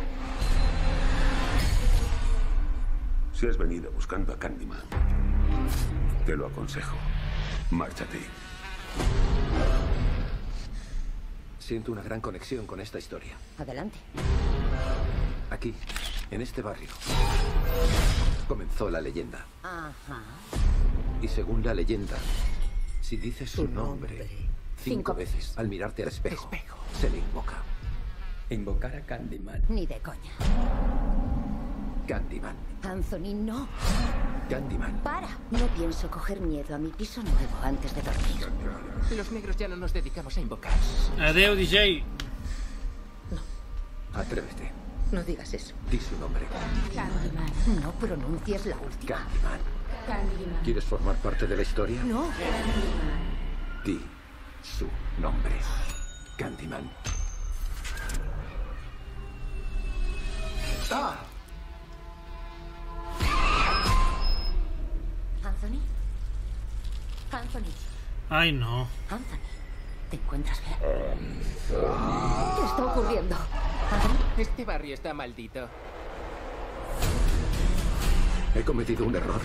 Si has venido buscando a Candyman, te lo aconsejo. Márchate. Siento una gran conexión con esta historia. Adelante. Aquí, en este barrio, comenzó la leyenda. Ajá. Y según la leyenda, si dices su Tu nombre, nombre. cinco Cinco veces al mirarte al espejo, se le invoca. Invocar a Candyman. Ni de coña. Candyman. Anthony, no. Candyman. Para. No pienso coger miedo a mi piso nuevo antes de dormir. Los negros ya no nos dedicamos a invocar. Adeu, D J. Atrévete. No digas eso. Di su nombre. Candyman. No pronuncies la última. Candyman. Candyman. ¿Quieres formar parte de la historia? No. Di su nombre. Candyman. ¡Ah! Anthony. Anthony. Ay, no. Anthony. ¿Te encuentras bien? ¿Qué está ocurriendo? Anthony. Este barrio está maldito. He cometido un error.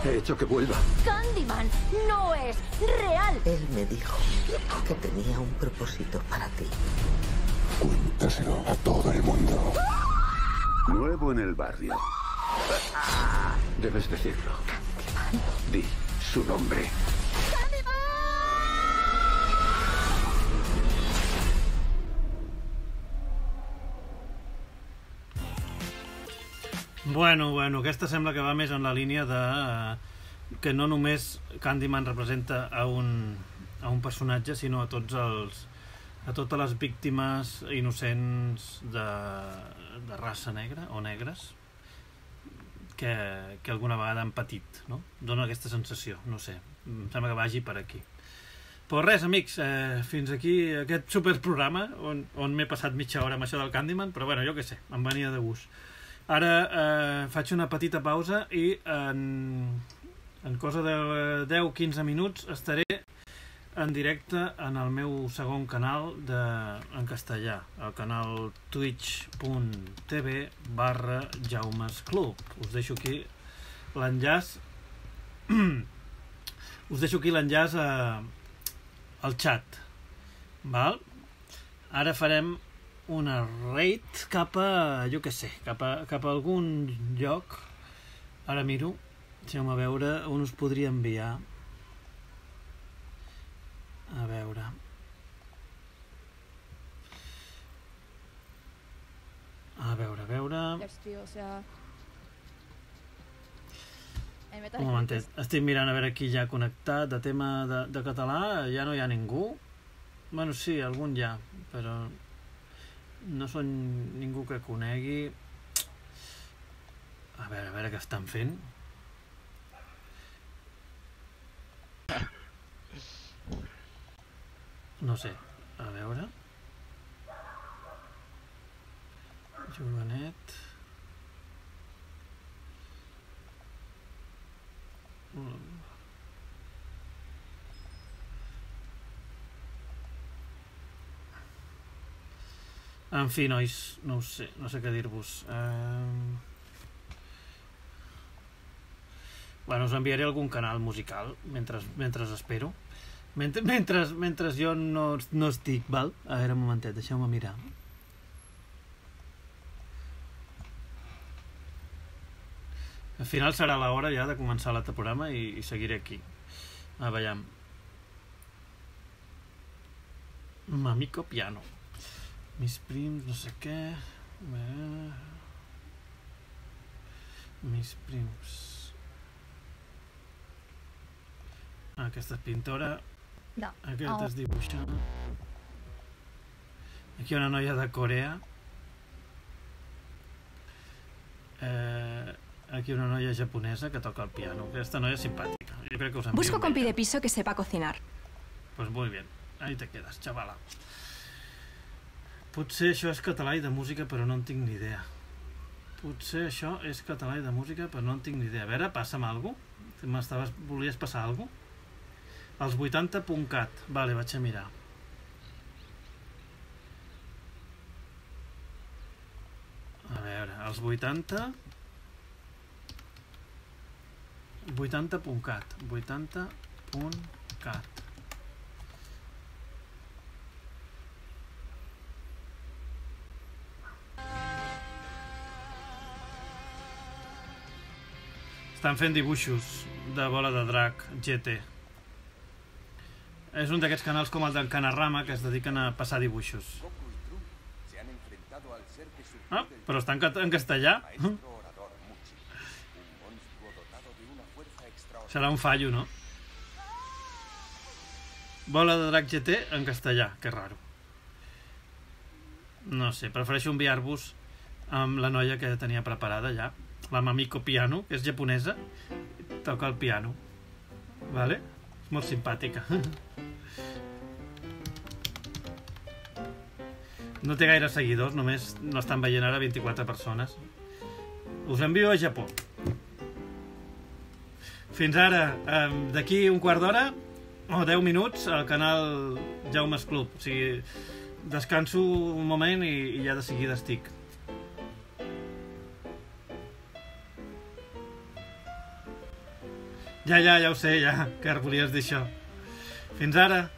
He hecho que vuelva. Candyman no es real. Él me dijo que tenía un propósito para ti. Cuéntaselo a todo el mundo. Nuevo en el barrio. Debes decirlo. Di su nombre. Bueno, bueno, aquesta sembla que va més en la línia de que no només Candyman representa a un, a un personatge, sinó a tots els a totes les víctimes innocents de, de raça negra o negres que, que alguna vegada han patit, no? Dóna aquesta sensació, no sé, em sembla que vagi per aquí. Però res, amics, eh, fins aquí aquest superprograma on, on m'he passat mitja hora amb això del Candyman, però bueno, jo què sé, em venia de gust. Ara eh, faig una petita pausa i en, en cosa de deu a quinze minuts estaré en directe en el meu segon canal de, en castellà, el canal twitch punt tv barra Jaumes Club. Us deixo aquí l'enllaç us deixo aquí l'enllaç al xat, val? Ara farem una raid cap a, jo què sé, cap a, cap a algun lloc. Ara miro, deixeu-me veure on us podria enviar. A veure. A veure, a veure... Un momentet, estic mirant a veure qui ja ha connectat de tema de, de català, ja no hi ha ningú. Bueno, sí, algun hi ha, però no són ningú que conegui. A veure, a veure què estan fent. No sé, a veure. Jovenet. En fi, nois, no ho sé, no sé què dir-vos. Eh... Bueno, us enviaré algun canal musical mentre, mentre espero. Mentre, mentre, mentre jo no, no estic, val? A veure, un momentet, deixeu-me mirar. Al final serà l'hora ja de començar l'altre programa i, i seguiré aquí. A veure. Mamico piano. Mis prims, no sé què. Mis prims. Ah, aquesta és pintora. No. Aquest Oh. és dibuixant. Aquí una noia de Corea. Eh, aquí una noia japonesa que toca el piano. Aquesta noia és simpàtica. Jo crec que us envio Busco un compi vídeo. de piso que sepa cocinar. Pues muy bien. Ahí te quedas, chavala. Potser això és català i de música, però no en tinc ni idea. Potser això és català i de música, però no en tinc ni idea. A veure, passa'm alguna cosa. Volies passar alguna cosa? Els vuitanta punt cat. Vale, vaig a mirar. A veure, els vuitanta... vuitanta punt cat. vuitanta punt cat. Estan fent dibuixos de bola de drac, G T. És un d'aquests canals com el del Canarrama que es dediquen a passar dibuixos. Ah, però està en, en castellà. Serà un fallo, no? Bola de drac G T en castellà, que raro. No sé, prefereixo enviar-vos amb la noia que tenia preparada ja, la Mamiko Piano, que és japonesa, toca el piano, vale? És molt simpàtica. No té gaire seguidors, només no estan veient ara vint-i-quatre persones. Us envio a Japó. Fins ara, d'aquí un quart d'hora o deu minuts al canal Jaume's Club. O sigui, descanso un moment i, i ja de seguida estic. Ja, ja, ja ho sé, ja, que volies dir això. Fins ara.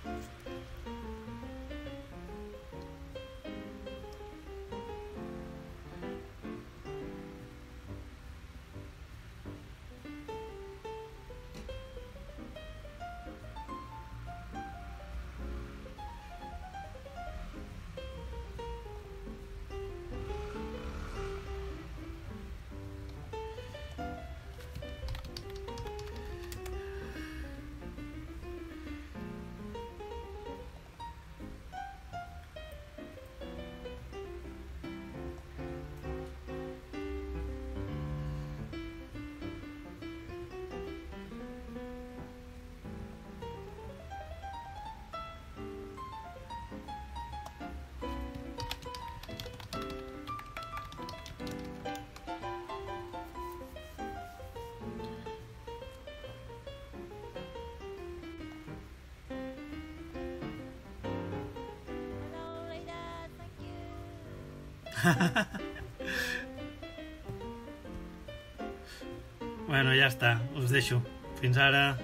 Bueno, ja està, us deixo. Fins ara.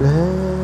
Let